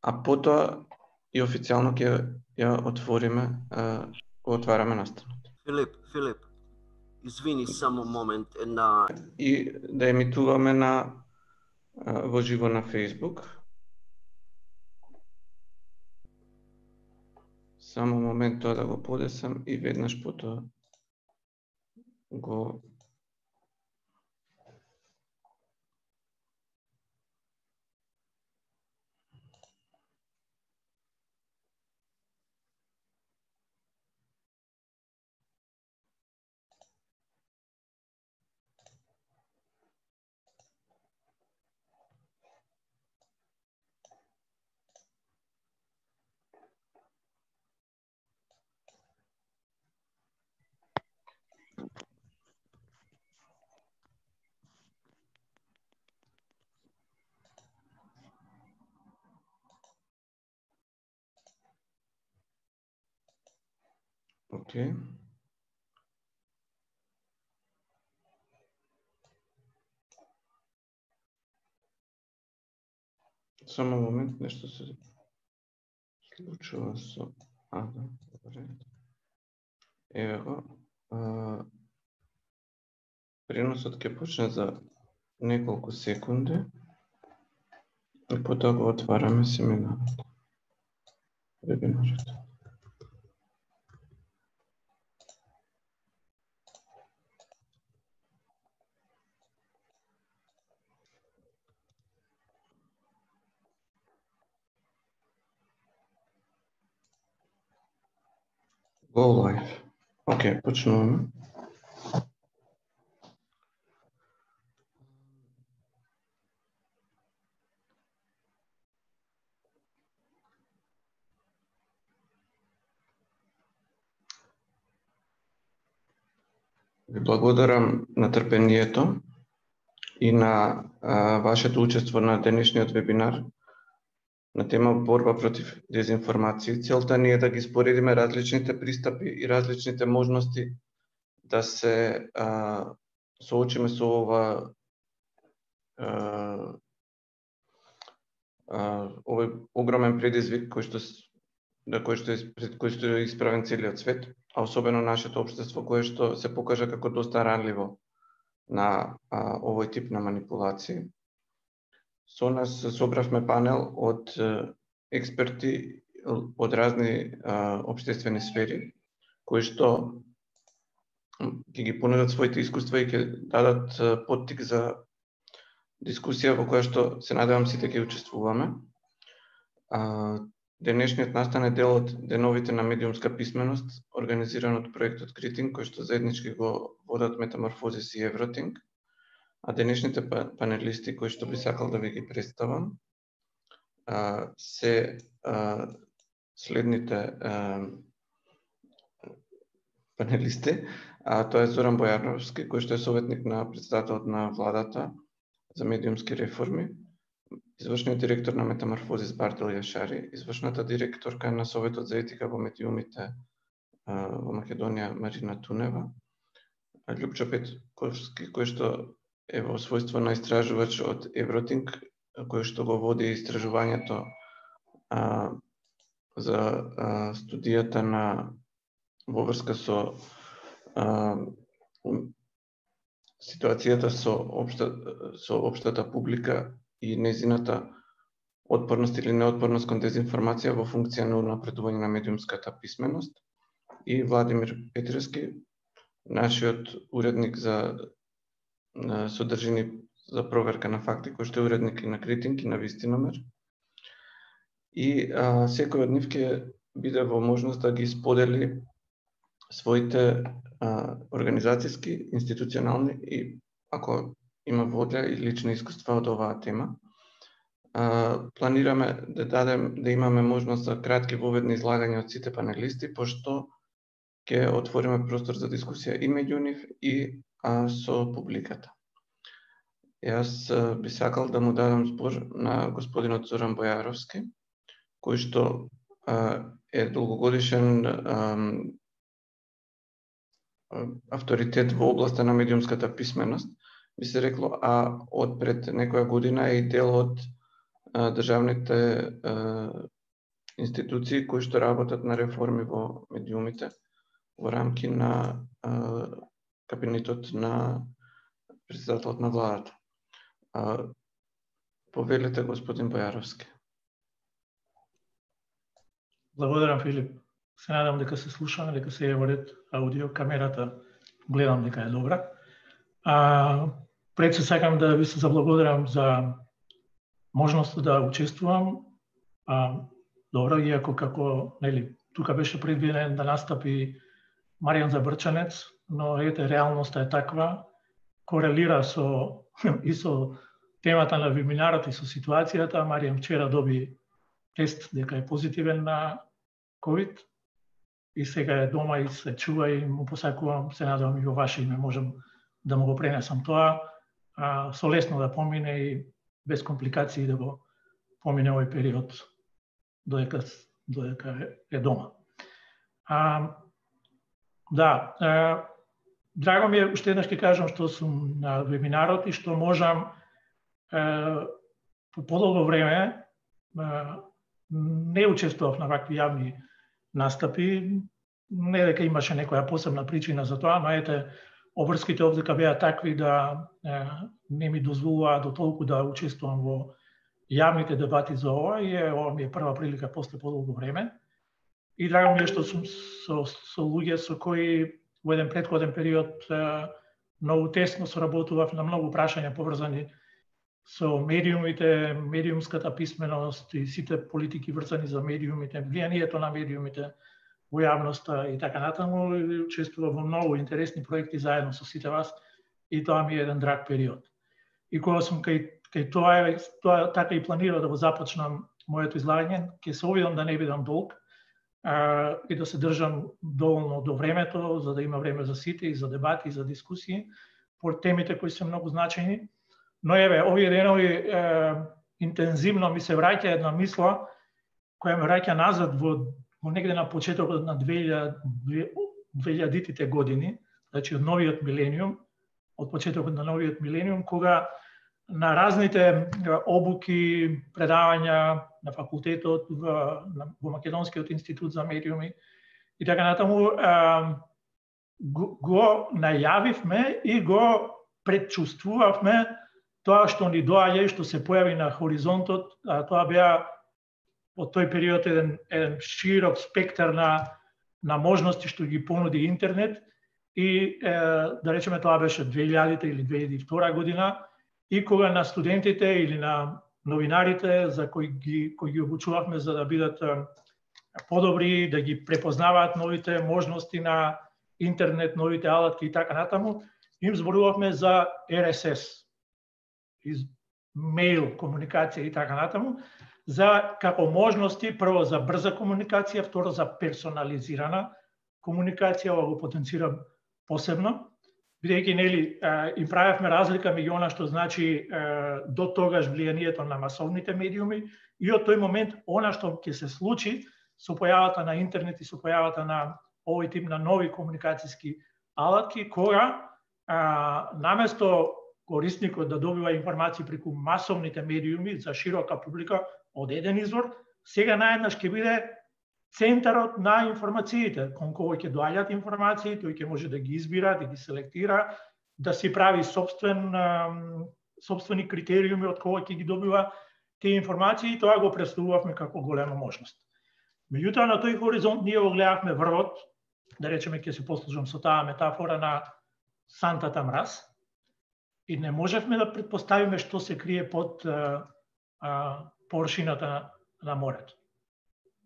а потоа и официјално ќе ја отвориме, отвараме настанот. Филип, извини само момент, и да емитуваме во живо на Facebook. Само момент тоа да го подесам и веднаш потоа го Океј. Само момент, нешто се случува со... добре. Еве го. Преносот ќе почне за неколку секунди и потоа го отвараме семинарот. Вебинарот. Go live. Океј, почнуваме. Ви благодарам на трпението и на вашето учество на денешниот вебинар на тема борба против дезинформација. Целта ни е да ги споредиме различните пристапи и различните можности да се соочиме со овој огромен предизвик пред кој што е исправен целиот свет, а особено нашето општество кое што се покажа како доста ранливо на овој тип на манипулации. Со нас собравме панел од експерти од разни општествени сфери, кои што ќе ги понудат своите искуства и ќе дадат поттик за дискусија во која што се надевам сите ќе учествуваме. Денешниот настан е дел од деновите на медиумска писменост, организиран од проектот Критинг, кој што заеднички го водат Метаморфозис и Евротинг. А денешните панелисти кои што би сакал да ви ги представам се следните панелисти. Тоа е Зоран Бојановски, кој што е советник на претседателот на владата за медиумски реформи, извршниот директор на Метаморфозис Бартел Јашари, извршната директорка на Советот за етика во медиумите во Македонија Марина Тунева, Љупчо Петковски, кој што е во својство на истражувач од Евротинг, кој што го води истражувањето за студијата во врска со ситуацијата со општата публика и нејзината отпорност или неотпорност кон дезинформација во функција на унапредување на медиумската писменост, и Владимир Петрески, нашиот уредник за содржини за проверка на факти, кој што е уредник и на Критинг и на Вистиномер. И секој од нив ќе биде во можност да ги сподели своите организацијски, институционални и, ако има волја, и лични искуства од оваа тема. Планираме да имаме можност за кратки воведни излагања од сите панелисти, пошто ќе отвориме простор за дискусија и меѓу нив и со публиката. Јас би сакал да му дадам збор на господинот Зоран Бојаровски, кој што е долгогодишен авторитет во областа на медиумската писменост, би се рекло, а од пред некоја година е и дел од државните институции кои што работат на реформи во медиумите во рамки на кабинетот на председателот на владата. Повелете, господин Бојаровски. Благодарам, Филип. Се надам дека се слушаме, дека се е во ред аудио, камерата гледам дека е добра. Пред се сакам да ви се заблагодарам за можноста да учествувам. Добро, иако како, тука беше предвиден да настапи Маријан Забрчанец, но ете, реалноста е таква, корелира и со темата на вебинарот и со ситуацијата. Маријан вчера доби тест дека е позитивен на COVID и сега е дома и се чува и му посакувам, се надевам и во ваше име можам да му го пренесам тоа, со лесно да помине и без компликации да го помине овој период додека е дома. Драго ми е, уште еднаш ќе кажам што сум на вебинарот и што можам по подолго време не учествував на вакви јавни настапи, не дека имаше некоја посебна причина за тоа, но ете, обврските овдека беа такви да не ми дозволуваа до толку да учествувам во јавните дебати за ова и ова ми е прва прилика после подолго време. И драго ми е што сум со луѓе со кои во еден претходен период многу тесно соработував на многу прашања поврзани со медиумите, медиумската писменост и сите политики врзани за медиумите, влијанието на медиумите во јавноста и така натаму. Учествував во многу интересни проекти заедно со сите вас и тоа ми е еден драг период. И кога сум кај тоа така и планирав да го започнам моето излагање, ќе се обидам да не бидам долг и да се држам доволно до времето, за да има време за сите и за дебати и за дискусии по темите кои се многу значајни. Но еве, овие денови интензивно ми се враќа една мисла која ме враќа назад во негде на почетокот на 2000-тите години, значи од новиот милениум, од почетокот на новиот милениум, кога на разните обуки, предавања на факултетот, во Македонскиот институт за медиуми и така натаму, го најавивме и го предчувствувавме тоа што ни доаѓа и што се појави на хоризонтот. Тоа беа од тој период еден широк спектар на можности што ги понуди интернет и да речеме тоа беше 2000 или 2002 година и кога на студентите или на новинарите за кои ги обучувавме за да бидат подобри, да ги препознаваат новите можности на интернет, новите алатки и така натаму, им зборувавме за RSS, мејл комуникација и така натаму, за како можности, прво за брза комуникација, второ за персонализирана комуникација, ова го потенцирам посебно, бидејќи им правевме разлика меѓу она што значи до тогаш влијанието на масовните медиуми и од тој момент она што ќе се случи со појавата на интернет и со појавата на овој тип на нови комуникацијски алатки, кога наместо корисникот да добива информации преку масовните медиуми за широка публика од еден извор, сега наеднаш ќе биде центарот на информациите, кон кој ќе доаѓаат информации, тој ќе може да ги избира, да ги селектира, да си прави сопствени критериуми од кој ќе ги добива тие информации и тоа го представувавме како голема можност. Меѓутоа на тој хоризонт ние го гледавме врвот, да речеме ќе се послужам со таа метафора на сантата мраз, и не можевме да предпоставиме што се крие под површината на морето.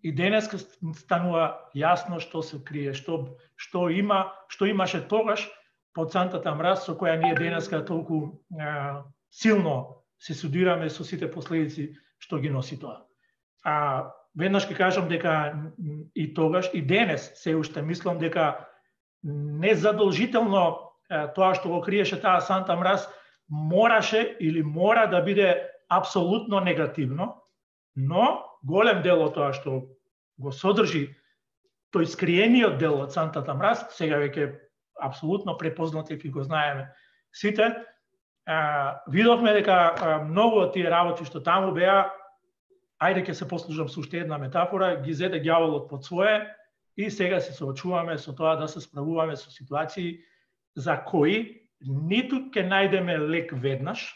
И денеска станува јасно што се крие, што имаше тогаш под сантата мраз, со која ние денеска толку силно се судираме со сите последици што ги носи тоа. Веднаш ќе кажам дека и тогаш, и денес се уште мислам дека незадолжително тоа што го криеше таа санта мраз мораше или мора да биде апсолутно негативно, но голем дел од тоа што го содржи тој скриениот дел од сантата мраз, сега веќе апсолутно препознат и го знаеме сите, видовме дека многу од тие работи што таму беа ајде ќе се послужам со уште една метафора, ги зеде ѓаволот под свое и сега се соочуваме со тоа да се справуваме со ситуации за кои ниту ќе најдеме лек веднаш,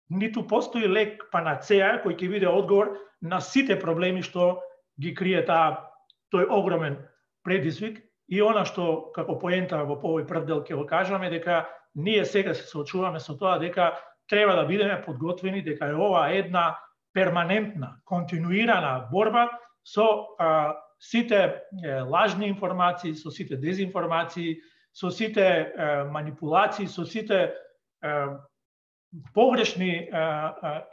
ниту постои лек панацеа кој ќе биде одговор на сите проблеми што ги крие тој огромен предизвик. И она што како поента во овој прв дел ќе го кажаме, дека ние сега се соочуваме со тоа дека треба да бидеме подготвени, дека е ова една перманентна, континуирана борба со сите лажни информации, со сите дезинформации, со сите манипулации, со сите погрешни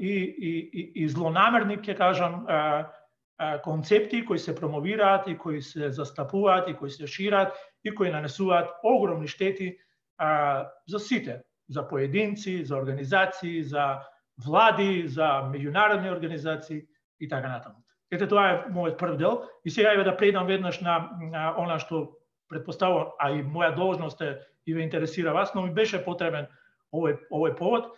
и злонамерни, ќе кажам, концепти кои се промовираат и кои се застапуваат и кои се шират и кои нанесуваат огромни штети за сите, за поединци, за организации, за влади, за меѓународни организации и така натаму. Ете, тоа е мојот прв дел и сега еве да предам веднаш на она што претпоставувам, а и моја должност е и ве интересира вас, но ми беше потребен овој повод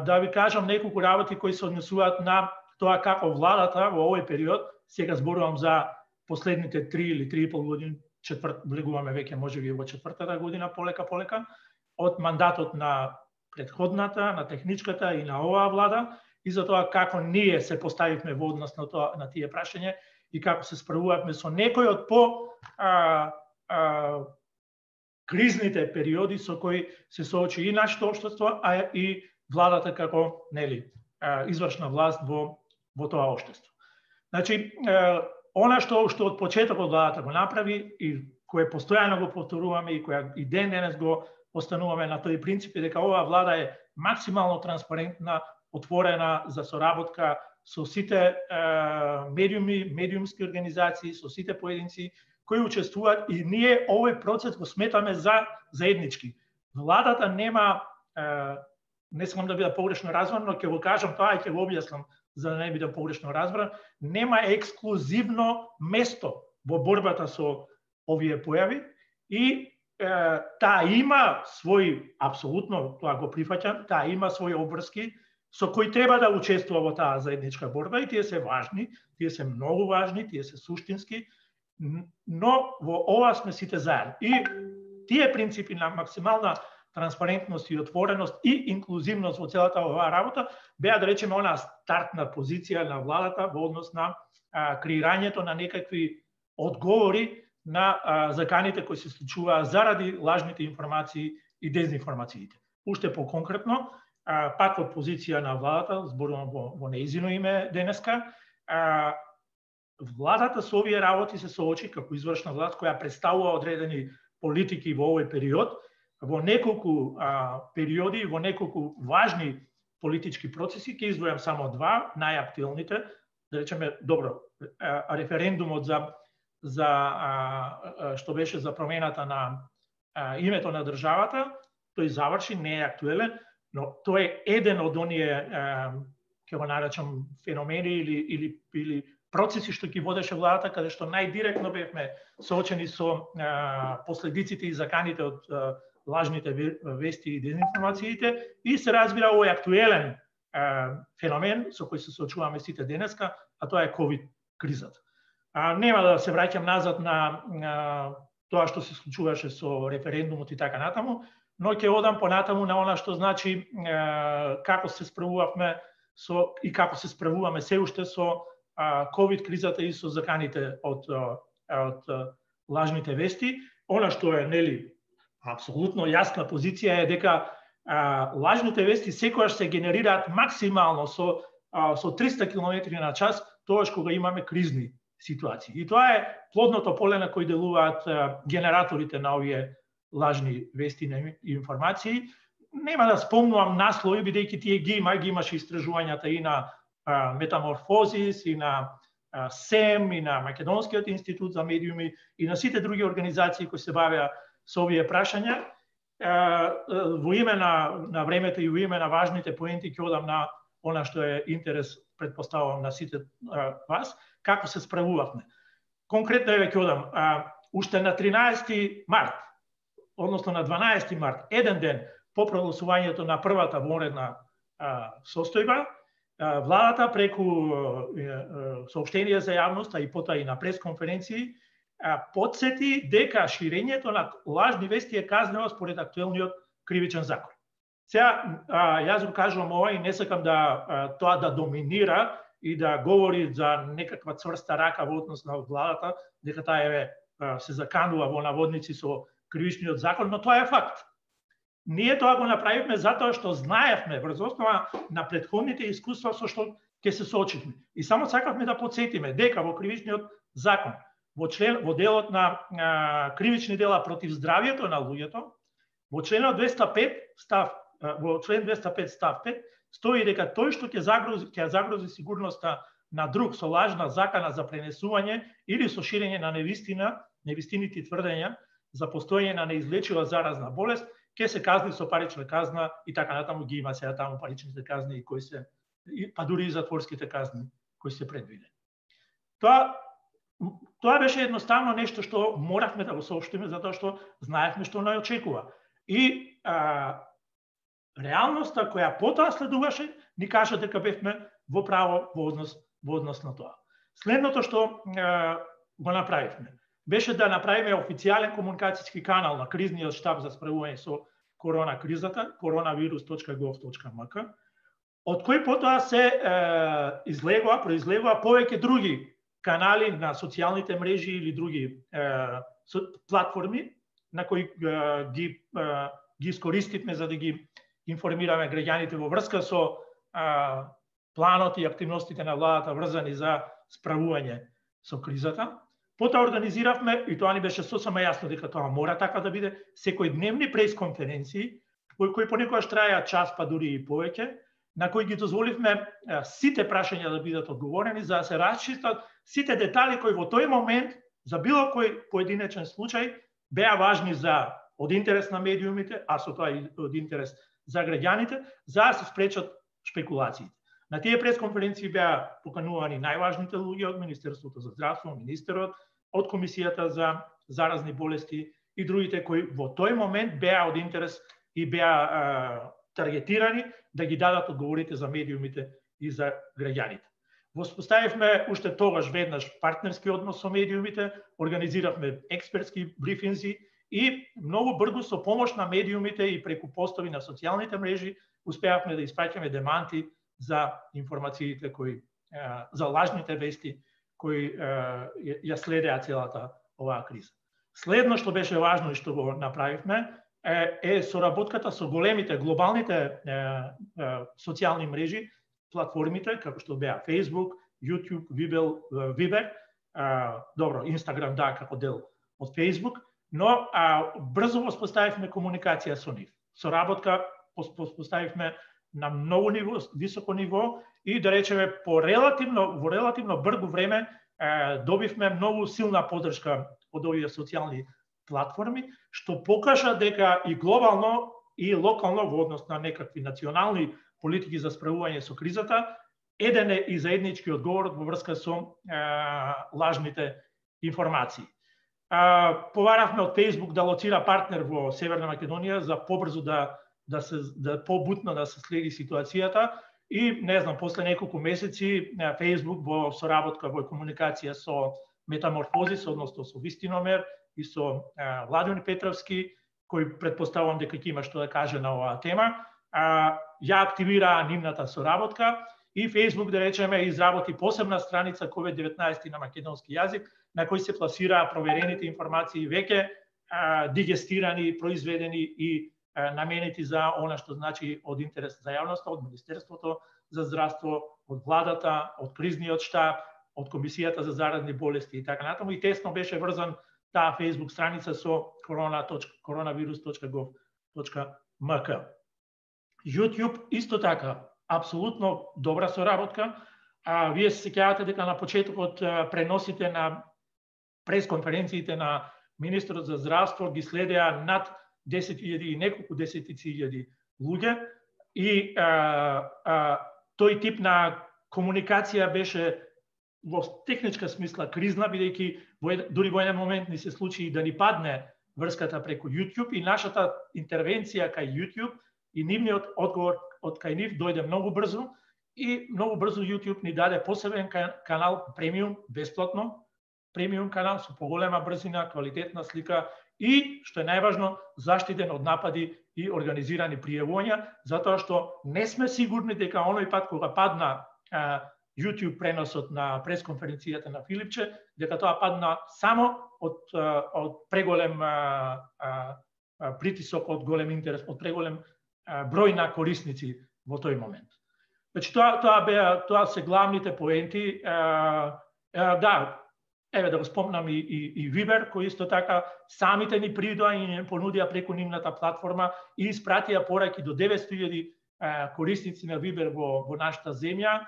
да ви кажам неколку работи кои се однесуваат на тоа како владата во овој период, сега зборувам за последните 3 или 3,5 години, влегуваме веќе можеби во четвртата година полека, од мандатот на претходната, на техничката и на оваа влада, и за тоа како ние се поставивме во однос на тие прашања и како се справувавме со некои од кризните периоди со кои се соочи и нашето општество, а и владата како извршна власт во тоа општество. Значи, она што од почетокот владата го направи и кое постојано го повторуваме и која и ден денес го остануваме на тој принцип, е дека оваа влада е максимално транспарентна, отворена за соработка со сите медиуми, медиумски организации, со сите поединци кои учествуваат, и ние овој процес го сметаме за заеднички. Владата нема, не сакам да биде погрешно разбран, но ќе го кажам тоа и ќе го објаснам за да не биде погрешно разбран, нема ексклузивно место во борбата со овие појави и таа има свој, апсолутно тоа го прифаќам, таа има свои обврски со кои треба да учествува во таа заедничка борба и тие се важни, тие се многу важни, тие се суштински, но во ова сме сите заедно. И тие принципи на максимална транспарентност и отвореност и инклузивност во целата оваа работа беа, да речеме, она стартна позиција на владата во однос на креирањето на некакви одговори на заканите кои се случуваа заради лажните информации и дезинформациите. Уште по-конкретно, пак од позиција на владата, зборувам во неизино име денеска, владата со овие работи се соочи како извршна власт која представува одредени политики во овој период, во неколку периоди, во неколку важни политички процеси. Ќе издвојам само два, најактуелните, да речеме, добро, референдумот за што беше за промената на името на државата, тој заврши, не е актуелен, но тој е еден од оние, ќе го наречам, феномени или процеси што ги водеше владата, каде што најдиректно бевме соочени со последиците и заканите од лажните вести и дезинформациите, и се разбира овој актуелен феномен со кој се соочуваме сите денеска, а тоа е ковид кризата. Нема да се враќам назад на тоа што се случуваше со референдумот и така натаму, но ќе одам понатаму на она што значи како се справувавме и како се справуваме се уште со ковид кризата и со заканите од лажните вести. Она што е, апсолутно јасна позиција е дека лажните вести секогаш се генерираат максимално со 300 км на час, тогаш кога имаме кризни ситуации. И тоа е плодното поле на кој делуваат генераторите на овие лажни вести и информации. Нема да спомнувам наслови, бидејќи тие ги имаше истражувањата и на Метаморфозис, и на СЕМ, и на Македонскиот институт за медиуми, и на сите други организации кои се бавеа со овие прашања. Во име на времето и во име на важните поенти ќе одам на она што е интерес, предпоставувам, на сите вас, како се справувавме. Конкретно еве ќе одам, уште на 13 март, односно на 12 март, еден ден по прогласувањето на првата вонредна состојба, владата преку соопштенија за јавноста и потоа и на пресконференции потсети дека ширењето на лажни вести е казнено според актуелниот кривичен закон. Сега, јас го кажувам ова и не сакам да тоа да доминира и да говори за некаква цврста рака во однос на владата, дека таа се заканува во наводници со кривичниот закон, но тоа е факт. Ние тоа го направивме затоа што знаевме врз основа на претходните искуства со што ќе се соочивме. И само сакавме да потсетиме дека во кривичниот закон, во делот на кривични дела против здравјето на луѓето, во членот 205 став 5 стои дека тој што ќе загрози сигурноста на друг со лажна закана за пренесување или со ширење на невистините тврдења за постоење на неизлечива заразна болест, ќе се казни со парична казна и така натаму ги има сега таму паричните казни и кои се па дури и затворските казни кои се предвидени. Тоа беше едноставно нешто што моравме да го соопштиме затоа што знаевме што не очекува. И реалноста која потоа следуваше ни кажа дека бевме во право во однос на тоа. Следното што го направивме беше да направиме официјален комуникацијски канал на кризниот штаб за справување со корона кризата, coronavirus.gov.mk, од кој потоа се произлегува повеќе други канали на социјалните мрежи или други платформи на кои ги искористивме за да ги информираме граѓаните во врска со планот и активностите на владата врзани за справување со кризата. Потоа организиравме, и тоа ни беше сосема јасно дека тоа мора така да биде, секојдневни пресконференции, кои понекогаш траеа час, па дури и повеќе, на кои ги дозволивме сите прашања да бидат одговорени, за да се расчистат сите детали кои во тој момент, за било кој поединечен случај, беа важни од интерес на медиумите, а со тоа и од интерес за граѓаните, за да се спречат шпекулациите. На тие пресконференции беа поканувани најважните луѓе од Министерството за здравство, министерот, од Комисијата за заразни болести и другите кои во тој момент беа од интерес и беа таргетирани да ги дадат одговорите за медиумите и за граѓаните. Воспоставивме уште тогаш веднаш партнерски однос со медиумите, организиравме експертски брифинзи и многу брзо со помош на медиумите и преку постови на социјалните мрежи успеавме да испраќаме деманти за информациите за лажните вести кои ја следеа целата оваа криза. Следно што беше важно и што го направивме е соработката со големите глобалните социјални мрежи, платформите како што беа Facebook, YouTube, Viber, Instagram како дел од Facebook, но брзо воспоставивме комуникација со нив. Соработка воспоставивме на многу високо ниво и да речеме во релативно брзо време добивме многу силна поддршка од овие социјални платформи, што покажа дека и глобално и локално во однос на некакви национални политики за справување со кризата, еден е и заеднички одговор во врска со лажните информации. Поваравме од Facebook да лоцира партнер во Северна Македонија за побрзо побутно да се следи ситуацијата и не знам после неколку месеци Facebook во соработка во комуникација со Метаморфозис, односно со Вистиномер и со Владимир Петровски, кој претпоставувам дека ќе има што да каже на оваа тема, ја активираа нивната соработка и Facebook, да речеме, изработи посебна страница COVID-19 на македонски јазик, на кој се пласираа проверените информации веќе дигестирани, произведени и наменети за она што значи од интерес за јавноста, од Министерството за здравство, од владата, од кризниот штаб, од Комисијата за заразни болести и така натаму. И тесно беше врзан таа Facebook страница со coronavirus.gov.mk. YouTube исто така, апсолутно добра соработка. Вие се сеќавате дека на почетокот преносите на пресконференциите на министерот за здравство ги следеа над 10.000 и неколку десетици илјади луѓе и тој тип на комуникација беше во техничка смисла кризна, бидејќи дури во еден момент ни се случи да ни падне врската преку YouTube и нашата интервенција кај YouTube и нивниот одговор од кај нив дојде многу брзо и многу брзо YouTube ни даде посебен канал премиум, бесплатно, премиум канал со поголема брзина, квалитетна слика и, што е најважно, заштитен од напади и организирани пријавувања, затоа што не сме сигурни дека оној пат кога падна YouTube преносот на пресконференцијата на Филипче, дека тоа падна само од преголем притисок, од голем интерес, од преголем број на корисници во тој момент. Значи тоа се главните поенти. Да, еве да го спомнам и Viber, кој исто така самите ни придоа и ни понудија преку нивната платформа и испратија пораки до 900.000 корисници на Viber во нашата земја.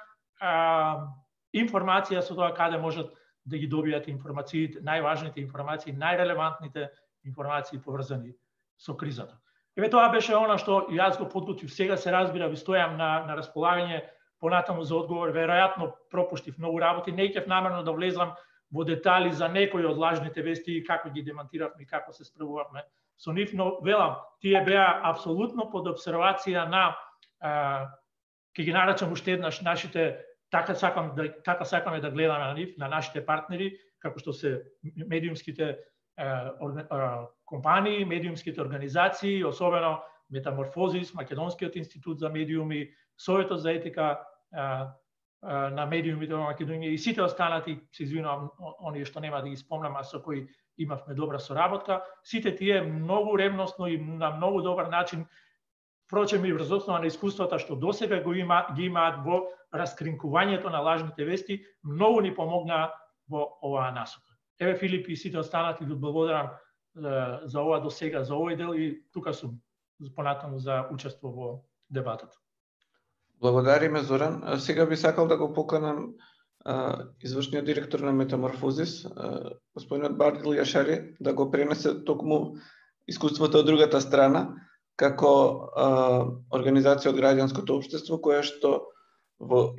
Информација со тоа каде можат да ги добијат информациите, најважните информации, најрелевантните информации поврзани со кризата. Еве тоа беше она што јас го подготвив. Сега се разбира, ви стојам на располагање понатаму за одговор. Веројатно пропуштив многу работи, не ќе намерно да влезам во детали за некои од лажните вести и како ги демантиравме и како се справувавме со нив, но велам, тие беа апсолутно под обсервација на ќе ги наречам уште еднаш нашите, така сакаме да гледаме на нив, на нашите партнери, како што се медиумските компании, медиумските организации, особено Метаморфозис, Македонскиот институт за медиуми, Советот за етика на медиумите во Македонија и сите останати, се извинувам, оние што нема да ги спомнам, а со кои имавме добра соработка, сите тие многу ревносно и на многу добар начин, впрочем и врз основа на искуствата што досега ги имаат во раскринкувањето на лажните вести, многу ни помогнаа во оваа насока. Еве Филип и сите останати ви благодарам за ова досега, за овој дел и тука сум понатаму за учество во дебатата. Благодариме, Зоран. Сега би сакал да го поканам извршниот директор на Метаморфозис, господинот Бардил Јашари, да го пренесе токму искуството од другата страна, како организација од граѓанското општество, која што во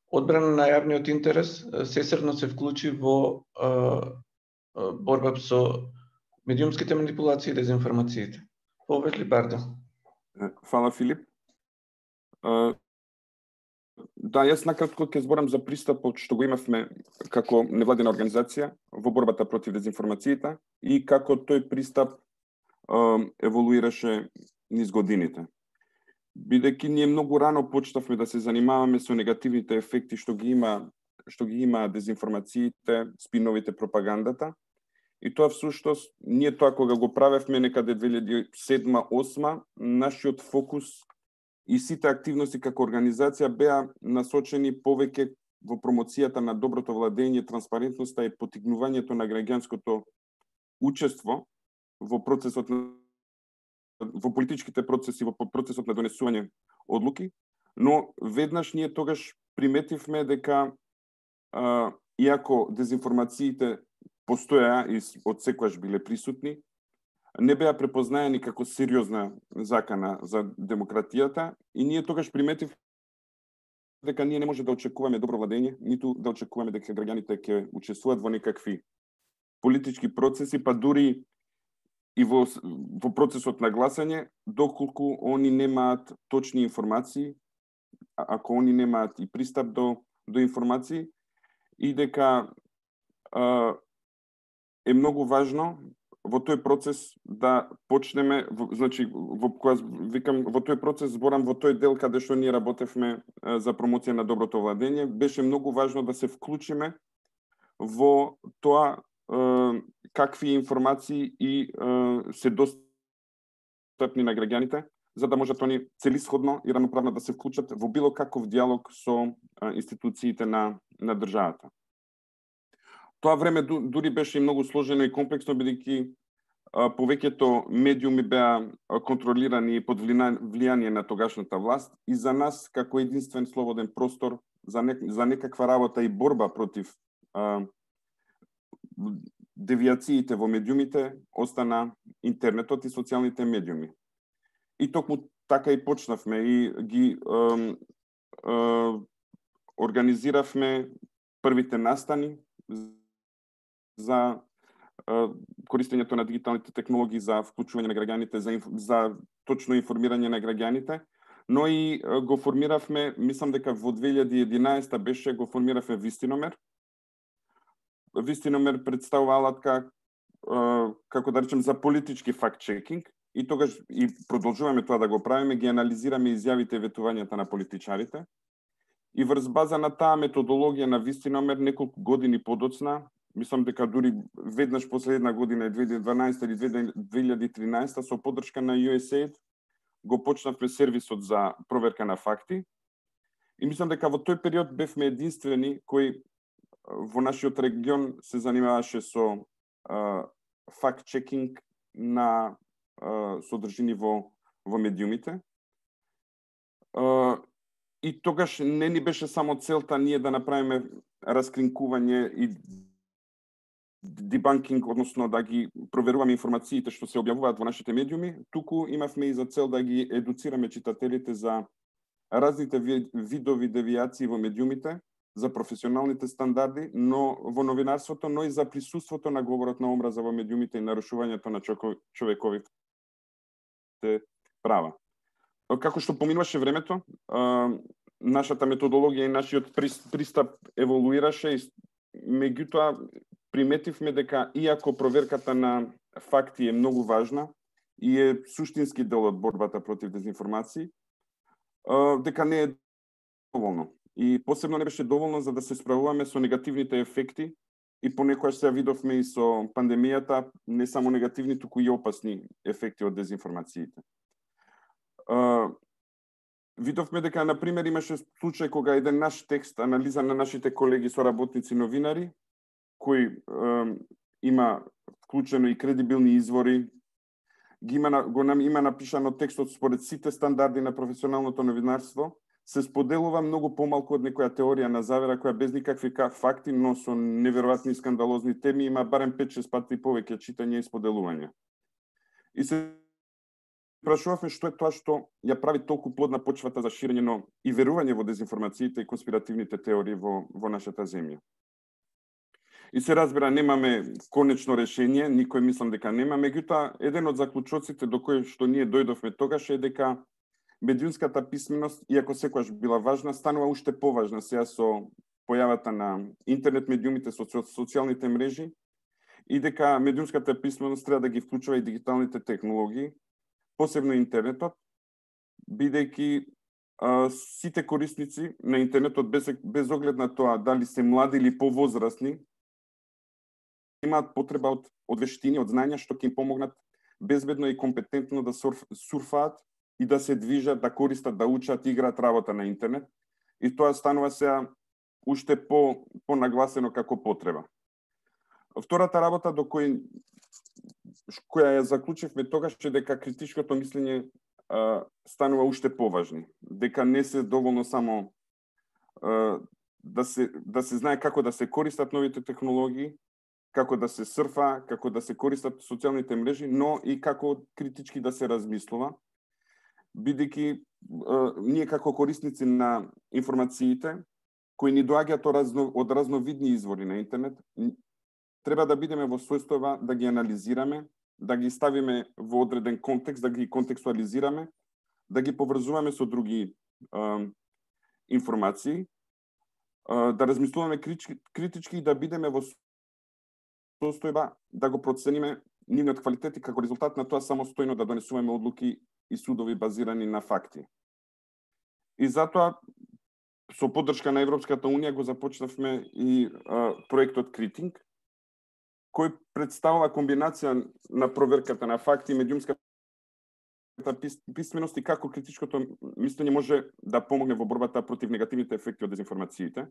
одбрана на јавниот интерес сесрно се вклучи во борба со медиумските манипулации и дезинформациите. Повели Бардил. Фала, Филип. Да, јас накратко ќе зборам за пристапот што го имавме како невладина организација во борбата против дезинформациите и како тој пристап еволуираше низ годините. Бидејќи ние многу рано почнавме да се занимаваме со негативните ефекти што ги има дезинформациите, спиновите, пропагандата. И тоа всуштост, ние тоа кога го правевме некаде 2007-2008, нашиот фокус и сите активности како организација беа насочени повеќе во промоцијата на доброто владење, транспарентноста и поттикнувањето на граѓанското учество во процесот во политичките процеси, во процесот на донесување одлуки, но веднаш ние тогаш приметивме дека иако дезинформациите постоја и од секогаш биле присутни, не беа препознаени како сериозна закана за демократијата и ние тогаш приметив дека ние не може да очекуваме добро владење, ниту да очекуваме дека граѓаните ќе учествуваат во некакви политички процеси, па дури и во процесот на гласање, доколку они немаат точни информации, ако они немаат и пристап до информации, и дека е многу важно во тој процес да почнеме, значи во тој процес зборам во тој дел каде што ние работевме за промоција на доброто владење, беше многу важно да се вклучиме во тоа какви информации и се достапни на граѓаните, за да можат они целисходно и равноправно да се вклучат во било каков диалог со институциите на државата. Тоа време дури беше и многу сложено и комплексно, бидејќи повеќето медиуми беа контролирани под влијание на тогашната власт и за нас како единствен слободен простор за некаква работа и борба против девијациите во медиумите остана интернетот и социјалните медиуми. И токму така и почнавме и ги организиравме првите настани за користењето на дигиталните технологии, за вклучување на граѓаните, за точно информирање на граѓаните, но и го формиравме, мислам дека во 2011 беше, го формиравме Вистиномер. Вистиномер представува алатка, како да речем, за политички факт-чекинг, и тогаш и продолжуваме тоа да го правиме, ги анализираме изјавите и ветувањата на политичарите. И врз база на таа методологија на Вистиномер неколку години подоцна, мислам дека дури веднаш последна година, 2012 или 2013, со поддршка на USAID, го почнавме сервисот за проверка на факти. И мислам дека во тој период бевме единствени кои во нашиот регион се занимаваше со факт-чекинг на содржини во медиумите. И тогаш не ни беше само целта ние да направиме раскринкување и дебанкинг, односно да ги проверуваме информациите што се објавуваат во нашите медиуми, туку имавме и за цел да ги едуцираме читателите за разните видови девијации во медиумите, за професионалните стандарди, но во новинарството, но и за присуството на говорот на омраза во медиумите и нарушувањето на човековите права. Како што поминуваше времето, нашата методологија и нашиот пристап еволуираше, меѓутоа приметивме дека иако проверката на факти е многу важна и е суштински дел од борбата против дезинформации, дека не е доволно. И посебно не беше доволно за да се справуваме со негативните ефекти, и понекогаш се видовме и со пандемијата, не само негативни, туку и опасни ефекти од дезинформациите. Видовме дека, например, имаше случај кога еден наш текст, анализа на нашите колеги соработници новинари, кој има вклучено и кредибилни извори, има напишано текстот според сите стандарди на професионалното новинарство, се споделува многу помалку од некоја теорија на завера која без никакви факти, но со неверојатни и скандалозни теми има барем 5-6 пати повеќе читање и споделување. И се прашувавме што е тоа што ја прави толку плодна почвата за ширење и верување во дезинформациите и конспиративните теории во нашата земја. И се разбира, немаме конечно решение, никој мислам дека нема, меѓутоа еден од заклучоците до кој што ние дојдовме тогаш е дека медиумската писменост, иако секогаш била важна, станува уште поважна сега со појавата на интернет медиумите, со социјалните мрежи, и дека медиумската писменост треба да ги вклучува и дигиталните технологии, посебно интернетот, бидејќи сите корисници на интернетот, без оглед на тоа дали се млади или повозрасни, имаат потреба од вештини, од знања што ќе им помогнат безбедно и компетентно да сурфаат и да се движат, да користат, да учат, играат работа на интернет. И тоа станува сега уште понагласено како потреба. Втората работа до која ја заклучивме тогаш е дека критичкото мислење станува уште поважни. Дека не се доволно само да се знае како да се користат новите технологии, како да се сурфа, како да се користат социјалните мрежи, но и како критички да се размислува, бидејќи ние како корисници на информациите, кои ни доаѓаат од разновидни извори на интернет, треба да бидеме во состојба да ги анализираме, да ги ставиме во одреден контекст, да ги контекстуализираме, да ги поврзуваме со други информации, да размислуваме критички и да бидеме во состојба да го процениме нивниот квалитет и како резултат на тоа самостојно да донесуваме одлуки и судови базирани на факти. И затоа со поддршка на Европската унија го започнавме и проектот Критинг, кој представува комбинација на проверката на факти и медиумската писменост и како критичкото мислење може да помогне во борбата против негативните ефекти од дезинформациите.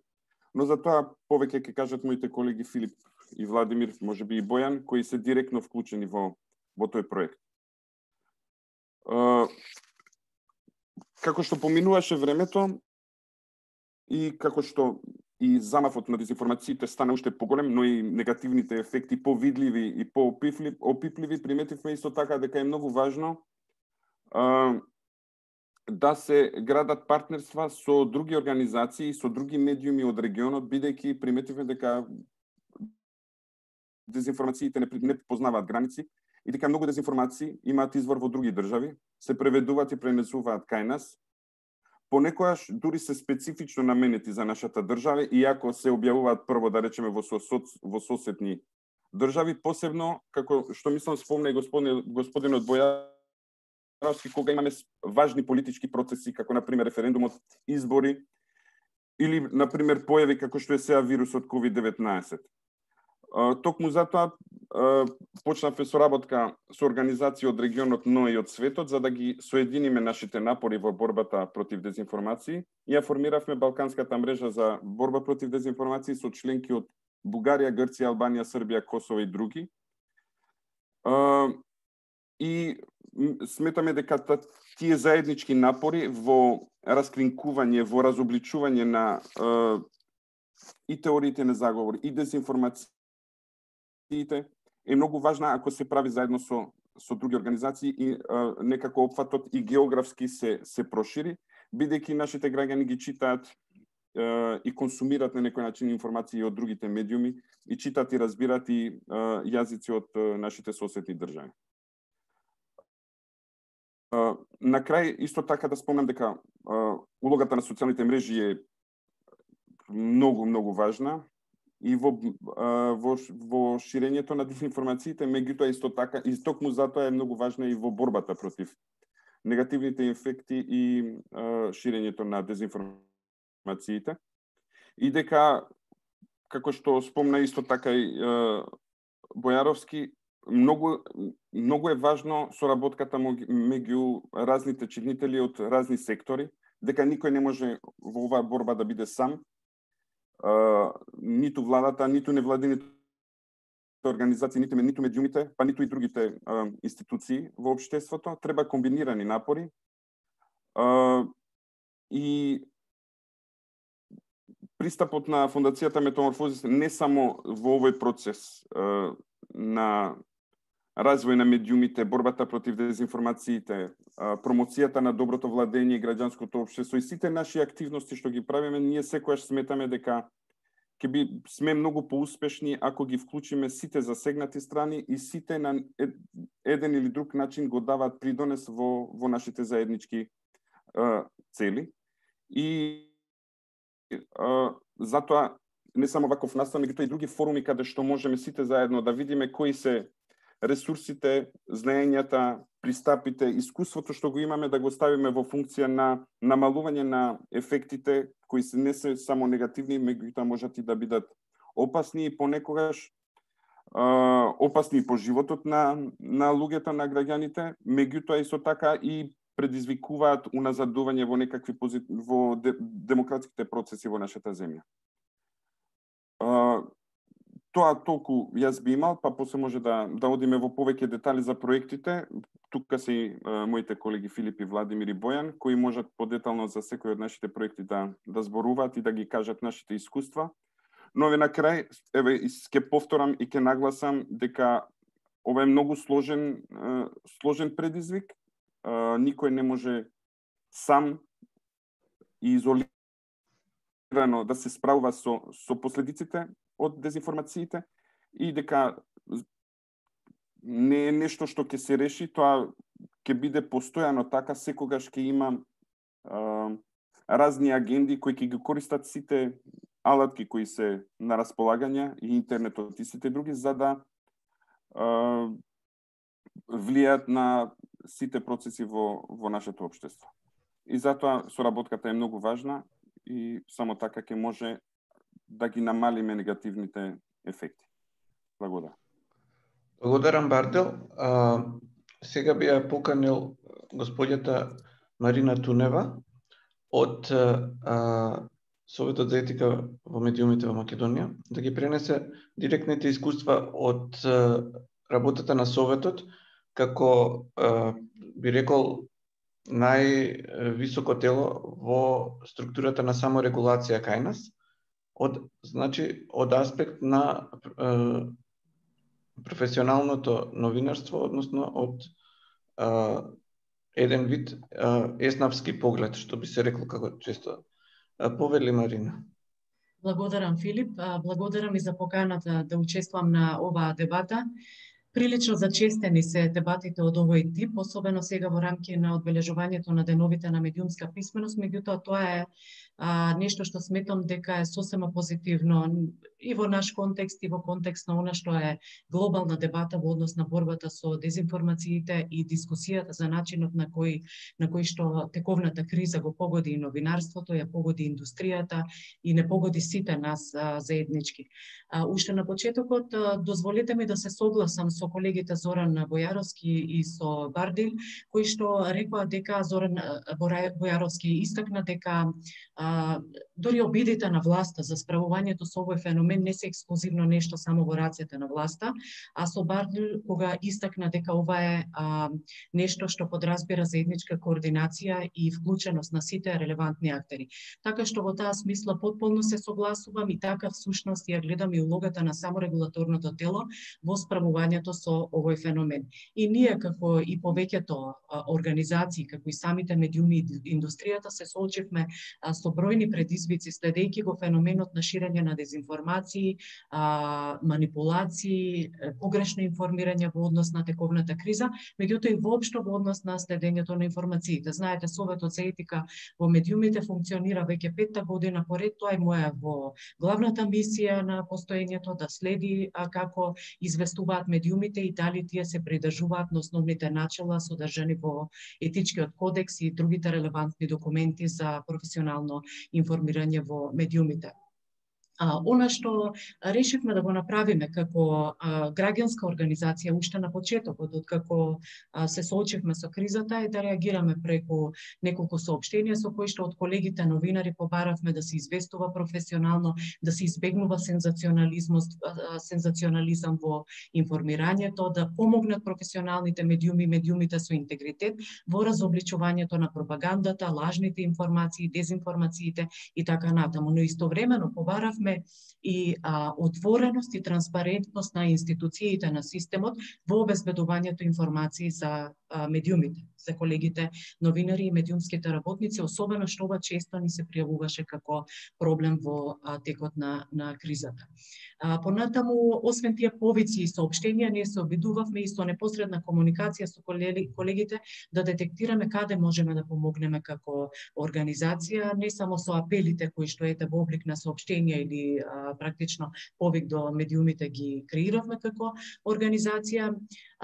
Но за тоа повеќе ќе кажат моите колеги Филип и Владимир, можеби и Бојан, кои се директно вклучени во тој проект. Како што поминуваше времето и како што и замавот на дезинформациите стана уште поголем, но и негативните ефекти повидливи и поопипливи, приметивме исто така дека е многу важно да се градат партнерства со други организации и со други медиуми од регионот, бидејќи приметивме дека дезинформациите не познаваат граници и дека многу дезинформации имаат извор во други држави, се преведуваат и пренесуваат кај нас понекогаш дури се специфично наменети за нашата држава, иако се објавуваат прво, да речеме, во соседни држави, посебно, како што мислам спомна и господинот Бојаровски, кога имаме важни политички процеси, како, например, референдумот, избори, или, например, појави како што е сега вирусот COVID-19. Токму затоа почнавме со работка со организации од регионот, но и од светот, за да ги соединиме нашите напори во борбата против дезинформации. Ја формиравме Балканската мрежа за борба против дезинформации со членки од Бугарија, Грција, Албанија, Србија, Косово и други. И сметаме дека тие заеднички напори во раскринкување, во разобличување на и теориите на заговор, и дезинформациите е многу важна ако се прави заедно со други организации и некако опфатот и географски се прошири, бидејќи нашите граѓани ги читаат и консумираат на некој начин информации од другите медиуми и читаат и разбираат и јазици од нашите соседни држави. На крај, исто така да спомнам дека улогата на социјалните мрежи е многу важна и во ширењето на дезинформациите, меѓутоа исто така, и токму затоа е многу важна и во борбата против негативните ефекти и ширењето на дезинформациите. И дека, како што спомна исто така и Бојаровски, многу е важно соработката меѓу разните чинители од разни сектори, дека никој не може во оваа борба да биде сам, ниту владата, ниту невладините организации, ниту медиумите, па ниту и другите институции во општеството. Треба комбинирани напори и пристапот на Фондацијата Метаморфозис не само во овој процес на развој на медиумите, борбата против дезинформациите, промоцијата на доброто владење и граѓанското општество и сите наши активности што ги правиме, ние секогаш сметаме дека ќе сме многу поуспешни ако ги вклучиме сите засегнати страни и сите на еден или друг начин го даваат придонес во нашите заеднички цели. И затоа не само ваков настан, меѓутоа и други форуми каде што можеме сите заедно да видиме кои се ресурсите, знаењата, пристапите, искуството што го имаме да го ставиме во функција на намалување на ефектите кои се не се само негативни, меѓутоа можат и да бидат опасни и понекогаш опасни по животот на луѓето, на граѓаните, меѓутоа исто така и предизвикуваат уназадување во некакви во демократските процеси во нашата земја. Тоа толку јас би имал, па после може да одиме во повеќе детали за проектите. Тука се и моите колеги Филип и Владимир и Бојан, кои можат подетално за секој од нашите проекти да зборуваат и да ги кажат нашите искуства. Но на крај, ќе повторам и ќе нагласам дека ова е многу сложен предизвик. Никој не може сам и изолирано да се справува со последиците од дезинформациите и дека не е нешто што ќе се реши, тоа ќе биде постојано така, секогаш ќе има разни агенди кои ќе ги користат сите алатки кои се на располагање и интернетот и сите други за да влијаат на сите процеси во нашето општество. И затоа соработката е многу важна и само така ќе може да ги намалиме негативните ефекти. Благодарам. Благодарам, Бартел. Сега би ја поканил господјата Марина Тунева од Советот за етика во медиумите во Македонија да ги пренесе директните искуства од работата на Советот како би рекол највисоко тело во структурата на саморегулација кај нас, од аспект на професионалното новинарство, односно од еден вид еснавски поглед, што би се рекло како често. Повели, Марина. Благодарам, Филип. Благодарам и за поканата да учествувам на оваа дебата. Прилично зачестени се дебатите од овој тип, особено сега во рамки на одбележувањето на деновите на медиумска писменост, меѓутоа тоа е нешто што сметам дека е сосема позитивно и во наш контекст и во контекст на она што е глобална дебата во однос на борбата со дезинформациите и дискусијата за начинот на кој што тековната криза го погоди и новинарството, ја погоди индустријата и не погоди сите нас заеднички. Уште на почетокот дозволете ми да се согласам со колегите Зоран Бојаровски и со Бардил, кои што рекоа дека Зоран Бојаровски истакна дека дори обидите на власта за справувањето со овој феномен не се ексклузивно нешто само во рацете на власта, а со Бардил кога истакна дека ова е нешто што подразбира заедничка координација и вклученост на сите релевантни актери. Така што во таа смисла потполно се согласувам и така всушност ја гледам и улогата на саморегулаторното тело во справувањето со овој феномен. И ние како и повеќето организации, како и самите медиуми и индустријата се соочивме со бројни предизвици следејќи го феноменот на ширење на дезинформации, манипулации, погрешно информирање во однос на тековната криза, меѓутоа и воопшто во однос на следењето на информациите. Знаете, Советот за етика во медиумите функционира веќе 5-та година поред, тоа е моја во главната мисија на постоењето да следи како известуваат медиумите и дали тие се придржуваат на основните начела содржани во етичкиот кодекс и другите релевантни документи за професионално информирање во медиумите. Она што решивме да го направиме како граѓанска организација уште на почетокот, откако се соочивме со кризата, е да реагираме преку неколку соопштенија со кои што од колегите новинари побаравме да се известува професионално, да се избегнува сензационализам во информирањето, да помогнат професионалните медиуми, медиумите со интегритет во разобличувањето на пропагандата, лажните информации, дезинформациите и така натаму. Но истовремено побаравме и отвореност и транспарентност на институциите на системот во обезбедувањето информации за медиумите, за колегите новинари и медиумските работници, особено што ова често ни се пријавуваше како проблем во текот на кризата. Понатаму, освен тие повици и соопштенија, ние се обидувавме и со непосредна комуникација со колегите да детектираме каде можеме да помогнеме како организација, не само со апелите кои што ете во облик на соопштенија или практично повик до медиумите ги креиравме како организација.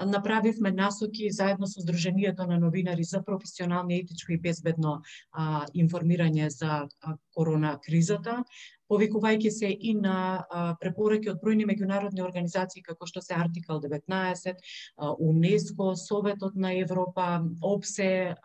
Направивме насоки заедно со Сдруженијето на новинари за професионално, етичко и безбедно информирање за корона кризата, повикувајќи се и на препораки од бројни меѓународни организации како што се Артикал 19, УНЕСКО, Советот на Европа, ОПСЕ,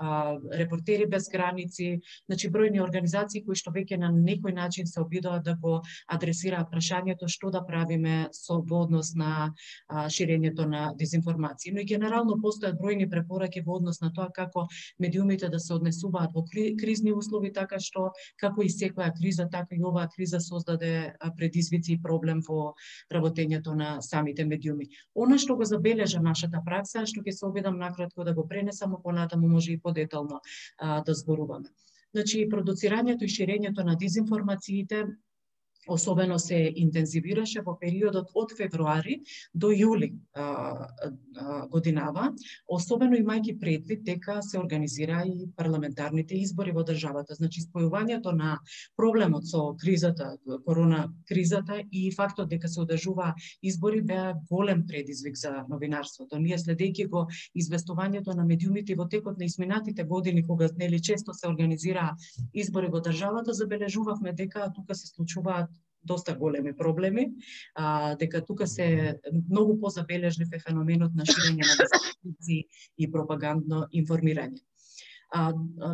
Репортери без граници, значи бројни организации кои што веќе на некој начин се обидоа да го адресираат прашањето што да правиме со во однос на ширењето на дезинформации. Но и генерално постојат бројни препораки во однос на тоа како медиумите да се однесуваат во кризни услови, така што како и секоја криза, така и оваа криза создаде предизвици и проблем во работењето на самите медиуми. Она што го забележа нашата пракса, што ќе се обидам накратко да го пренесам, а понатаму може и подетално да зборуваме. Значи, продуцирањето и ширењето на дезинформациите особено се интензивираше во периодот од февруари до јули годинава, особено имајќи предвид дека се организира и парламентарните избори во државата. Значи, спојувањето на проблемот со кризата, корона кризата и фактот дека се одржува избори беа голем предизвик за новинарството. Ние следејќи го известувањето на медиумите во текот на изминатите години, кога нели често се организира избори во државата, забележувавме дека тука се случуваат доста големи проблеми, дека тука се многу позабележлив е феноменот на ширење на дезинформации и пропагандно информирање.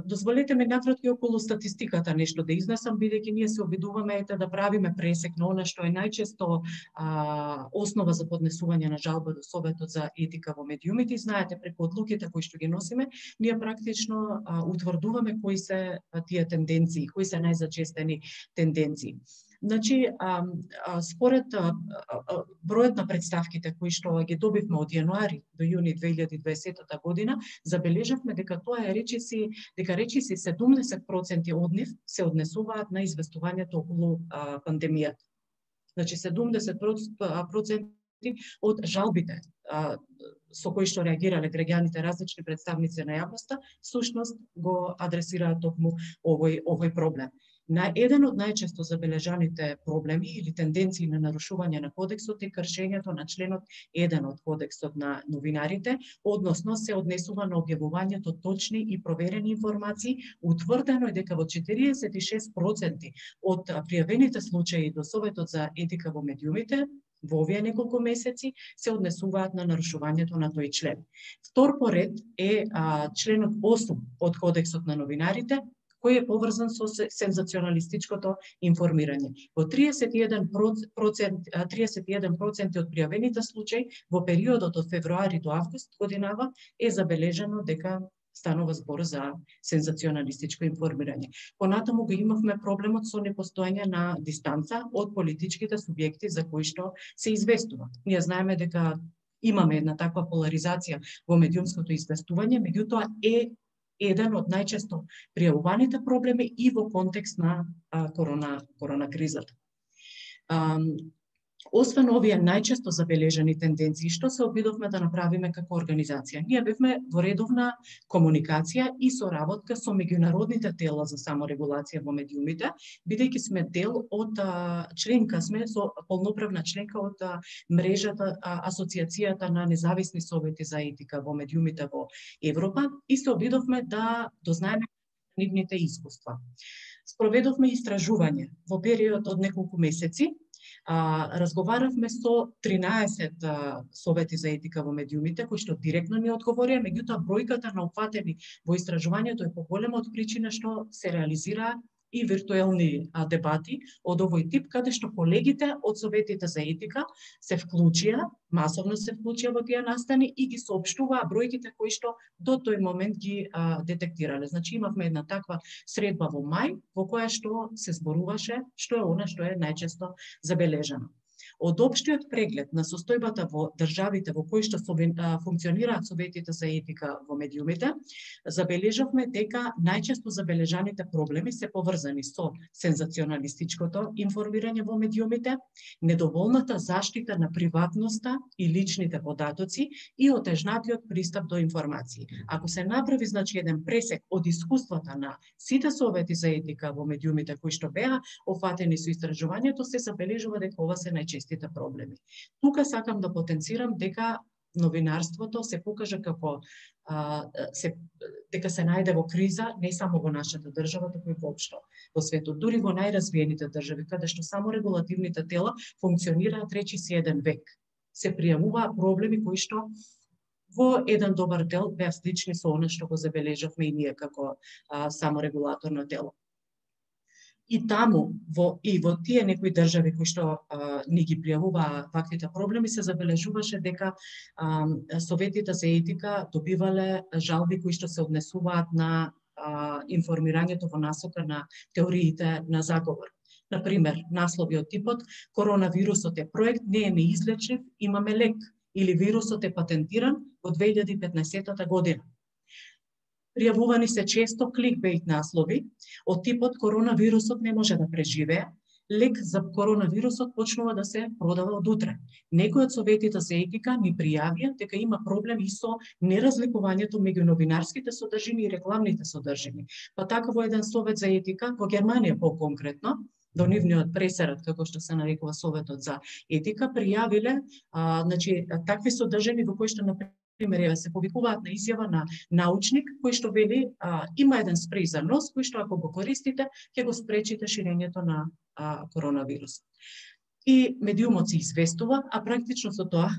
Дозволете ми накратко околу статистиката нешто да изнесам, бидејќи ние се обидуваме да правиме пресек на она што е најчесто основа за поднесување на жалба до Советот за етика во медиумите. И знаете, преку одлуките кои што ги носиме, ние практично утврдуваме кои се тие тенденции, кои се најзачестени тенденции. Значи, според бројот на представките кои што ги добивме од јануари до јуни 2020 година, забележавме дека тоа е речиси 70% од нив се однесуваат на известувањето околу пандемијата. Значи, 70% од жалбите со кои што реагирале граѓаните, различни представници на јавноста, всушност го адресираат токму овој проблем. На еден од најчесто забележаните проблеми или тенденции на нарушување на кодексот е кршењето на членот 1 од кодексот на новинарите, односно се однесува на објавувањето точни и проверени информации. Утврдено е дека во 46% од пријавените случаи до Советот за етика во медиумите во овие неколку месеци се однесуваат на нарушувањето на тој член. Втор по ред е членот 8 од кодексот на новинарите, кој е поврзан со сензационалистичкото информирање. Во 31% од пријавените случаи во периодот од февруари до август годинава е забележано дека станува збор за сензационалистичко информирање. Понатаму го имавме проблемот со непостоење на дистанца од политичките субјекти за кои што се известува. Ние знаеме дека имаме една таква поларизација во медиумското известување, меѓутоа е еден од најчесто пријавуваните проблеми и во контекст на корона кризата. Освен овие најчесто забележани тенденции, што се обидовме да направиме како организација? Ние бевме во редовна комуникација и соработка со меѓународните тела за саморегулација во медиумите, бидејќи сме дел од членка сме со полноправна членка од мрежата Асоциацијата на независни совети за етика во медиумите во Европа и се обидовме да дознаеме нивните искуства. Спроведовме истражување во период од неколку месеци. Разговаравме со 13 совети за етика во медиумите, кои што директно ни одговорија, меѓутоа бројката на опфатени во истражувањето е поголема од причина што се реализираа и виртуелни дебати од овој тип, каде што колегите од советите за етика се вклучија, масовно се вклучија во тие настани и ги соопштуваа бројките кои што до тој момент ги детектирале. Значи имавме една таква средба во мај, во која што се зборуваше што е она што е најчесто забележано. Од општиот преглед на состојбата во државите во кои што функционираат советите за етика во медиумите, забележавме дека најчесто забележаните проблеми се поврзани со сензационалистичкото информирање во медиумите, недоволната заштита на приватноста и личните податоци и отежнатиот пристап до информации. Ако се направи еден пресек од искуствата на сите совети за етика во медиумите кои што беа офатени со истражувањето, се забележува дека ова се најчестите проблеми. Тука сакам да потенцирам дека новинарството се покажа како дека се најде во криза не само во нашата држава, туку и воопшто во светот. Дури во најразвиените држави, каде што само регулативните тела функционираат речиси еден век, се пријавуваа проблеми кои што во еден добар дел беа слични со она што го забележавме и ние како саморегулаторно тело. И таму, во тие некои држави кои што ни ги пријавуваа ваквите проблеми, се забележуваше дека советите за етика добивале жалби кои што се однесуваат на информирањето во насока на теориите на заговор. Например, наслови од типот "Коронавирусот е проект, не е неизлечив, имаме лек" или "Вирусот е патентиран во 2015 година". Пријавувани се често кликбейт наслови од типот "Коронавирусот не може да преживее", "Лек за коронавирусот почнува да се продава од утре". Некои од советите за етика ни пријавија дека има проблеми и со неразликувањето меѓу новинарските содржини и рекламните содржини. Па така во еден совет за етика во Германија по-конкретно, до нивниот пресерат, како што се нарекува Советот за етика, пријавиле такви содржини во кои што пример, се повикуваат на изјава на научник кој што вели има еден спреј за нос кој што ако го користите ќе го спречите ширењето на коронавирус. И медиумот се известува, а практично со тоа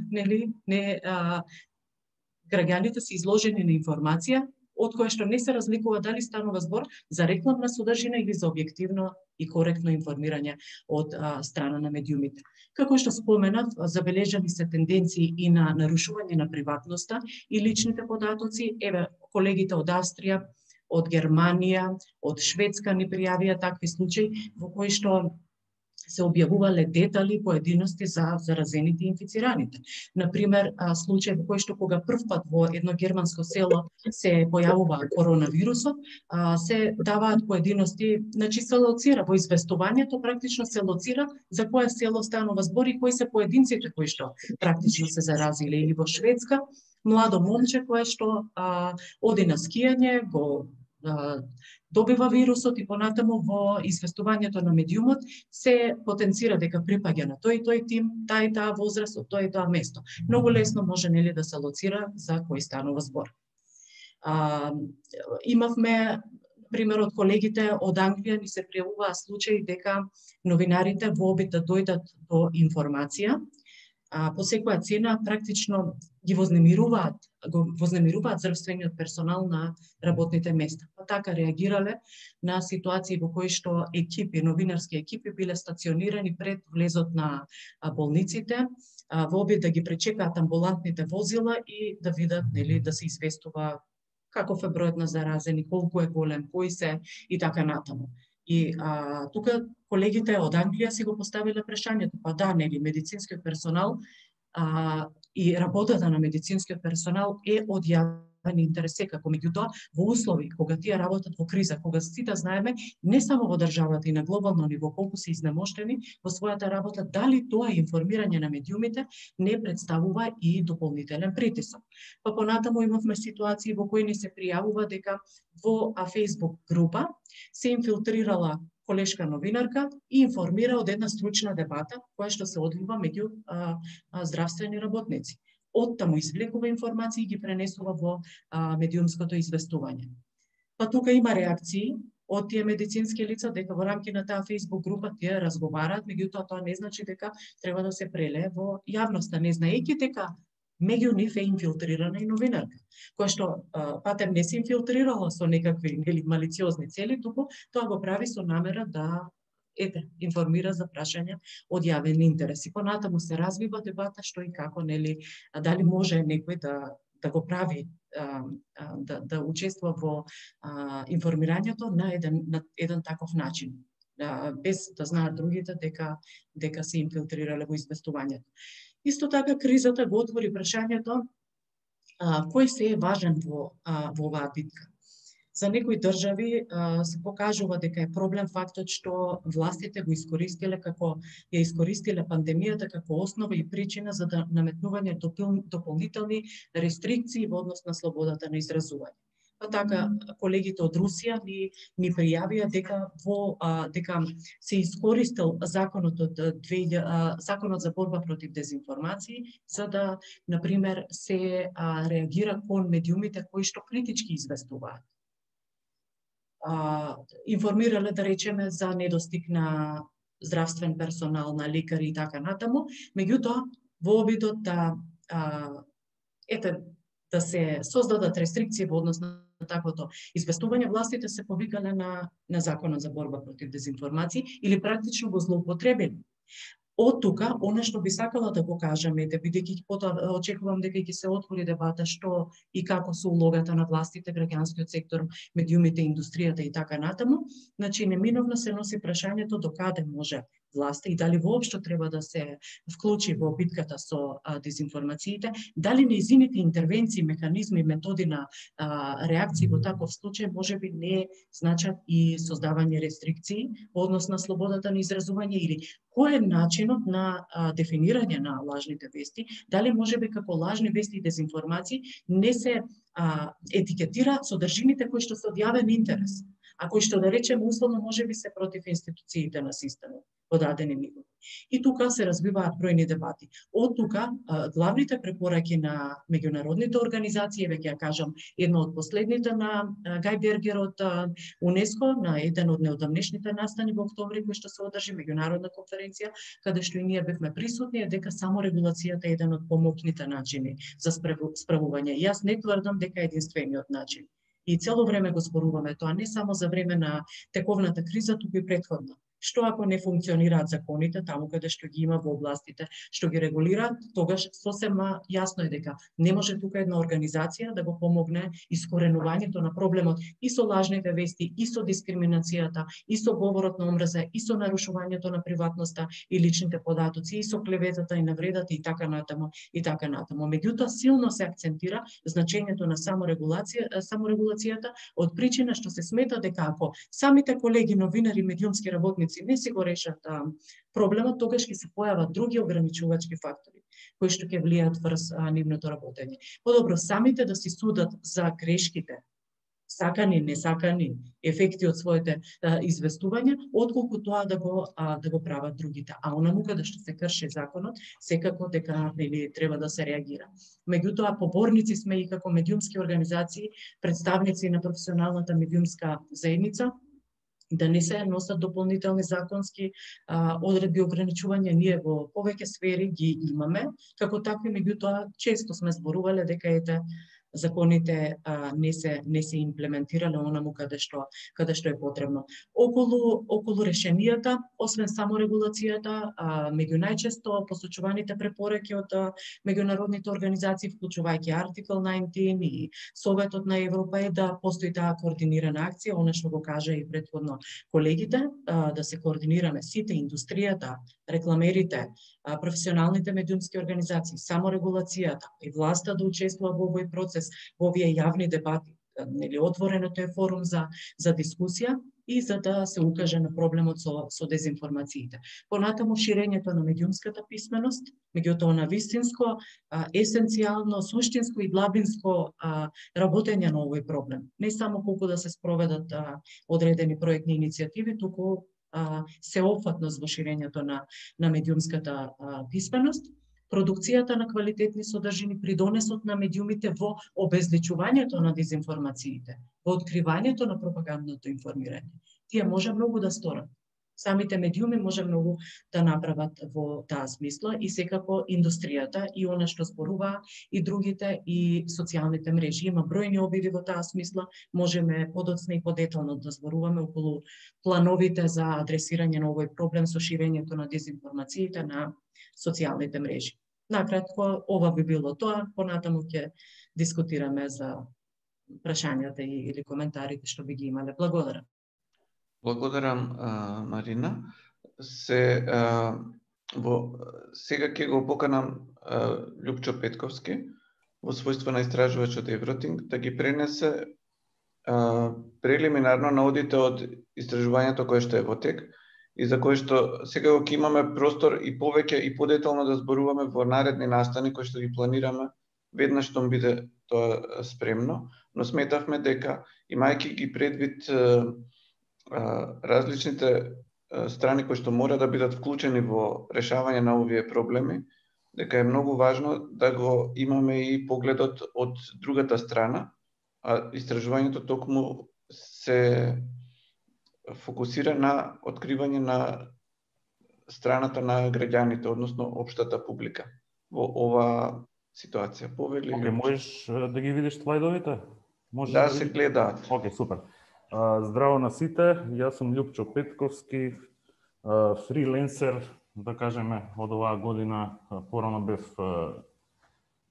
граѓаните се изложени на информација од која што не се разликува дали станува збор за рекламна содржина или за објективно и коректно информирање од страна на медиумите. Како што споменав, забележани се тенденции и на нарушување на приватноста и личните податоци. Еве, колегите од Австрија, од Германија, од Шведска ни пријавија такви случаи во кои што се објавувале детали, поединости за заразените и инфицираните. Например, случај во кој што кога прв пат во едно германско село се појавува коронавирусот, се даваат поединости, значи се лоцира во известувањето, практично се лоцира за кое село станува збор и кои се поединците кои што практично се заразиле. Или во Шведска, младо момче кое што оди на скијање, го добива вирусот и понатаму во известувањето на медиумот се потенцира дека припаѓа на тој и тој тим, таа и таа возраст, од тоа и тоа место. Многу лесно може нели да се лоцира за кој станува збор. Имавме пример од колегите од Англија, ни се пријавуваа случаи дека новинарите во обид да дојдат до информација, по секоја цена практично ги вознемируваат здравствениот персонал на работните места. Па така реагирале на ситуации во кои што новинарски екипи биле стационирани пред влезот на болниците, во обид да ги пречекаат амбулантните возила и да видат, нели, да се известува каков е бројот на заразени, колку е голем, кои се и така натаму. И тука колегите од Англија си го поставиле прашањето, па да, нели, медицинскиот персонал и работата на медицинскиот персонал е од јавен интерес секако. Меѓутоа, во услови кога тие работат во криза, кога сите знаеме, не само во државата и на глобално ниво колку се изнемоштени во својата работа, дали тоа информирање на медиумите не представува и дополнителен притисок. Па понатаму имавме ситуации во кои ни се пријавува дека во Facebook група се инфилтрирала колешка новинарка и информира од една стручна дебата која што се одвива меѓу здравствени работници. Оттаму извлекува информации и ги пренесува во медиумското известување. Па тука има реакции од тие медицински лица дека во рамки на таа Facebook група тие разговараат, меѓутоа тоа не значи дека треба да се прелее во јавноста, не знаејќи дека меѓу нив е инфилтрирана и новинарка, која што патем не се инфилтрирала со некакви малициозни цели, туку тоа го прави со намера да информира за прашања од јавен интерес. И понатаму се развива дебата што и како, нели, дали може некој да го прави, да учествува во информирањето на еден таков начин, без да знаат другите дека се инфилтрирале во известувањето. Исто така, кризата го отвори прашањето кој се е важен во оваа битка. За некои држави се покажува дека е проблем фактот што властите го искористиле ја искористиле пандемијата како основа и причина за наметнување дополнителни рестрикции во однос на слободата на изразување. Па така, колегите од Русија ни пријавија дека се искористил законот за борба против дезинформации за да, например, се реагира кон медиумите кои што критички известуваат. Информирале, да речеме, за недостиг на здравствен персонал, на лекари и така натаму, меѓутоа во обидот да се создадат рестрикции во однос на таквото известување, властите се повикале на законот за борба против дезинформации или практично го злоупотребили. Од тука, она што би сакала да го кажам е, бидејќи потоа очекувам дека ќе се отвори дебата што и како со улогата на властите, граѓанскиот сектор, медиумите, индустријата и така натаму, значи неминовно се носи прашањето до каде може власта и дали воопшто треба да се вклучи во битката со дезинформациите, дали нејзините интервенции, механизми, методи на реакции во таков случај можеби не значат и создавање рестрикции во однос на слободата на изразување или кој е начинот на дефинирање на лажните вести, дали можеби како лажни вести и дезинформации не се етикетира содржините кои што се од јавен интерес, а кои што, да речеме, условно можеби се против институциите на системот во дадени нивои. И тука се развиваат бројни дебати. Од тука главните препораки на меѓународните организации, веќе ја кажам, едно од последните на Гај Бергер од УНЕСКО, на еден од неодамнешните настани во октомври кој што се одржи меѓународна конференција, каде што и ние бевме присутни, е дека само регулацијата е еден од помокните начини за справување. Јас не тврдам дека е единствениот начин. И цело време го зборуваме тоа, не само за време на тековната криза, туку и претходна. Што ако не функционираат законите таму каде што ги има во областите што ги регулираат, тогаш сосема јасно е дека не може тука една организација да го помогне искоренувањето на проблемот и со лажните вести, и со дискриминацијата, и со говорот на омраза, и со нарушувањето на приватноста и личните податоци, и со клеветата и навредата и така натаму и така натаму. Меѓутоа силно се акцентира значењето на саморегулацијата од причина што се смета дека ако самите колеги новинари, медиумски работници не си го решат проблемот, тогаш ќе се појават други ограничувачки фактори кои што ќе влијаат врз нивното работење. Подобро самите да си судат за грешките, сакани, несакани ефекти од своите известувања, отколку тоа да го прават другите. А онаму каде што се крши законот, секако дека треба да се реагира. Меѓутоа, поборници сме и како медиумски организации, представници на професионалната медиумска заедница, да не се носат дополнителни законски одредби ограничувања. Ние во повеќе сфери ги имаме, како такви, меѓутоа често сме зборувале дека законите не се имплементирале онаму каде што е потребно. Околу решенијата, освен саморегулацијата, меѓу најчесто посочуваните препораки од меѓународните организации, вклучувајќи Артикл 19 и Советот на Европа, е да постои таа координирана акција, она што го кажа и претходно колегите, да се координираме сите, индустријата, рекламерите, професионалните медиумски организации, саморегулацијата и власта да учествува во овој процес, во овие јавни дебати. Отвореното е форум за дискусија и за да се укаже на проблемот со дезинформациите. Понатаму ширењето на медиумската писменост, меѓутоа на вистинско, есенцијално, суштинско и длабинско работење на овој проблем. Не само колку да се спроведат одредени проектни иницијативи, туку сеопфатност во ширењето на медиумската писменост, продукцијата на квалитетни содржини, придонесот на медиумите во обезличувањето на дезинформациите, во откривањето на пропагандното информирање. Тие може многу да сторат. Самите медиуми може многу да направат во таа смисла и секако индустријата и она што зборува и другите и социјалните мрежи. Има бројни обиди во таа смисла, можеме подоцна и подетално да зборуваме околу плановите за адресирање на овој проблем со ширењето на дезинформациите на социјалните мрежи. Накратко, ова би било тоа, понатаму ќе дискутираме за прашањата или коментарите што би ги имале. Благодарам. Благодарам, Марина. Сега ќе го поканам Љупчо Петковски во својство на истражувач од Евротинг да ги пренесе прелиминарно наодите од истражувањето кое што е во тек и за кое што сега ќе имаме простор и повеќе и подетално да зборуваме во наредни настани кои што ги планираме веднаш што биде тоа спремно, но сметавме дека имајќи ги предвид различните страни кои што мора да бидат вклучени во решавање на овие проблеми, дека е многу важно да го имаме и погледот од другата страна, а истражувањето токму се фокусира на откривање на страната на граѓаните, односно општата публика во ова ситуација. Повели ли? Можеш да ги видиш слайдовите? Да, се гледаат. Океј, супер. Здраво на сите, јас сум Љупчо Петковски, фриленсер, да кажеме, од оваа година. Порано бев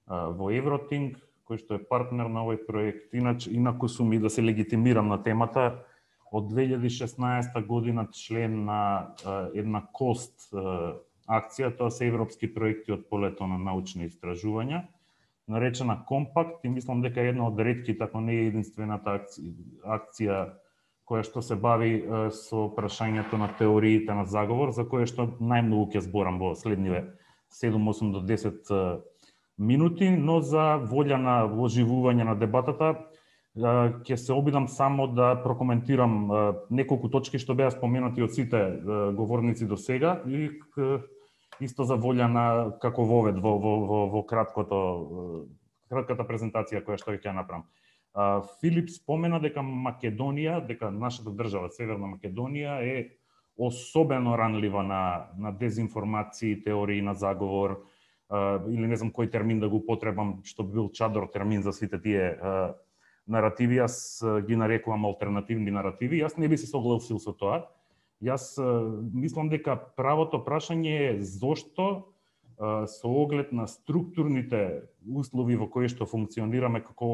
во Евротинг, кој што е партнер на овој проект. Инаку сум и да се легитимирам на темата. Од 2016 година член на една КОСТ акција, тоа се европски проекти од полето на научни истражувања, наречена Компакт, и мислам дека е една од ретките, ако не е единствената акција која што се бави со прашањето на теориите на заговор, за кое што најмногу ќе зборам во следниве 7-8 до 10 минути, но за волја на оживување на дебатата ќе се обидам само да прокоментирам неколку точки што беа споменати од сите говорници до сега и исто за волја на како вовед во кратката презентација која што ќе направам. Филип спомена дека Македонија, дека нашата држава, Северна Македонија, е особено ранлива на дезинформации, теории на заговор, или не знам кој термин да го употребам, што бил чадор термин за сите тие наративи. Јас ги нарекувам алтернативни наративи. Јас не би се согласил со тоа. Јас мислам дека правото прашање е зошто со оглед на структурните услови во кои што функционираме како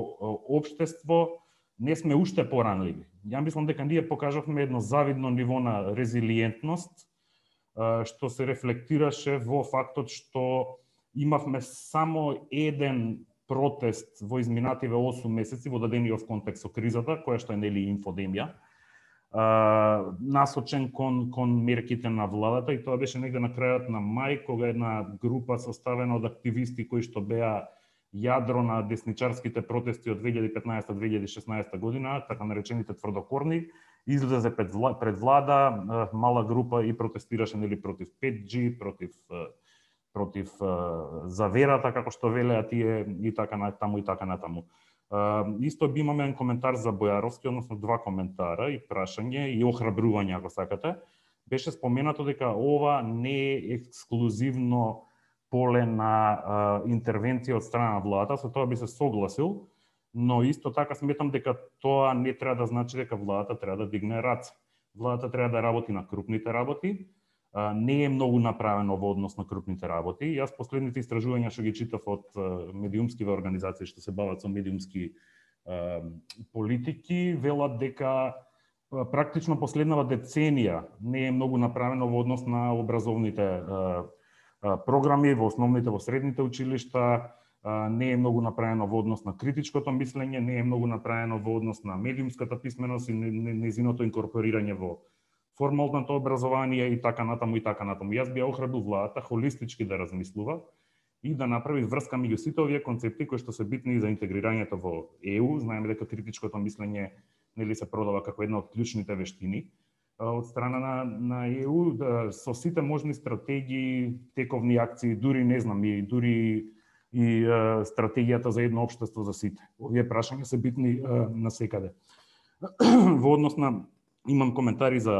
општество, не сме уште поранливи. Ја мислам дека ние покажавме едно завидно ниво на резилиентност, што се рефлектираше во фактот што имавме само еден протест во изминативе 8 месеци во дадениот контекст со кризата, која што е нели инфодемија, насочен кон мерките на владата, и тоа беше негде на крајот на мај, кога една група составена од активисти кои што беа јадро на десничарските протести од 2015-2016 година, така наречените тврдокорни, излезе пред влада, мала група и протестираше нели против 5G, против заверата, како што велеа тие, и така натаму. Исто би имаме еден коментар за Бојаровски, односно два коментара и прашање и охрабрување, ако сакате. Беше споменато дека ова не е ексклузивно поле на интервенција од страна на владата, со тоа би се согласил, но исто така сметам дека тоа не треба да значи дека владата треба да дигне раце. Владата треба да работи на крупните работи. Не е многу направено во однос на крупните работи. Јас последните истражувања што ги читав од медиумскиве организации што се бават со медиумски политики, велат дека практично последнава деценија не е многу направено во однос на образовните програми во основните, во средните училишта, не е многу направено во однос на критичкото мислење, не е многу направено во однос на медиумската писменост и нејзиното инкорпорирање во формалното образование и така натаму и така натаму. Јас би ја охрабрил владата холистички да размислува и да направи врска меѓу сите овие концепти кои што се битни за интегрирањето во ЕУ. Знаеме дека критичкото мислење нели се продава како една од клучните вештини од страна на ЕУ, со сите можни стратегии, тековни акции, дури не знам, и дури и стратегијата за едно општество за сите. Овие прашања се битни насекаде. Во однос на имам коментари за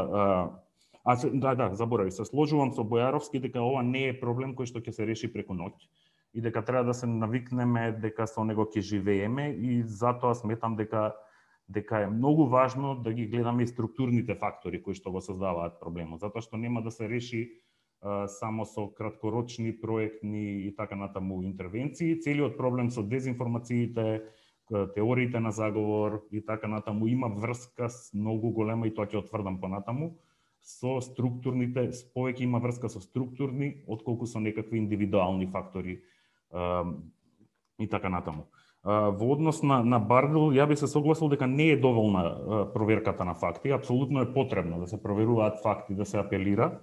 заборави, се сложувам со Бојаровски дека ова не е проблем кој што ќе се реши преку ноќ и дека треба да се навикнеме дека со него ќе живееме, и затоа сметам дека е многу важно да ги гледаме и структурните фактори кои што го создаваат проблемот, затоа што нема да се реши само со краткорочни проектни и така натаму интервенции. Целиот проблем со дезинформациите, теориите на заговор и така натаму има врска многу голема, и тоа ќе отврдам понатаму, со структурните, повеќе има врска со структурни отколку со некакви индивидуални фактори и така натаму. Во однос на Бардел, ја би се согласил дека не е доволна проверката на факти, апсолутно е потребно да се проверуваат факти, да се апелира,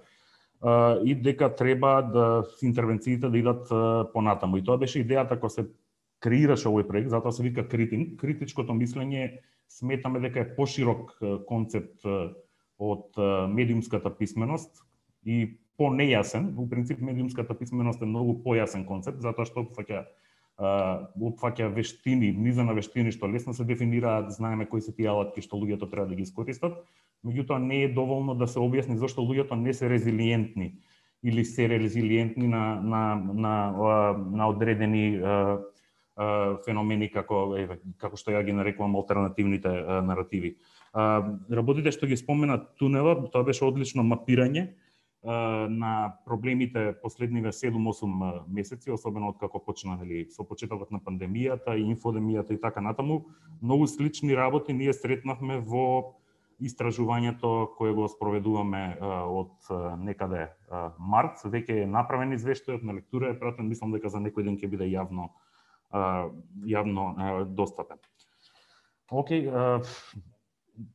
и дека треба да интервенциите да идат понатаму. И тоа беше идејата кога се креираше овој проект, затоа се вика критинг. Критичкото мислење сметаме дека е поширок концепт од медиумската писменост и понејасен. Во принцип медиумската писменост е многу појасен концепт, затоа што опфаќа вештини, низа на вештини што лесно се дефинираат, знаеме кои се тие алатки што луѓето треба да ги искористат, меѓутоа не е доволно да се објасни зошто луѓето не се резилиентни или се резилиентни на одредени феномени како што ја ги нарекувам алтернативните наративи. Работите што ги спомена тунелот, тоа беше одлично мапирање на проблемите последниве 7-8 месеци, особено од како почна со почетокот на пандемијата и инфодемијата и така натаму. Многу слични работи ние сретнавме во истражувањето кое го спроведуваме од некаде март. Веќе е направен извештајот, на лектура е пратен, мислам дека за некој ден ќе биде јавно достапен. Океј,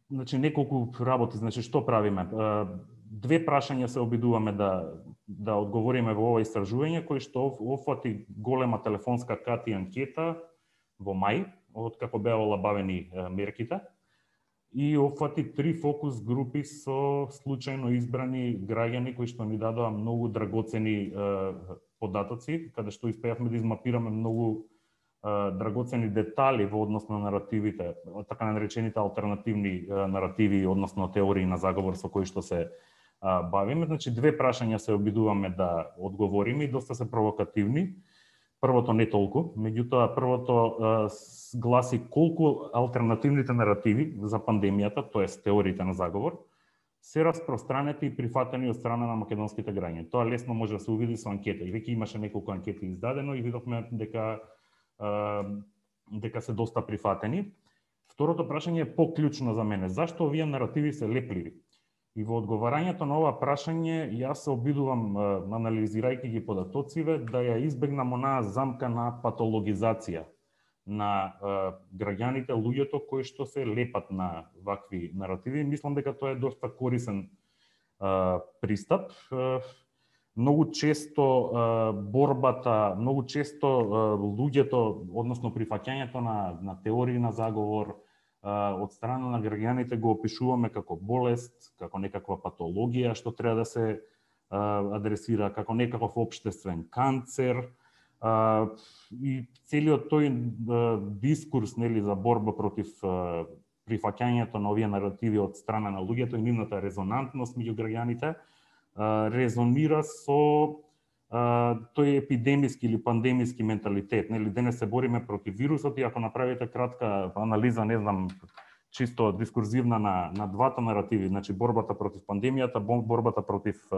значи неколку работи, значи што правиме? Две прашања се обидуваме да одговориме во ова истражување, кој што офати голема телефонска карта и анкета во мај, од како беа олабавени мерките, и офати 3 фокус групи со случајно избрани граѓани кои што ни дадоа многу драгоцени податоци, каде што успеавме да измапираме многу драгоцени детали во однос на наративите, така наречените алтернативни наративи, односно теории на заговор со кои што се бавиме. Значи, две прашања се обидуваме да одговориме и доста се провокативни. Првото не толку, меѓутоа првото гласи колку алтернативните наративи за пандемијата, тоест теориите на заговор, се распространети и прифатени од страна на македонските граѓани. Тоа лесно може да се увиди со анкета. И веќе имаше неколку анкети издадено и видовме дека се доста прифатени. Второто прашање е поклучно за мене. Зашто овие наративи се лепливи? И во одговарањето на ова прашање, јас се обидувам, анализирајќи ги податоциве, да ја избегнам онаа замка на патологизација на граѓаните, луѓето кои што се лепат на вакви наративи. Мислам дека тоа е доста корисен пристап. Многу често луѓето, односно прифаќањето на теории на заговор од страна на граѓаните го опишуваме како болест, како некаква патологија што треба да се адресира, како некаков општествен канцер. И целиот тој дискурс, нели, за борба против прифаќањето на овие наративи од страна на луѓето и нивната резонантност меѓу граѓаните резонира со тој епидемиски или пандемиски менталитет. Нели, денес се бориме против вирусот и ако направите кратка анализа, не знам, чисто дискурзивна на двата наративи, значи борбата против пандемијата, борбата против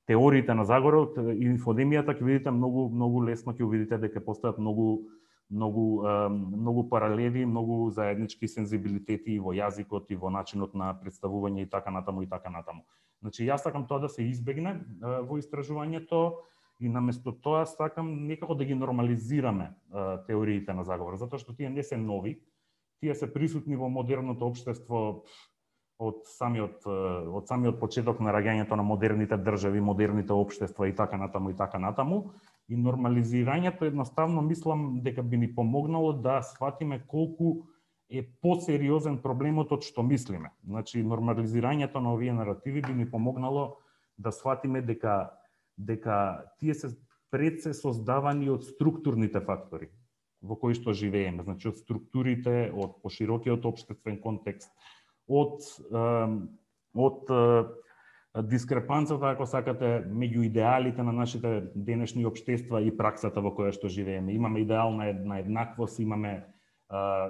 теориите на заговорот и инфодемијата, ќе видите многу лесно ќе видите дека постојат многу паралели, многу заеднички сензибилитети и во јазикот и во начинот на представување и така натаму и така натаму. Значи јас сакам тоа да се избегне во истражувањето и наместо тоа сакам некако да ги нормализираме теориите на заговор, затоа што тие не се нови, тие се присутни во модерното општество од самиот почеток на раѓањето на модерните држави, модерните општества и така натаму. И нормализирањето едноставно мислам дека би ни помогнало да сватиме колку е посериозен проблемот од што мислиме. Значи нормализирањето на овие наративи би ни помогнало да сватиме дека тие се создавани од структурните фактори во кои што живееме, значи од структурите, од поширокиот општествен контекст, од дискрепанцата, ако сакате, меѓу идеалите на нашите денешни општества и праксата во која што живееме. Имаме идеал на еднаквост,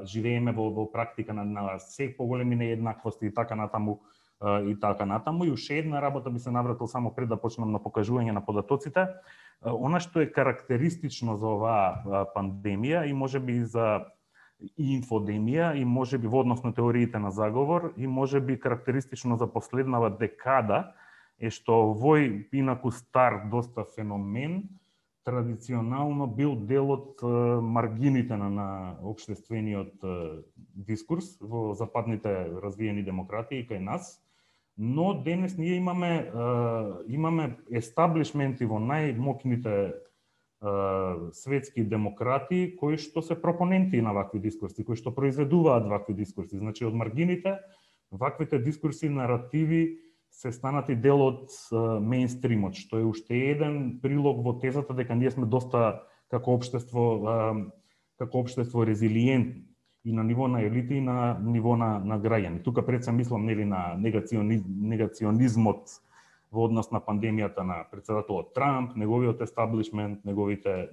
живееме во практика на се поголеми нееднаквости и така натаму. И уште една работа би се навратил само пред да почнам на покажување на податоците. Она што е карактеристично за оваа пандемија и можеби за инфодемија и можеби во однос на теориите на заговор и можеби карактеристично за последнава декада е што овој инаку стар доста феномен традиционално бил дел од маргините на општествениот дискурс во западните развиени демократии кај нас, но денес ние имаме естаблишменти во најмокните светски демократи кои што се пропоненти на вакви дискурси, кои што произведуваат вакви дискурси. Значи од маргините ваквите дискурси, наративи се станати дел од мејнстримот, што е уште еден прилог во тезата дека ние сме доста како општество резилиентни и на ниво на елити и на ниво на граѓани. Тука пред се мислам нели на негационизмот во однос на пандемијата на претседателот Трамп, неговиот естаблишмент, неговите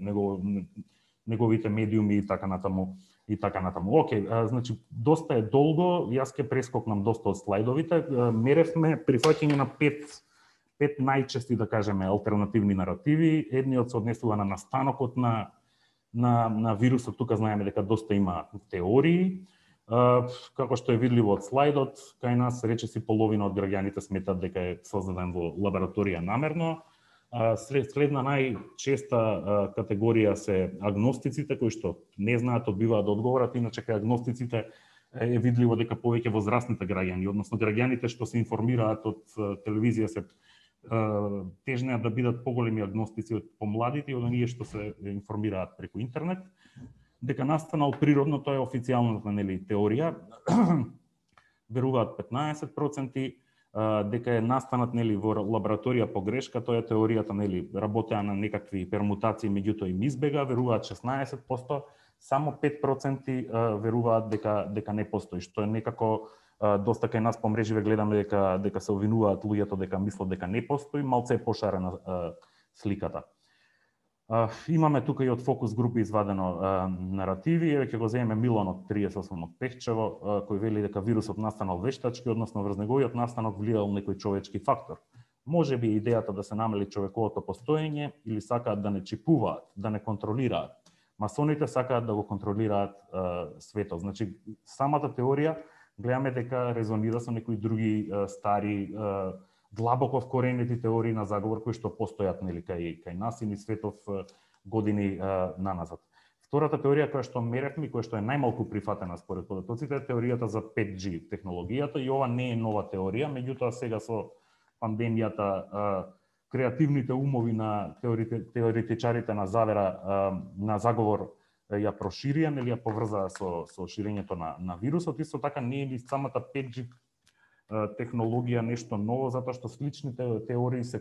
медиуми и така натаму. Океј, значи доста е долго, јас ќе прескокнам доста од слайдовите. Меревме прифаќање на пет најчести, да кажеме, алтернативни наративи. Едниот се однесува на настанокот на вирусот, тука знаеме дека доста има теории. Како што е видливо од слайдот, кај нас речиси половина од граѓаните сметат дека е создаден во лабораторија намерно. Следна најчеста категорија се агностиците, кои што не знаат, одбиваат да одговорат, иначе кај агностиците е видливо дека повеќе возрастните граѓани, односно граѓаните што се информираат од телевизија се тежнеат да бидат поголеми агностици од помладите и од оние што се информираат преку интернет. Дека настанал природно, тоа е официјалната теорија, веруваат 15%, дека е настанат во лабораторија по грешка, тоа е теоријата, работеа на некакви пермутации, меѓутоа им избега, веруваат 16%, само 5% веруваат дека не постои, што е некако доста кај нас по мреживе гледаме дека се обвинуваат луѓето дека мислат дека не постои, малце е пошарена сликата. Имаме тука и од фокус групи извадено наративи, еве ќе го земеме Милон од 38 од Пехчево, кој вели дека вирусот настанал вештачки, односно врз неговиот настанок влијал некој човечки фактор. Може би идејата да се намали човековото постоење или сакаат да не чипуваат, да не контролираат. Масоните сакаат да го контролираат светот. Значи, самата теорија гледаме дека резонира со некои други стари длабоко вкоренети теории на заговор кои што постојат нели кај нас и низ светов години наназад. Втората теорија која што меревме, која што е најмалку прифатена според податоците, е теоријата за 5G технологијата и ова не е нова теорија, меѓутоа сега со пандемијата креативните умови на теоретичарите на завера на заговор ја проширија, нели ја поврзаа со ширењето на вирусот. Исто така не е ли самата 5G технологија нешто ново, затоа што сличните теории се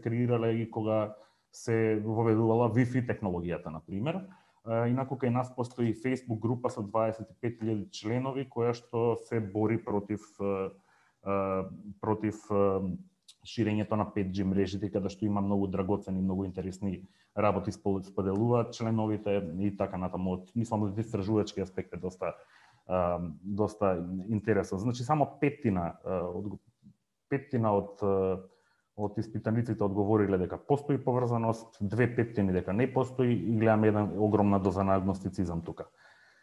креирале и кога се воведувала Wi-Fi технологијата, на пример. Инаку кај нас постои Facebook група со 25.000 членови која што се бори против ширењето на 5G мрежите, каде што има многу драгоцени, многу интересни работи споделуваат членовите и така натаму. Мислам од истражувачки аспект е доста интересно. Значи само петтина од испитаниците одговориле дека постои поврзаност, 2/5 дека не постои и гледаме една огромна доза на агностицизам тука.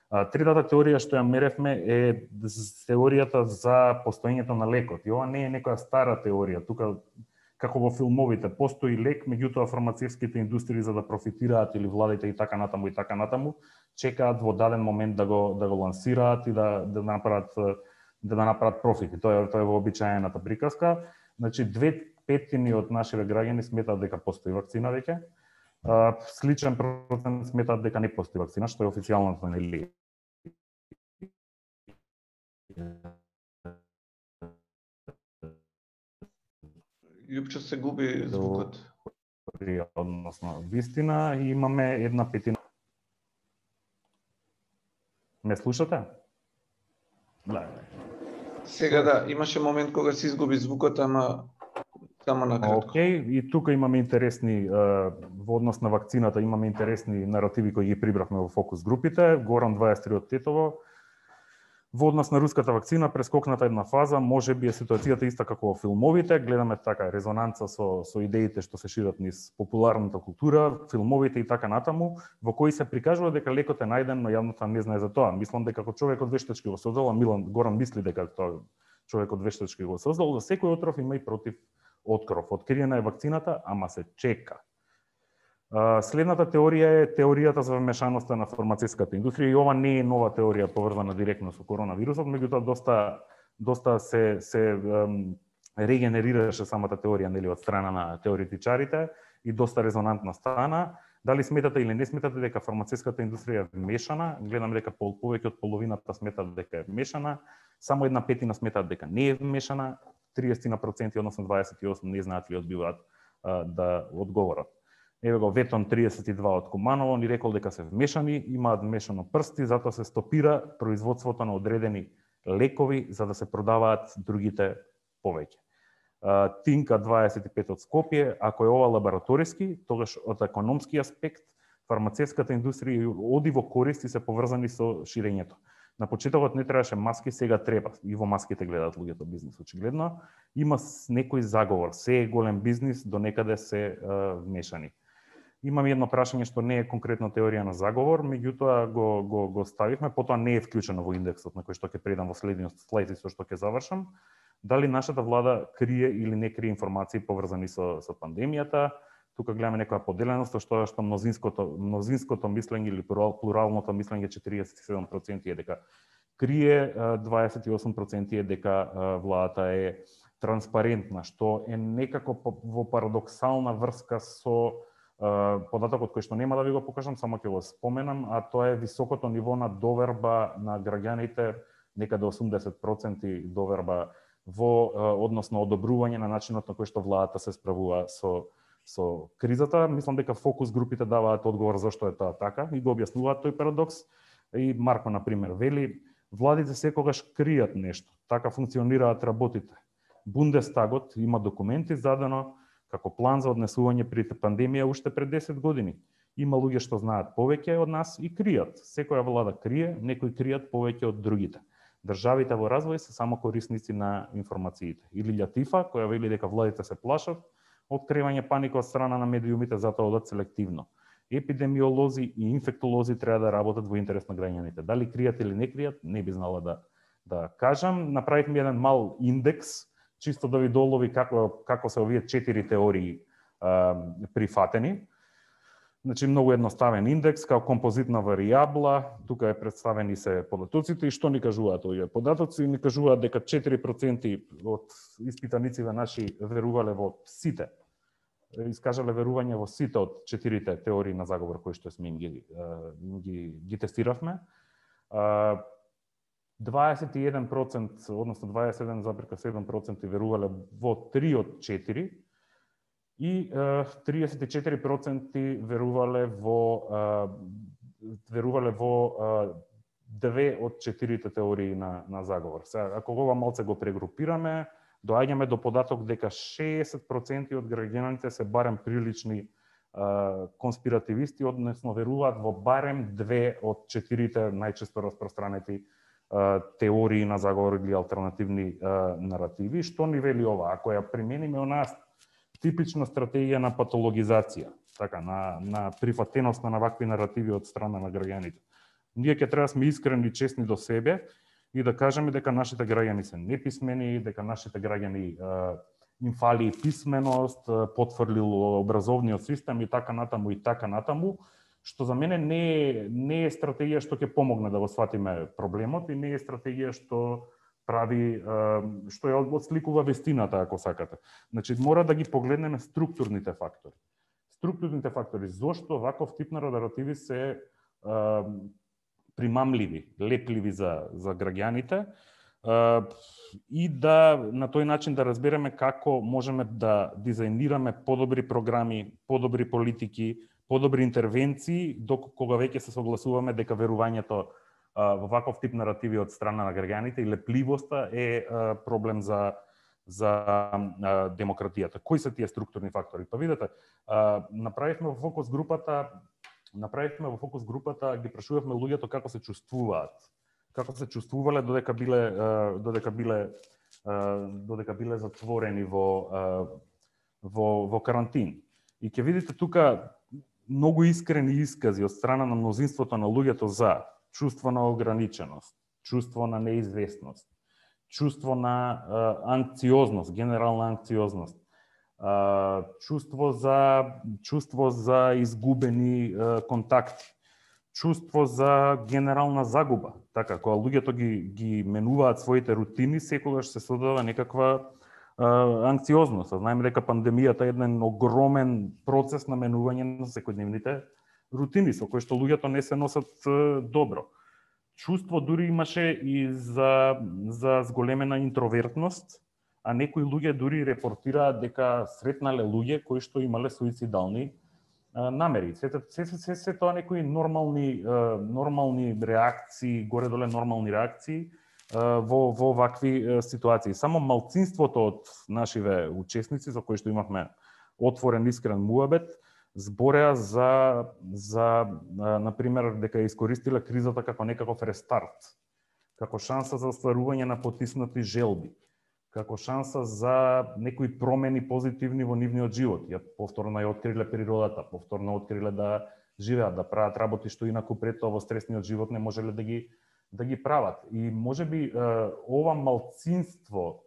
Третата теорија што ја меревме е теоријата за постоењето на лекот. И ова не е некоја стара теорија. Тука, како во филмовите, постои лек, меѓутоа фармацевските индустрии за да профитираат или владите и така натаму, чекаат во даден момент да го лансираат и да направат профити. Тоа е вообичаената приказка. Значи 2/5 од нашите граѓани сметаат дека постои вакцина веќе. Сличен процент сметаат дека не постои вакцина, што е официјалната нели. Јупче се губи звукот. Односно, вистина, имаме 1/5. Ме слушате? Да. Сега да, имаше момент кога се изгуби звукот, ама само накратко. Океј, и тука имаме интересни во однос на вакцината, имаме интересни наративи кои ги прибравме во фокус групите. Горан 23 од Тетово. Во однос на руската вакцина прескокната една фаза, може би е ситуацијата иста како во филмовите, гледаме така резонанца со идеите што се шират низ популарната култура, филмовите и така натаму, во кои се прикажува дека лекот е најден, но јавноста не знае за тоа. Мислам дека како човекот вештачки го создал, Горан мисли дека тоа човекот вештачки го создал, за секој отров има и против откров. Откриена е вакцината, ама се чека. Следната теорија е теоријата за вмешаноста на фармацевската индустрија и ова не е нова теорија поврзана директно со коронавирусот, меѓутоа доста се регенерираше самата теорија нели од страна на теоретичарите и доста резонантна стана. Дали сметате или не сметате дека фармацевската индустрија е вмешана? Гледам дека повеќе од половината сметат дека е вмешана, само 1/5 сметат дека не е вмешана, 30%, односно 28 не знаат ли одбиваат да одговорат. Еве го Ветон 32 од Куманово ни рекол дека се вмешани, имаат вмешано прсти, затоа се стопира производството на одредени лекови за да се продаваат другите повеќе. Тинка 25 од Скопје, ако е ова лабораториски, тогаш од економски аспект фармацевската индустрија оди во корист и се поврзани со ширењето. На почетокот не требаше маски, сега треба. И во маските гледаат луѓето бизнис, очигледно. Има некој заговор, се е голем бизнис, до некаде се вмешани. Имам едно прашање што не е конкретно теорија на заговор, меѓутоа го ставивме, потоа не е вклучено во индексот на кој што ќе предам во следниот слайд и со што ќе завршам. Дали нашата влада крие или не крие информации поврзани со пандемијата? Тука гледаме некоја поделеност, што мнозинското мислење или плуралното мислење 47% е дека крие, 28% е дека владата е транспарентна, што е некако во парадоксална врска со податокот кој што нема да ви го покажам, само ќе го споменам, а тоа е високото ниво на доверба на граѓаните, некаде 80% доверба во односно одобрување на начинот на кој што владата се справува со кризата. Мислам дека фокус групите даваат одговор зашто е тоа така и го објаснуваат тој парадокс. И Марко, на пример, вели, владите секогаш кријат нешто, така функционираат работите. Бундестагот има документи задано како план за однесување при пандемија уште пред 10 години. Има луѓе што знаат повеќе од нас и кријат. Секоја влада крие, некои кријат повеќе од другите. Државите во развој се само корисници на информациите. Или Латифа, која вели дека владите се плашат од кривање паника од страна на медиумите, затоа одат селективно. Епидемиолози и инфектолози треба да работат во интерес на граѓаните. Дали кријат или не кријат, не би знала да кажам. Направивме еден мал индекс, чисто да ви долови како се овие 4 теории прифатени. Значи, многу едноставен индекс, као композитна варијабла, тука е представени се податоците и што ни кажуваат овие податоци? Ни кажуваат дека 4% од испитаниците наши верувале во сите, искажале верување во сите од 4 теории на заговор кои што сме ги тестиравме. 21%, односно 27,7% верувале во 3 од 4, и 34% верувале во 2 од 4 теории на заговор. Сега, ако ова малце го прегрупираме, доаѓаме до податок дека 60% од граѓаните се барем прилични конспиративисти, односно веруваат во барем 2 од 4 најчесто распространети теории на заговор или алтернативни наративи. Што ни вели ова? Ако ја примениме у нас типична стратегија на патологизација, така, на прифатеност на вакви наративи од страна на граѓаните. Ние ќе треба да сме искрени и честни до себе и да кажеме дека нашите граѓани се неписмени, дека нашите граѓани им фали писменост, потврлил образовниот систем и така натаму, што за мене не е стратегија што ќе помогне да го сватиме проблемот и не е стратегија што ја отсликува вестината, ако сакате. Значи, мора да ги погледнеме структурните фактори. Структурните фактори, зошто ваков тип на наративи се примамливи, лепливи за граѓаните, и да на тој начин да разбереме како можеме да дизајнираме подобри програми, подобри политики, подобри интервенции, кога веќе се согласуваме дека верувањето во ваков тип наративи од страна на граѓаните и лепливоста е проблем за демократијата. Кои се тие структурни фактори? Па видете, направивме во фокус групата, ги прашувавме луѓето како се чувствуваат, како се чувствувале додека биле затворени во карантин. И ќе видите тука многу искрени искази од страна на мнозинството на луѓето за чувство на ограниченост, чувство на неизвестност, чувство на анксиозност, генерална анксиозност, чувство за изгубени контакти, чувство за генерална загуба. Така, кога луѓето ги менуваат своите рутини, секогаш се создава некаква анксиозност. Знаеме дека пандемијата е еден огромен процес на менување на секојдневните рутини, со кои што луѓето не се носат добро. Чувство дури имаше и за зголемена интровертност, а некои луѓе дури репортираат дека сретнале луѓе кои што имале суицидални намери. Се тоа некои нормални реакции, горе-доле нормални реакции во вакви ситуации. Само малцинството од нашиве учесници, за кои што имавме отворен искрен муабет, збореа за например, дека искористиле кризата како некаков рестарт, како шанса за остварување на потиснати желби, како шанса за некои промени позитивни во нивниот живот. Повторно ја откриле природата, повторно откриле да живеат, да прават работи што инаку пред тоа во стресниот живот не можеле да ги прават. И можеби ова малцинство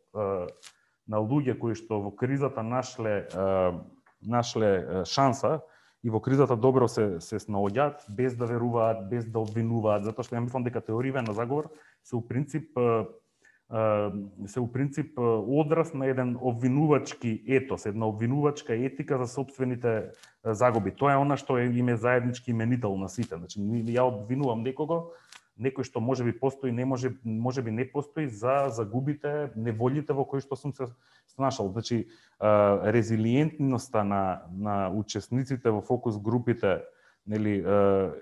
на луѓе кои што во кризата нашле шанса и во кризата добро се снаоѓаат, без да веруваат, без да обвинуваат, затоа што ја мислам дека теориите на заговор се у принцип одраз на еден обвинувачки етос, една обвинувачка етика за сопствените загуби. Тоа е она што им е заеднички именител на сите. Значи, ја обвинувам некој што можеби постои, можеби не постои за загубите, неволите во кои што сум се снашал. Значи, резилиентноста на учесниците во фокус групите, нели,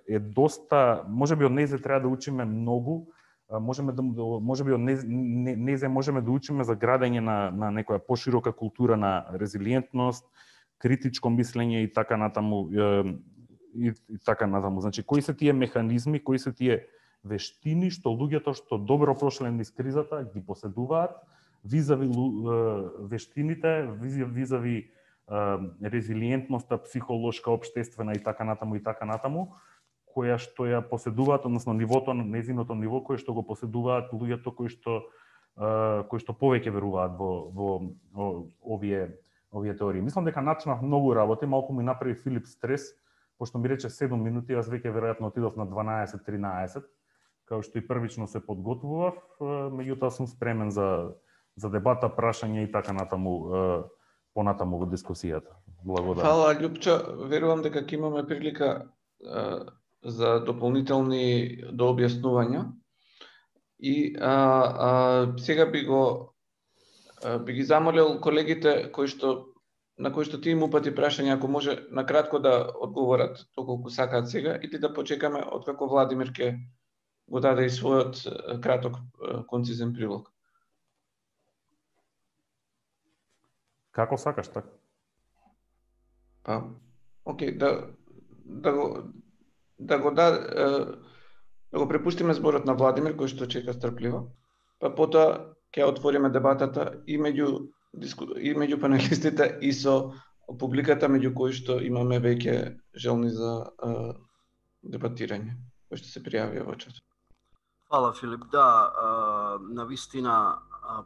е доста, можеби од нејзе треба да учиме многу, можеме можеби од незе можеме да учиме за градење на некоја поширока култура на резилиентност, критичко мислење и така натаму. Значи, кои се тие механизми, кои се тие вештини што луѓето што добро прошле низ кризата ги поседуваат, визави вештините, визави резилиентноста, психолошка, општествена и така натаму, која што ја поседуваат, односно нивото на незиното ниво кое што го поседуваат луѓето кои што повеќе веруваат во овие теории. Мислам дека начнав многу работи, малку ми направи Филип стрес, пошто ми рече 7 минути, јас веќе веројатно отидов на 12-13, као што и првично се подготвував, меѓутоа сум спремен за дебата, прашање и така натаму понатаму во дискусијата. Благодарам. Фала, Љупчо, верувам дека ќе имаме прилика за дополнителни дообјаснувања. И сега би ги замолил колегите на кои што ти им упати прашања, ако може накратко да одговорат доколку сакаат сега, или да почекаме откако Владимир ќе го даде и својот краток концизен прилог. Како сакаш, така? Окей, да го препустиме зборот на Владимир, кој што чека стрпливо, па потоа ќе отвориме дебатата и меѓу панелистите и со публиката, меѓу кои што имаме веќе желни за дебатирање, кои што се пријавија во чат. Фала, Филип. Да, навистина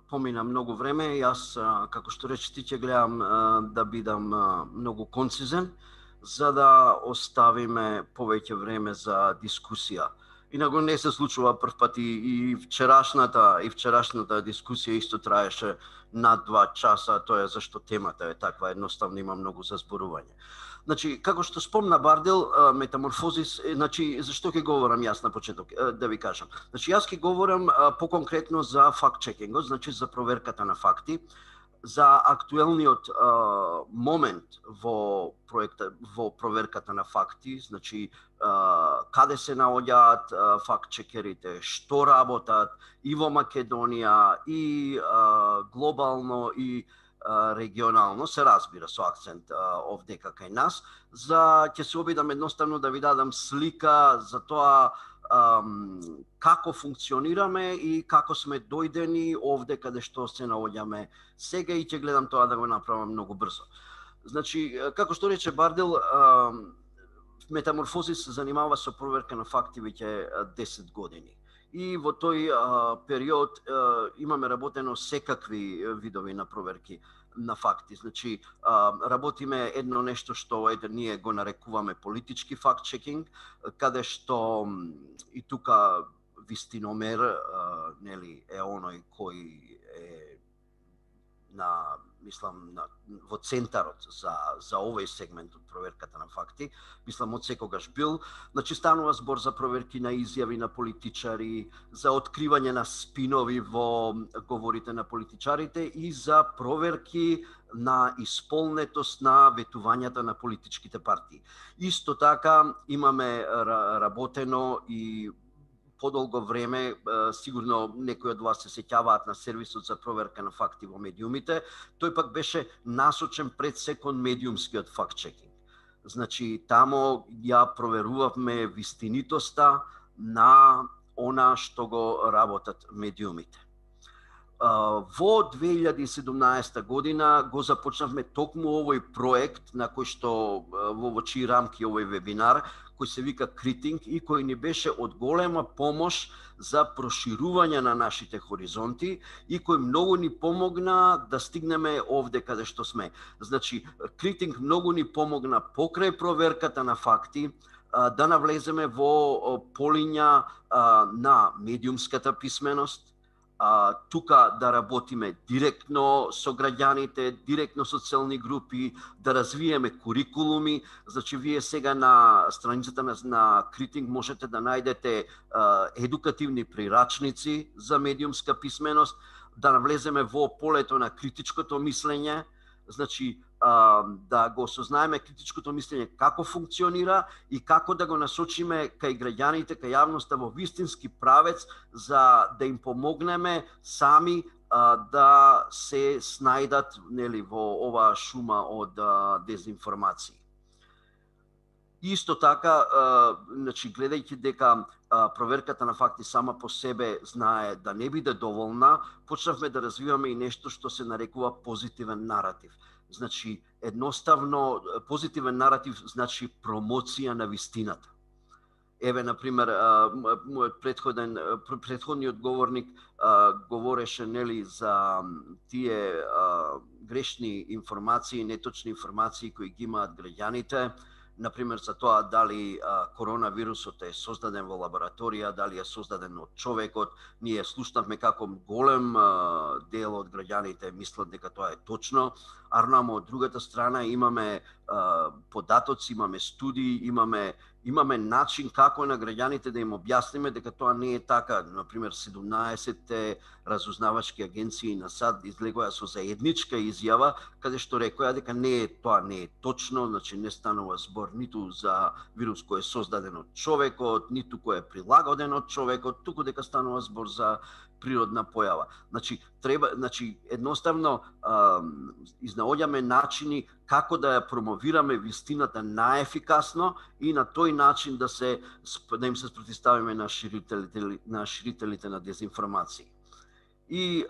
помина многу време. Јас, како што рече ти, ќе гледам да бидам многу концизен, за да оставиме повеќе време за дискусија. Инаку не се случува прв пат и вчерашната дискусија исто траеше над 2 часа, тоа е зашто темата е таква, едноставно има многу за зборување. Значи, како што спомна Бардел, метаморфозис, значи, зашто ќе говорам јас на почеток, да ви кажам. Значи, јас ќе говорам поконкретно за факт-чекингот, значи за проверката на факти, за актуелниот момент во проверката на факти, значи каде се наоѓаат факт-чекерите, што работат и во Македонија, и глобално, и регионално, се разбира со акцент овдека кај нас, ќе се обидам едноставно да ви дадам слика за тоа како функционираме и како сме дојдени овде каде што се наоѓаме сега, и ќе гледам тоа да го направам многу брзо. Значи, како што рече Бардел, Метаморфозис се занимава со проверка на факти веќе 10 години. И во тој период имаме работено секакви видови на проверки на факти. Значи, работиме едно нешто што ние го нарекуваме политички факт-чекинг, каде што и тука вистиномер нели е оној кој е во центарот за овој сегмент од проверката на факти, од секогаш бил. Значи, станува збор за проверки на изјави на политичари, за откривање на спинови во говорите на политичарите и за проверки на исполнетост на ветувањата на политичките партии. Исто така имаме работено и подолго време, сигурно некои од вас се сеќаваат на сервисот за проверка на факти во медиумите, тој пак беше насочен пред се кон медиумскиот факт-чекинг. Значи, тамо ја проверувавме вистинитоста на она што го работат медиумите. Во 2017 година го започнавме токму овој проект на кој што во чии рамки овој вебинар, кој се вика Критинг и кој ни беше од голема помош за проширување на нашите хоризонти и кој многу ни помогна да стигнеме овде каде што сме. Значи, Критинг многу ни помогна покрај проверката на факти да навлеземе во полиња на медиумската писменост, тука да работиме директно со граѓаните, директно со целни групи, да развиеме курикулуми. Значи, вие сега на страницата на Критинг можете да најдете едукативни прирачници за медиумска писменост, да навлеземе во полето на критичкото мислење. Значи, да го осознаеме критичкото мислење како функционира и како да го насочиме кај граѓаните, кај јавноста во вистински правец за да им помогнеме сами да се снајдат во оваа шума од дезинформации. Исто така, гледајќи дека проверката на факти сама по себе знае да не биде доволна, почнавме да развиваме и нешто што се нарекува позитивен наратив. Значи, едноставно, позитивен наратив значи промоција на вистината. Еве, например, мојот претходниот говорник говореше за тие грешни информации, неточни информации кои ги имаат граѓаните, например за тоа дали коронавирусот е создаден во лабораторија, дали е создаден од човекот. Ние слушнавме како голем дел од граѓаните мислат дека тоа е точно, а од другата страна имаме податоци, имаме студии, имаме начин како на граѓаните да им објасниме дека тоа не е така. Например, 17 разузнавачки агенции на САД излегоа со заедничка изјава каде што рекоа дека тоа не е точно, значи не станува збор ниту за вирус кој е создаден од човекот, ниту кој е прилагоден од човекот, туку дека станува збор за природна појава. Значи едноставно изнаоѓаме начини како да ја промовираме вистината наефикасно и на тој начин да им се спротивставиме на ширителите на дезинформации. И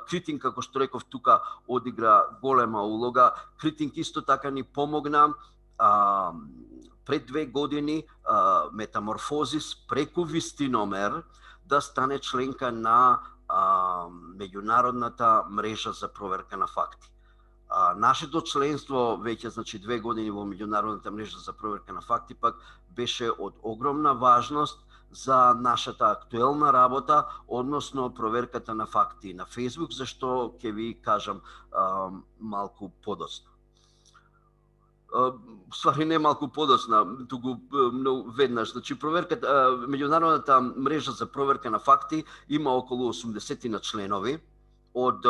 Критинг, како што реков тука, одигра голема улога. Критинг исто така ни помогна пред 2 години Метаморфозис преку Вистиномер да стане членка на меѓународната мрежа за проверка на факти. Нашето членство веќе 2 години во меѓународната мрежа за проверка на факти пак беше од огромна важност за нашата актуелна работа, односно проверката на факти на Facebook, зашто ќе ви кажам малку подоцна. Ствари не малку подоцна, туку веднаш. Значи, меѓународната мрежа за проверка на факти има околу 80 на членови од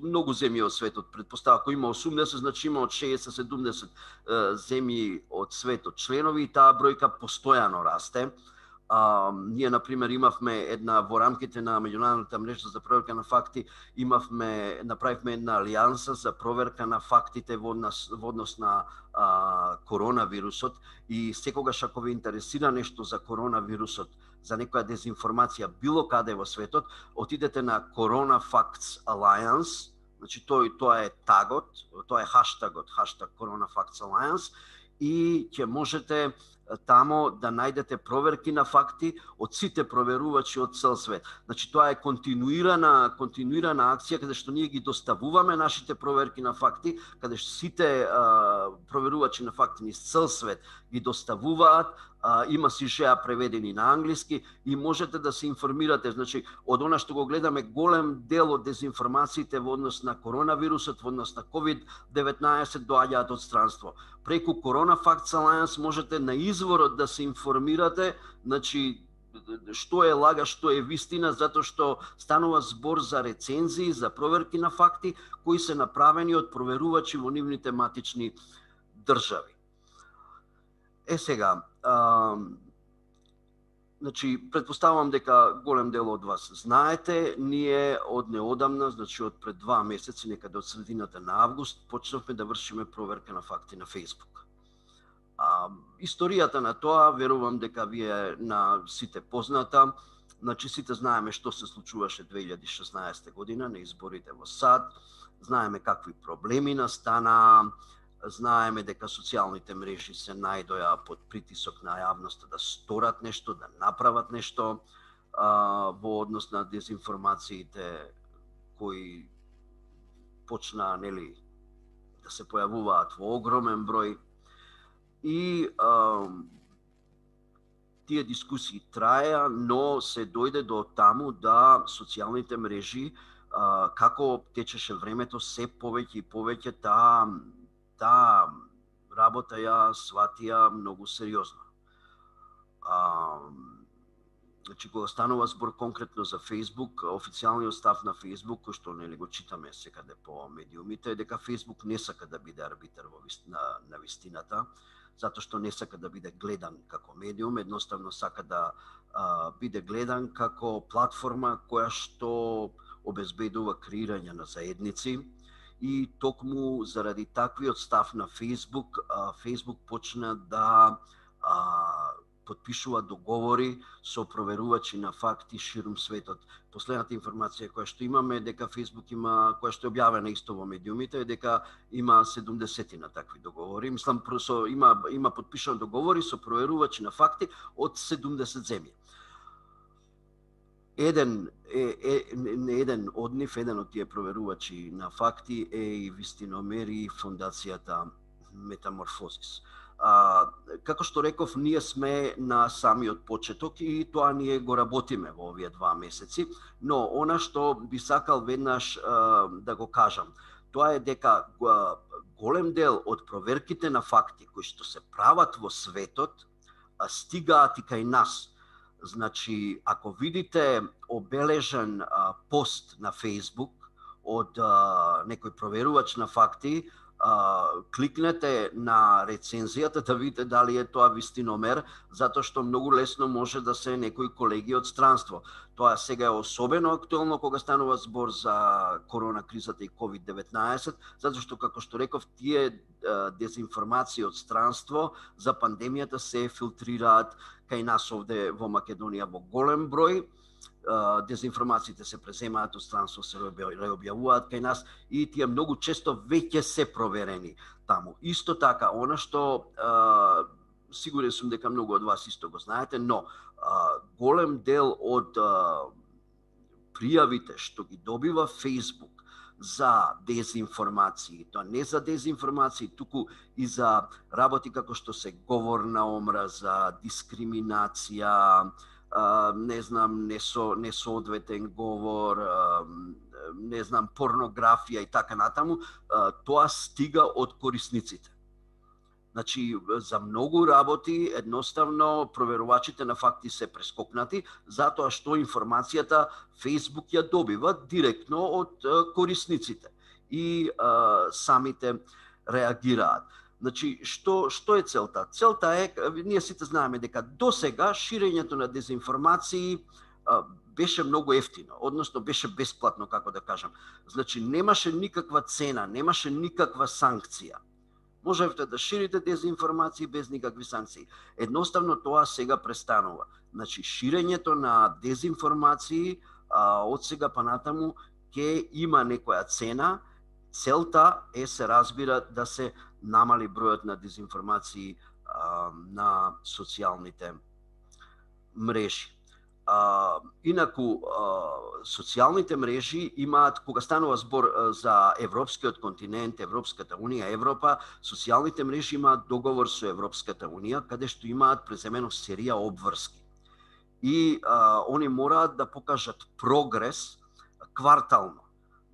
многу земји од светот. Предпостава, ако има 80, значи има од 60-70 земји од светот членови и таа бројка постојано расте. Ние, например, имавме во рамките на меѓународната мрежа за проверка на факти, направивме една алијанса за проверка на фактите во однос на коронавирусот и секогаш ако ве интересира нешто за коронавирусот, за некоја дезинформација било каде во светот, отидете на Corona Facts Alliance, значи тоа е тагот, тоа е хаштагот, хаштаг Corona Facts Alliance, и ќе можете тамо да најдете проверки на факти од сите проверувачи од цел свет. Значи тоа е континуирана акција каде што ние ги доставуваме нашите проверки на факти, каде што сите проверувачи на факти низ цел свет ги доставуваат, има сижеа преведени на англиски и можете да се информирате. Значи, од она што го гледаме, голем дел од дезинформациите во однос на коронавирусот, во однос на COVID-19 доаѓаат од странство. Преку Corona Facts Alliance можете на изворот да се информирате, значи, што е лага, што е вистина, затоа што станува збор за рецензии, за проверки на факти, кои се направени од проверувачи во нивните матични држави. Сега, значи, предпоставувам дека голем дел од вас знаете, ние од неодамна, значи од пред 2 месеци, некаде од средината на август, почнавме да вршиме проверка на факти на Facebook. Историјата на тоа, верувам дека ви е на сите позната. Значи, сите знаеме што се случуваше 2016 година на изборите во САД, знаеме какви проблеми настана, знаеме дека социјалните мрежи се најдоа под притисок на јавноста да сторат нешто, да направат нешто во однос на дезинформациите кои почна да се појавуваат во огромен број. И тие дискусии траеа, но се дојде до таму да социјалните мрежи, како течеше времето, се повеќе и повеќе таа работа ја сватија многу сериозно. Значи, кога станува збор конкретно за Facebook, официјалниот став на Facebook, кој што нели го читаме секаде по медиумите, е дека Facebook не сака да биде арбитар на вистината, затоа што не сака да биде гледан како медиум, едноставно сака да биде гледан како платформа која што обезбедува креирање на заедници, и токму заради таквиот став на Facebook, Facebook почна да подпишува договори со проверувачи на факти ширум светот. Последната информација која што имаме дека Facebook има, која што е објавена исто во медиумите, е дека има 70 на такви договори. Мислам, има подпишани договори со проверувачи на факти од 70 земји. Еден од тие проверувачи на факти е и вистиномер и фондацијата Метаморфозис. Како што реков, ние сме на самиот почеток и тоа ние го работиме во овие 2 месеци, но она што би сакал веднаш да го кажам, тоа е дека голем дел од проверките на факти кои што се прават во светот стигаат и кај нас. Значи, ако видите обележен пост на Facebook од некој проверувач на факти, кликнете на рецензијата да видите дали е тоа вистиномер, затоа што многу лесно може да се некои колеги од странство. Тоа сега е особено актуелно кога станува збор за корона кризата и COVID-19, затоа што, како што реков, тие дезинформации од странство за пандемијата се филтрираат кај нас овде во Македонија во голем број. Дезинформациите се преземаат од странство, се реобјавуваат кај нас и тие многу често веќе се проверени таму. Исто така, она што сигурен сум дека многу од вас исто го знаете, но голем дел од пријавите што ги добива Facebook за дезинформации, тоа не за дезинформации, туку и за работи како што се говорна омраза, дискриминација, не знам, несоодветен говор, не знам, порнографија и така натаму, тоа стига од корисниците. Значи, за многу работи, едноставно, проверувачите на факти се прескокнати, затоа што информацијата Facebook ја добива директно од корисниците и самите реагираат. Значи, што е целта? Целта е, ние сите знаеме дека до сега ширењето на дезинформации беше многу ефтино, односно беше бесплатно, како да кажам. Значи, немаше никаква цена, немаше никаква санкција. Можевте да ширите дезинформации без никакви санкции. Едноставно тоа сега престанува. Значи, ширењето на дезинформации од сега па натаму ќе има некоја цена. Целта е, се разбира, да се намали бројот на дезинформации на социјалните мрежи. Инаку, социјалните мрежи имаат, кога станува збор за Европскиот континент, Европската Унија, Европа, социјалните мрежи имаат договор со Европската Унија, каде што имаат преземено серија обврски. И они мораат да покажат прогрес квартално.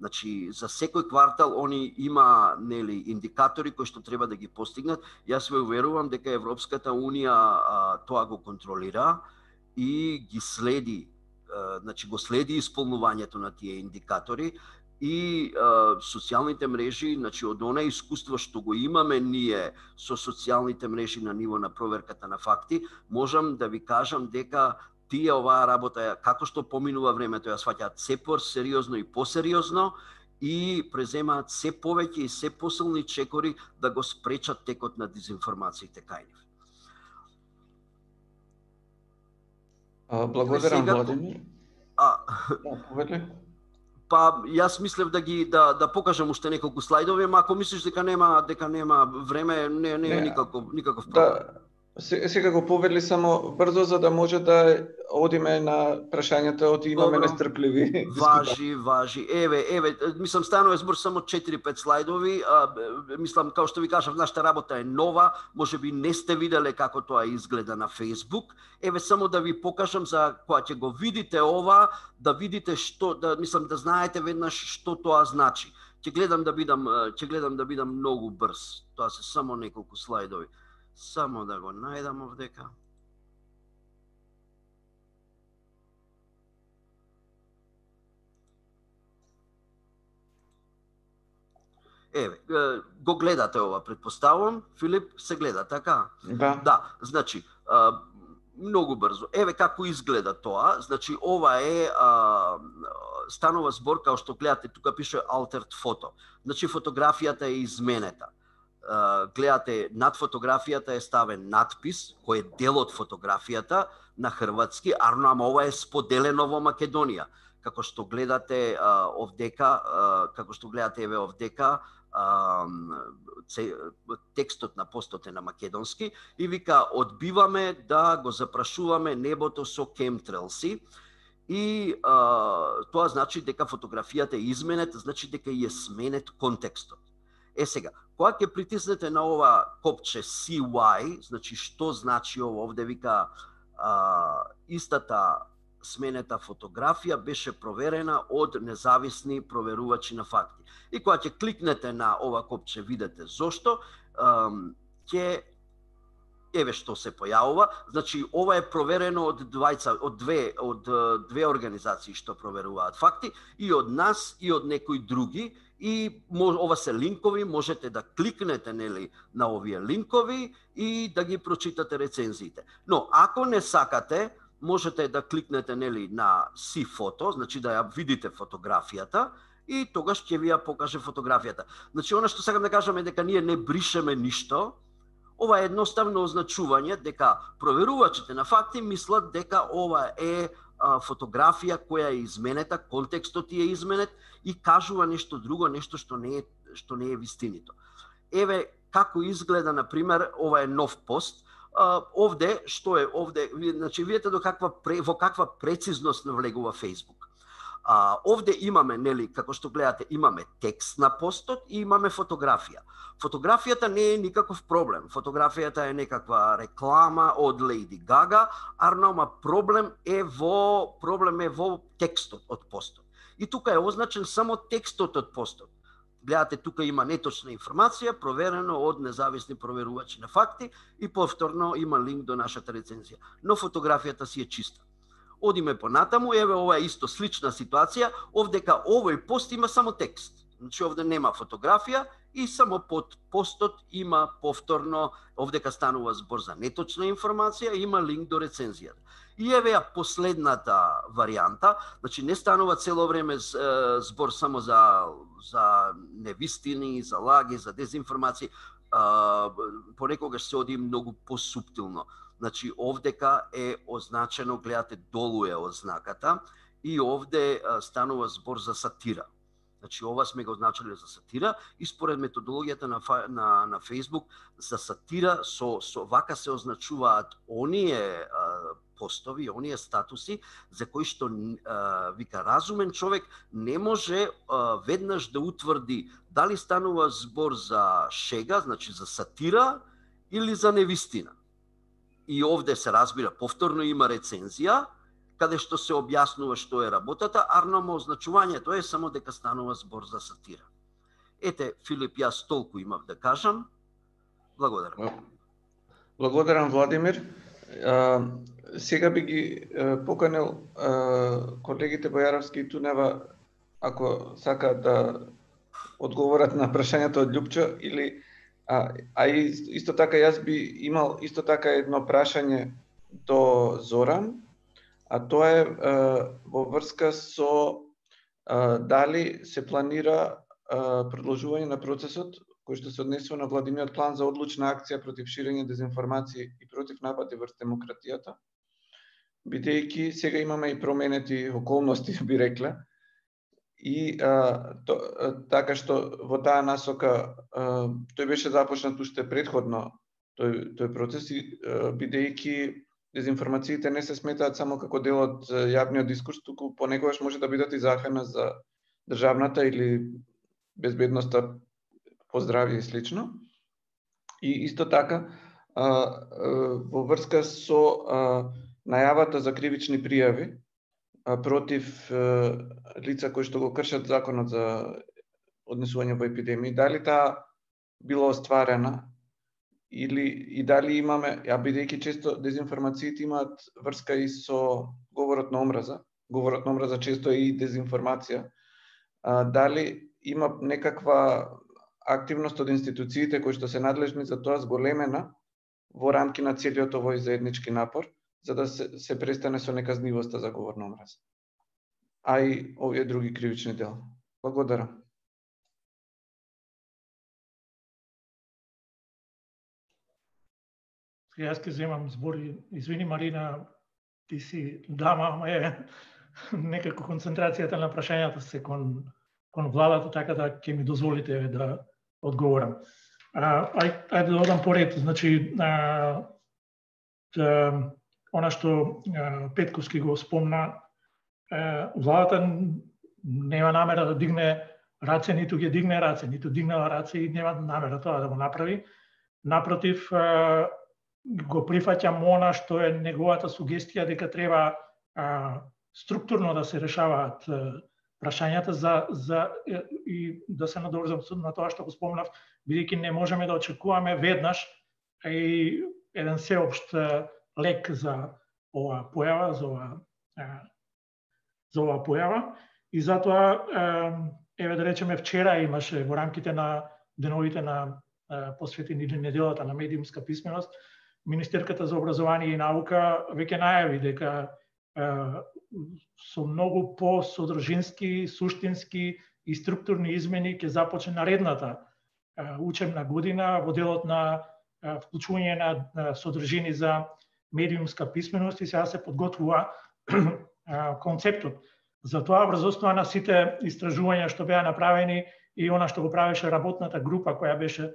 Значи, за секој квартал они има индикатори кои што треба да ги постигнат. Јас ве уверувам дека Европската Унија тоа го контролира и ги следи, значи го следи исполнувањето на тие индикатори и социјалните мрежи, значи од она искуство што го имаме ние со социјалните мрежи на ниво на проверката на факти, можам да ви кажам дека тие оваа работа, како што поминува времето, ја сваќаат се по-сериозно и посериозно и преземаат се повеќе и се посилни чекори да го спречат текот на дезинформациите кај нив. Благодарам, Владимир. Па јас мислев да покажам уште неколку слайдови, ама ако мислиш дека нема време, не е никаков проблем. Сега го повели само брзо за да може да одиме на прашањата, од имаме нестрпливи. Важи. Еве, мислам станува збор само 4-5 слайдови. Мислам, како што ви кажав, нашата работа е нова, можеби не сте виделе како тоа изгледа на Facebook. Еве само да ви покажам за кога ќе го видите ова, да видите што, да знаете веднаш што тоа значи. Ќе гледам да бидам многу брз. Тоа се само неколку слайдови. Само да го најдам овдека. Еве, го гледате ова, предпоставувам, Филип, се гледа, така? Да. Да, значи, многу брзо. Еве како изгледа тоа. Значи, ова е станува збор, као што гледате, тука пише altered photo. Значи, фотографијата е изменета. Гледате, над фотографијата е ставен надпис, кој е дел од фотографијата на хрватски, ама ова е споделено во Македонија. Како што гледате еве овдека, текстот на постот е на македонски и вика одбиваме да го запрашуваме небото со кемтрелси и тоа значи дека фотографијата е изменет, значи дека е сменет контекстот. Сега, кога ќе притиснете на ова копче CY, значи што значи ова, овде вика истата сменета фотографија беше проверена од независни проверувачи на факти. И кога ќе кликнете на ова копче, видите зошто, ќе еве што се појавува. Значи ова е проверено од две организации што проверуваат факти, и од нас и од некои други, и ова се линкови, можете да кликнете нели на овие линкови и да ги прочитате рецензиите. Но ако не сакате, можете да кликнете нели на See Photo, значи да ја видите фотографијата и тогаш ќе ви ја покаже фотографијата. Значи она што сакам да кажам е дека ние не бришеме ништо. Ова е едноставно означување дека проверувачите на факти мислат дека ова е фотографија која е изменета, контекстот е изменет и кажува нешто друго, нешто што не е вистинито. Еве како изгледа, на пример, ова е нов пост. Овде што е овде, значи видите во каква прецизност навлегува Facebook. Овде имаме, нели, како што гледате, имаме текст на постот и имаме фотографија. Фотографијата не е никаков проблем. Фотографијата е некаква реклама од Лејди Гага, ама проблем е во текстот од постот. И тука е означен само текстот од постот. Гледате, тука има неточна информација, проверено од независни проверувачи на факти и повторно има линк до нашата рецензија. Но фотографијата си е чиста. Одиме понатаму, еве ова е исто слична ситуација, овдека овој пост има само текст. Значи овде нема фотографија и само под постот има повторно, овдека станува збор за неточна информација, има линк до рецензијата. И еве ја последната варијанта, значи не станува цело време збор само за невистини, за лаги, за дезинформации, понекогаш се оди многу посуптилно. Значи овдека е означено, гледате, долу е ознаката и овде станува збор за сатира. Значи ова сме го означали за сатира и според методологијата на Facebook за сатира со вака се означуваат оние постови, оние статуси за кои што вика разумен човек не може веднаш да утврди дали станува збор за шега, значи за сатира или за невистина. И овде се разбира, повторно има рецензија, каде што се објаснува што е работата, ама означувањето е само дека станува збор за сатира. Ете, Филип, јас толку имав да кажам. Благодарам. Благодарам, Владимир. Сега би ги поканил колегите Бојаровски и Тунева, ако сакаат да одговорат на прашањето од Љупчо, или исто така јас би имал исто така едно прашање до Зоран, а тоа е во врска со дали се планира продолжување на процесот кој што се однесува на Владиниот план за одлучна акција против ширење дезинформации и против напади врз демократијата, бидејќи сега имаме и променети околности, би рекле, и така што во таа насока тој беше започнат уште предходно тој процес, бидејќи дезинформациите не се сметаат само како дел од јавниот дискурс, туку понекогаш може да бидат и захрана за државната или безбедноста по здравје и слично. И исто така во врска со најавата за кривични пријави против лица кои што го кршат законот за однесување во епидемии, дали таа била остварена и дали имаме, бидејќи често дезинформациите имаат врска и со говорот на омраза. Говорот на омраза често е и дезинформација. Дали има некаква активност од институциите кои што се надлежни за тоа зголемена во рамки на целиот овој заеднички напор, за да се престане со неказнивоста за говор на омраза, а и овие други кривични дела. Благодарам. Јас ќе земам збор. Извини, Марина, ти си дама, ама е некако концентрацијата на прашањата се кон владата, така да ќе ми дозволите да одговорам. Ајде да одам поред. Значи, она што Петковски го спомна, владата нема намера да дигне раце, ниту ги дигне раце, ниту дигнала раце и нема намера тоа да го направи. Напротив, го прифаќам она што е неговата сугестија дека треба структурно да се решаваат прашањата и да се надоврзам на тоа што го спомнав, бидејќи не можеме да очекуваме веднаш и еден сеопшт лек за оваа појава, за оваа појава. И затоа, еве да речеме, вчера имаше во рамките на деновите на посветени неделата на медиумска писменост, Министерката за образование и наука веќе најави дека со многу по-содржински, суштински и структурни измени ќе започне наредната учебна година во делот на вклучување на содржини за медиумска писменост и сега се подготвува концептот. Затоа врз основа на сите истражувања што беа направени и она што го правеше работната група која беше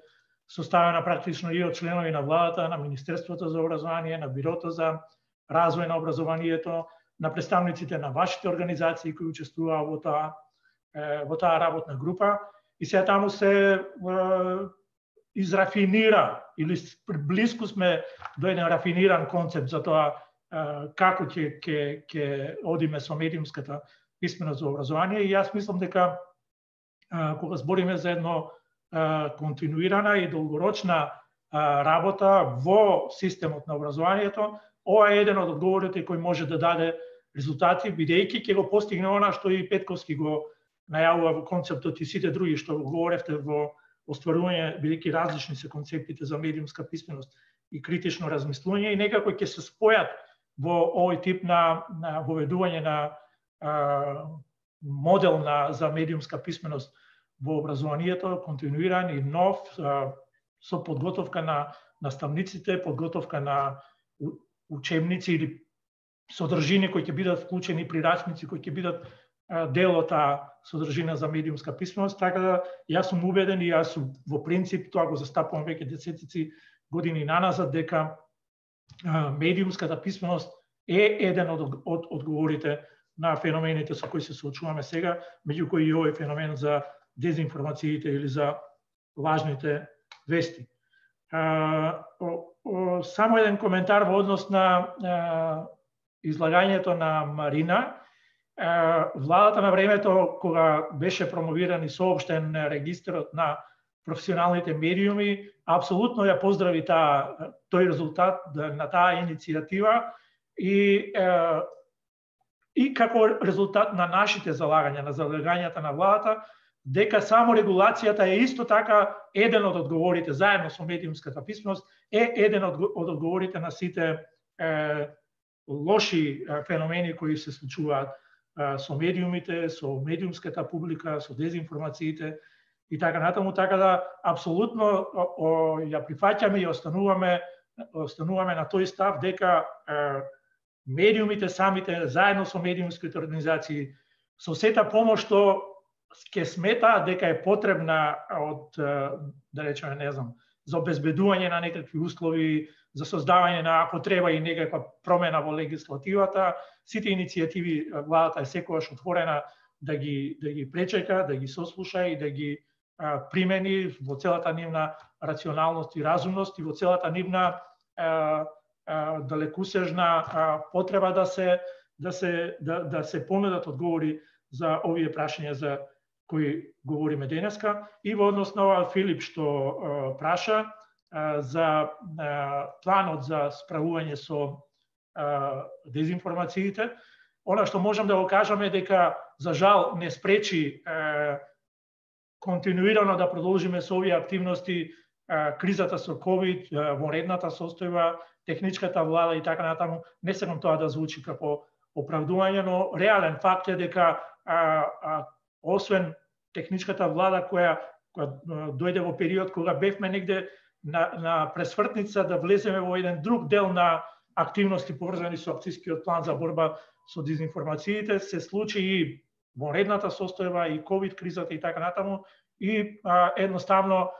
составена практично и од членови на владата, на Министерството за образование, на Бирото за развој на образованието, на представниците на вашите организации кои учествуваа во таа работна група. И сега таму се израфинира, или близко сме до еден рафиниран концепт за тоа како ќе одиме со медиумската писменост за образование. И јас мислам дека кога збориме за едно континуирана и долгорочна работа во системот на образованието, ова е еден од одговорите кој може да даде резултати, бидејќи ќе го постигне она што и Петковски го најавува во концептот и сите други што говоревте во остварување, бидејќи различни се концептите за медиумска писменост и критично размислување, и некако ќе се спојат во овој тип на воведување на модел за медиумска писменост во образованието, континуиран и нов, со подготовка на наставниците, подготовка на учебници или содржини кои ќе бидат вклучени, прирачници кои ќе бидат дел од таа содржина за медиумска писменост. Така да јас сум убеден и јас во принцип тоа го застапувам веќе десетици години наназад дека медиумската писменост е еден од одговорите на феномените со кои се соочуваме сега, меѓу кои и овој феномен за дезинформациите или за лажните вести. Само еден коментар во однос на излагањето на Марина. Владата на времето, кога беше промовиран и соопштен регистарот на професионалните медиуми, апсолутно ја поздрави тој резултат на таа иницијатива и како резултат на нашите залагања, на залагањата на владата, дека само регулацијата е исто така еден од одговорите, заедно со медиумската писменост, е еден од одговорите на сите лоши феномени кои се случуваат со медиумите, со медиумската публика, со дезинформациите и така натаму, така да апсолутно ја прифаќаме и остануваме на тој став дека медиумите самите, заедно со медиумските организации, со сета помош што ќе сметаат дека е потребна од, да речеме, не знам, за обезбедување на некакви услови, за создавање на, ако треба, и некаква промена во легислативата, сите иницијативи владата е секогаш отворена да ги пречека, да ги сослуша и да ги примени во целата нивна рационалност и разумност и во целата нивна далекусежна потреба да се понудат одговори за овие прашања за кои говориме денеска. И во однос на ова Филип што праша за планот за справување со дезинформациите, она што можам да го кажам е дека за жал не спречи континуирано да продолжиме со овие активности, кризата со ковид, вонредната состојба, техничката влада и така натаму. Не сакам тоа да звучи како оправдување, но реален факт е дека освен техничката влада која дојде во период кога бевме негде на пресвртница да влеземе во еден друг дел на активности поврзани со акцијскиот план за борба со дезинформациите, се случи и вонредната состојба и ковид кризата и така натаму, и едноставно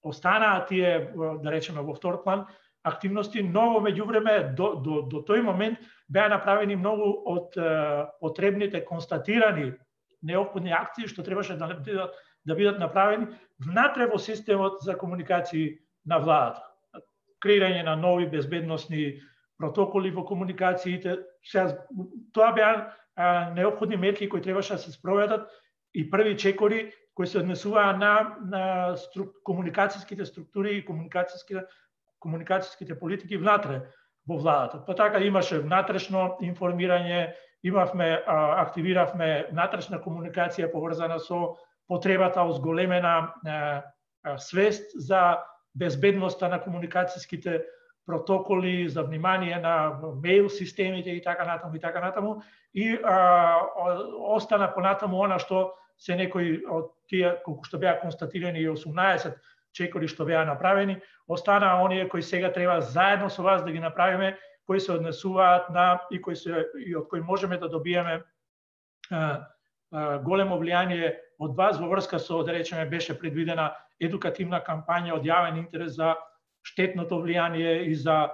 останаа тие, да речеме, во втор план активности, но во меѓувреме до тој момент беа направени многу од потребните констатирани неопходни акции што требаше да бидат направени внатре во системот за комуникации на владата. Креирање на нови безбедносни протоколи во комуникациите. Тоа беа неопходни мерки кои требаше да се спроведат и први чекори кои се однесуваа на комуникацијските структури и комуникацијските политики внатре во владата. Па така имаше внатрешно информирање, активиравме внатрешна комуникација поврзана со потребата од зголемена свест за безбедноста на комуникацијските протоколи, за внимание на мејл системите и така натаму. И остана понатаму она што се некои од тие, колку што беа констатирани и 18 чекори што беа направени, останаа оние кои сега треба заедно со вас да ги направиме, кои се однесуваат на и од кои можеме да добиеме големо влијание од вас во врска со, да речеме, беше предвидена едукативна кампања од јавен интерес за штетното влијание и за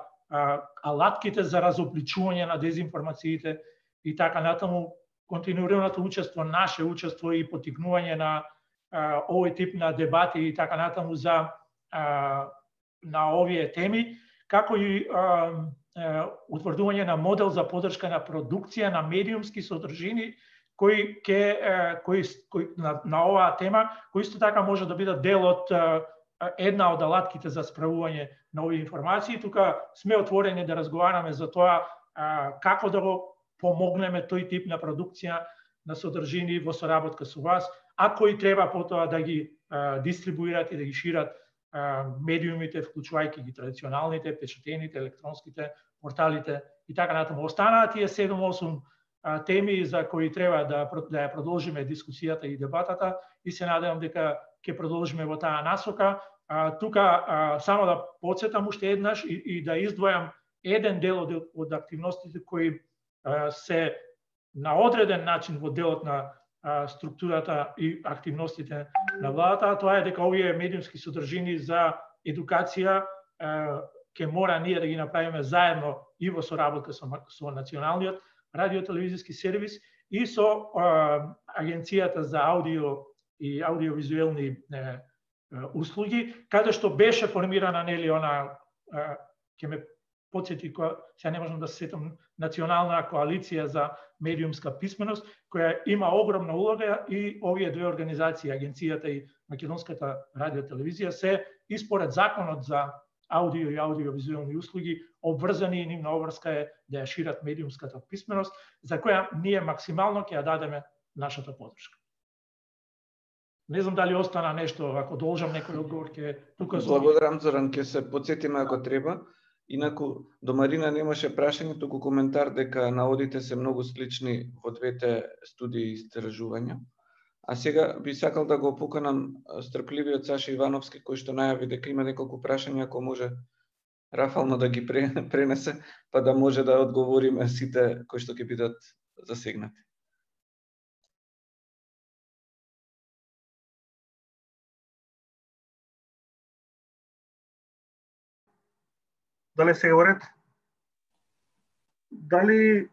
алатките за разобличување на дезинформациите и така натаму. Континуираното учество, наше учество и потикнување на овој тип на дебати и така натаму на овие теми, како и утврдување на модел за поддршка на продукција на медиумски содржини кои на оваа тема, кои исто така може да бидат дел од една од алатките за справување на овие информации. Тука сме отворени да разговараме за тоа како да го помогнеме тој тип на продукција на содржини во соработка со вас, а кои треба потоа да ги дистрибуират и да ги шират медиумите, вклучувајќи ги традиционалните, печатените, електронските, порталите и така натаму. Останаа тие 7-8 теми за кои треба да ја продолжиме дискусијата и дебатата и се надевам дека ќе продолжиме во таа насока. Тука само да потсетам уште еднаш и да издвојам еден дел од активностите кои се на одреден начин во делот на структурата и активностите на владата, тоа е дека овие медиумски содржини за едукација ќе мора ние да ги направиме заедно и во соработка со Националниот радиотелевизиски сервис и со Агенцијата за аудио и аудиовизуелни услуги, каде што беше формирана, нели, она, ќе ме потсети, сега не можам да се сетам, Национална коалиција за медиумска писменост, која има огромна улога и овие две организации, Агенцијата и Македонската радиотелевизија, се испоред законот за аудио и аудиовизуелни услуги обврзани и нивна обврска е да ја шират медиумската писменост, за која ние максимално ќе ја дадеме нашата поддршка. Не знам дали остана нешто, ако должам некој одговор, ќе тука... Благодарам, Зоран, ќе се потсетиме ако треба. Инаку, до Марина немаше прашање, туку коментар дека наводите се многу слични во двете студии и истражувања. А сега би сакал да го поканам стрпливиот Саша Ивановски, кој што најави дека има неколку прашања, ако може рафално да ги пренесе, па да може да одговориме сите кои што ќе бидат засегнати. Дали се говорат? Дали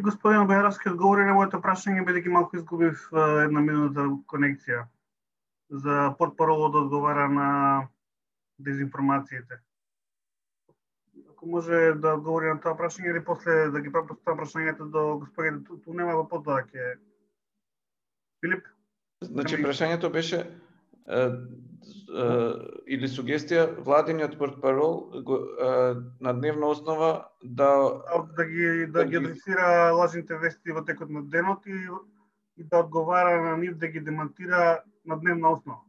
господин Бејаровски одговори на моето прашање, бидејќи малку изгубив една минута конекција за портпаролот да одговара на дезинформациите? Ако може да одговори на тоа прашање или после да ги поставам прашањето до господин Тунема, во потоа ќе... Филип? Значи, прашањето беше или сугестија владиниот портпарол на дневна основа да ги адресира лажните вести во текот на денот и да одговара на нив да ги демонтира на дневна основа.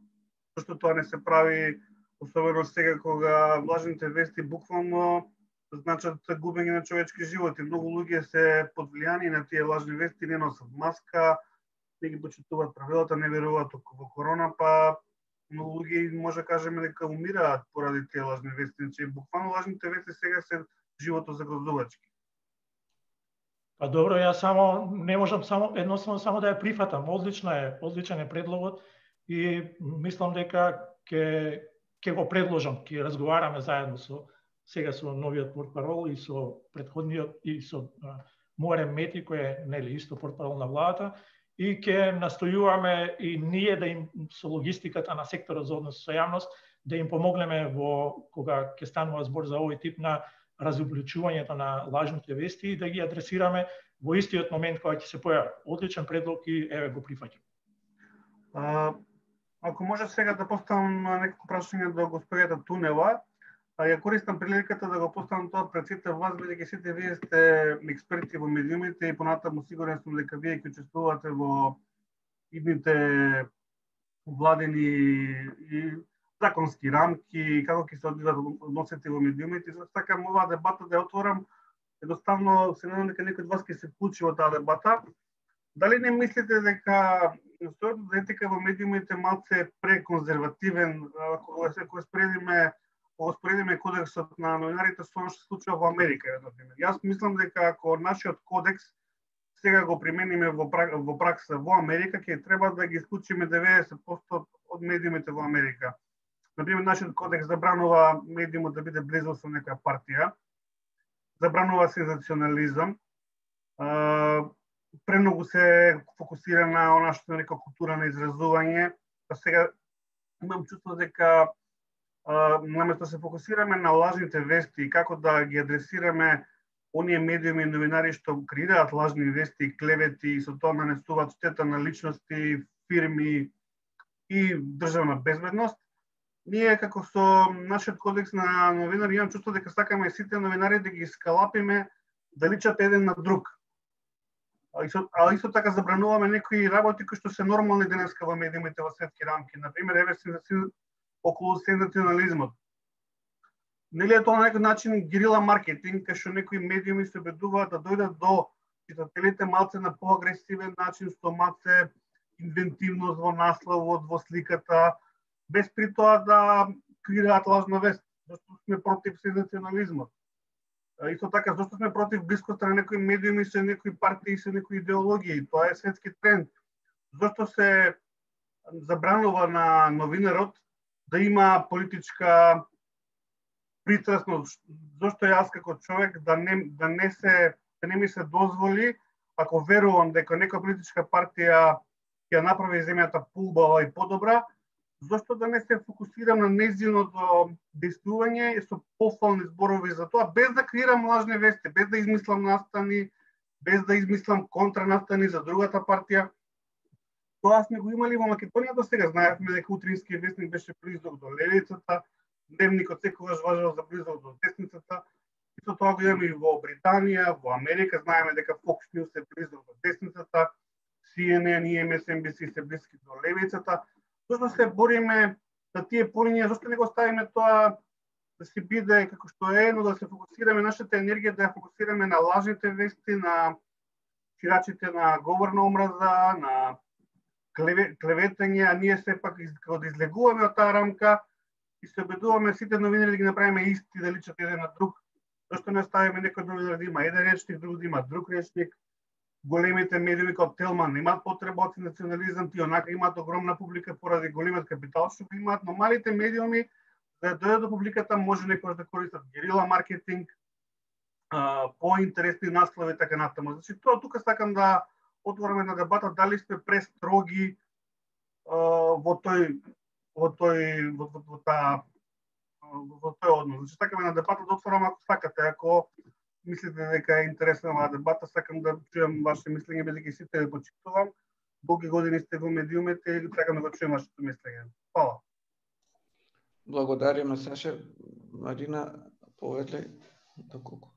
Зашто тоа не се прави, особено сега кога лажните вести буквално значат губење на човечки животи. Многу луѓе се под влијание на тие лажни вести, не носат маска, не ги почитуваат правилата, не веруваат во корона, па многу луѓе може да кажеме дека умираат поради тие лажни вести. Значи, буквално лажните вести сега се живото загрозувачки. Па добро, јас не можам едноставно само да ја прифатам. Одличен е предлогот и мислам дека ќе го предложам, ќе разговараме заедно сега со новиот портпарол и со претходниот и со Муарем Мети, кој е нели исто портпарол на владата, и ќе настојуваме и ние да им со логистиката на секторот за однос со јавност да им помогнеме кога ќе станува збор за овој тип на разобличувањето на лажните вести и да ги адресираме во истиот момент кога ќе се појави. Одличен предлог и еве го прифаќам. Ако може сега да поставам неколку прашања до господјата Тунева, ја користам приликата да го поставам тоа пред сите вас, бидејќи сите вие сте експерти во медиумите и понатаму сигурен сум дека вие ќе учествувате во идните владени и законски рамки, како ќе се одвиват односите во медиумите. Затоа сакам оваа дебата да ја отворам. Едноставно се надевам дека некој од вас ќе се вклучи во таа дебата. Дали не мислите дека настојот за етика во медиумите малце преконзервативен, кога споредиме кодексот на новинарите со што се случува во Америка, например. Јас мислам дека ако нашиот кодекс сега го примениме во пракса во Америка, ќе треба да ги исклучиме 90% од медиумите во Америка. Например, нашиот кодекс забранува медиумот да биде близо со некоја партија, забранува сензационализам, премногу се фокусира на она што е нека култура на изразување. Па сега имам чувство дека наместо се фокусираме на лажните вести и како да ги адресираме оние медиуми и новинари што креираат лажни вести, клевети и со тоа нанесуваат штета на личности, фирми и државна безбедност, ние како со нашиот кодекс на новинари имам чувство дека сакаме сите новинари да ги скалапиме да личат еден на друг. А исто така забрануваме некои работи кои што се нормални денеска во медиумите во светски рамки. Например, еве околу сензационализмот. Нели е тоа на некој начин герила маркетинг, кај што некои медиуми се обидуваат да дојдат до читателите малце на поагресивен начин, со малце инвентивност во насловот, во сликата, без при тоа да креираат лажна вест. Зашто сме против сензационализмот. Исто така, зашто сме против блискоста на некои медиуми со некои партии, со некои идеологии. Тоа е светски тренд. Зашто се забранува на новинарот да има политичка пристрасност, зашто јас како човек да не ми се дозволи, ако верувам дека некоја политичка партија ќе направи земјата поубава и подобра, зашто да не се фокусирам на нејзиното действување и со пофални зборови за тоа, без да креирам лажни вести, без да измислам настани, без да измислам контранастани за другата партија. Тоа сме го имали во Македонија до сега. Знаевме дека утринскиот вестник беше близок до левицата, дневникот секогаш важел за близок до десницата. Исто тоа го имаме и во Британија, во Америка. Знаеме дека Fox News е близок до десницата, CNN и MSNBC се близки до левицата. Зашто се бориме за тие полиња, зашто не го ставиме тоа да се биде како што е, но да се фокусираме нашата енергија, да ја фокусираме на лажните вести, на ширачите на говор на омраза, на клеветање, а ние сепак да излегуваме од таа рамка и се обидуваме сите новинари да ги направиме исти, да личат еден на друг. Зашто не оставиме некој новинар да има еден речник, друг да има друг речник. Големите медиуми како Телман имаат потреба од национализам, тие онака имаат огромна публика поради големиот капитал што го имаат, но малите медиуми да дојдат до публиката може некој да користат герила маркетинг, поинтересни наслови така натаму. Значи тоа тука сакам да отвориме на дебата дали сме престроги во тој однос. Значи сакаме на дебата да отворам ако сакате, ако мислите дека е интересна оваа дебата, сакам да чујам ваше мислење, бидејќи сите ви почитувам. Долги години сте во медиумите и сакам да го чујам вашето мислење. Фала. Благодариме, Саша. Марина, повеќе доколку.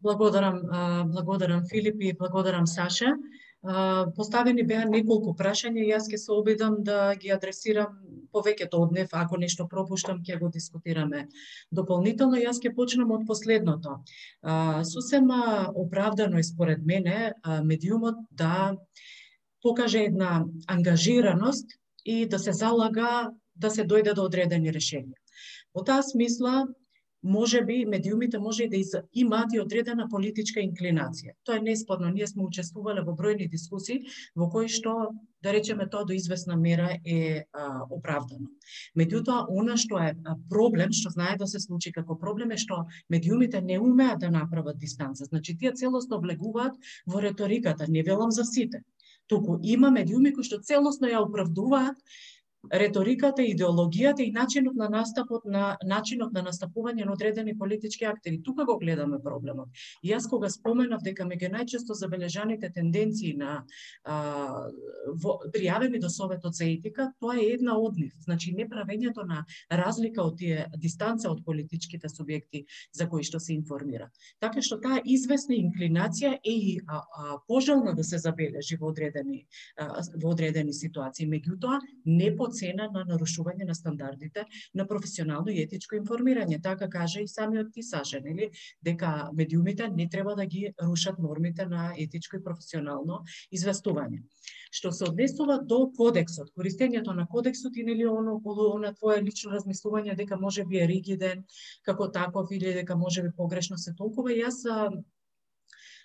Благодарам Филип и благодарам Саша. Поставени беа неколку прашања, јас ќе се обидам да ги адресирам повеќето од нив, ако нешто пропуштам ќе го дискутираме дополнително. Јас ќе почнам од последното. Сосема оправдано е според мене медиумот да покаже една ангажираност и да се залага да се дојде до одредени решенија. Во таа смисла, можеби медиумите може и да имаат и одредена политичка инклинација. Тоа е неспорно. Ние сме учествувале во бројни дискусии во кои што, да речеме, тоа до известна мера е оправдано. Меѓутоа, она што е проблем, што знае да се случи како проблем е што медиумите не умеат да направат дистанца. Значи, тие целосно влегуваат во реториката, не велам за сите. Туку има медиуми кои што целосно ја оправдуваат реториката, идеологијата и начинот на настапот начинот на настапување на одредени политички актери. Тука го гледаме проблемот. И јас кога споменав дека меѓу најчесто забележаните тенденции на пријавени до Советот за етика, тоа е една од нив. Значи неправењето на разлика од тие дистанца од политичките субјекти за кои што се информира. Така што таа известна инклинација е и пожелна да се забележи во одредени ситуации. Меѓутоа, не по цена на нарушување на стандардите на професионално и етичко информирање. Така каже и самиот ти, Саша, нели, дека медиумите не треба да ги рушат нормите на етичко и професионално известување. Што се однесува до кодексот, користењето на кодексот и нели околу на твое лично размислување дека можеби е ригиден како таков или дека можеби погрешно се толкува, јас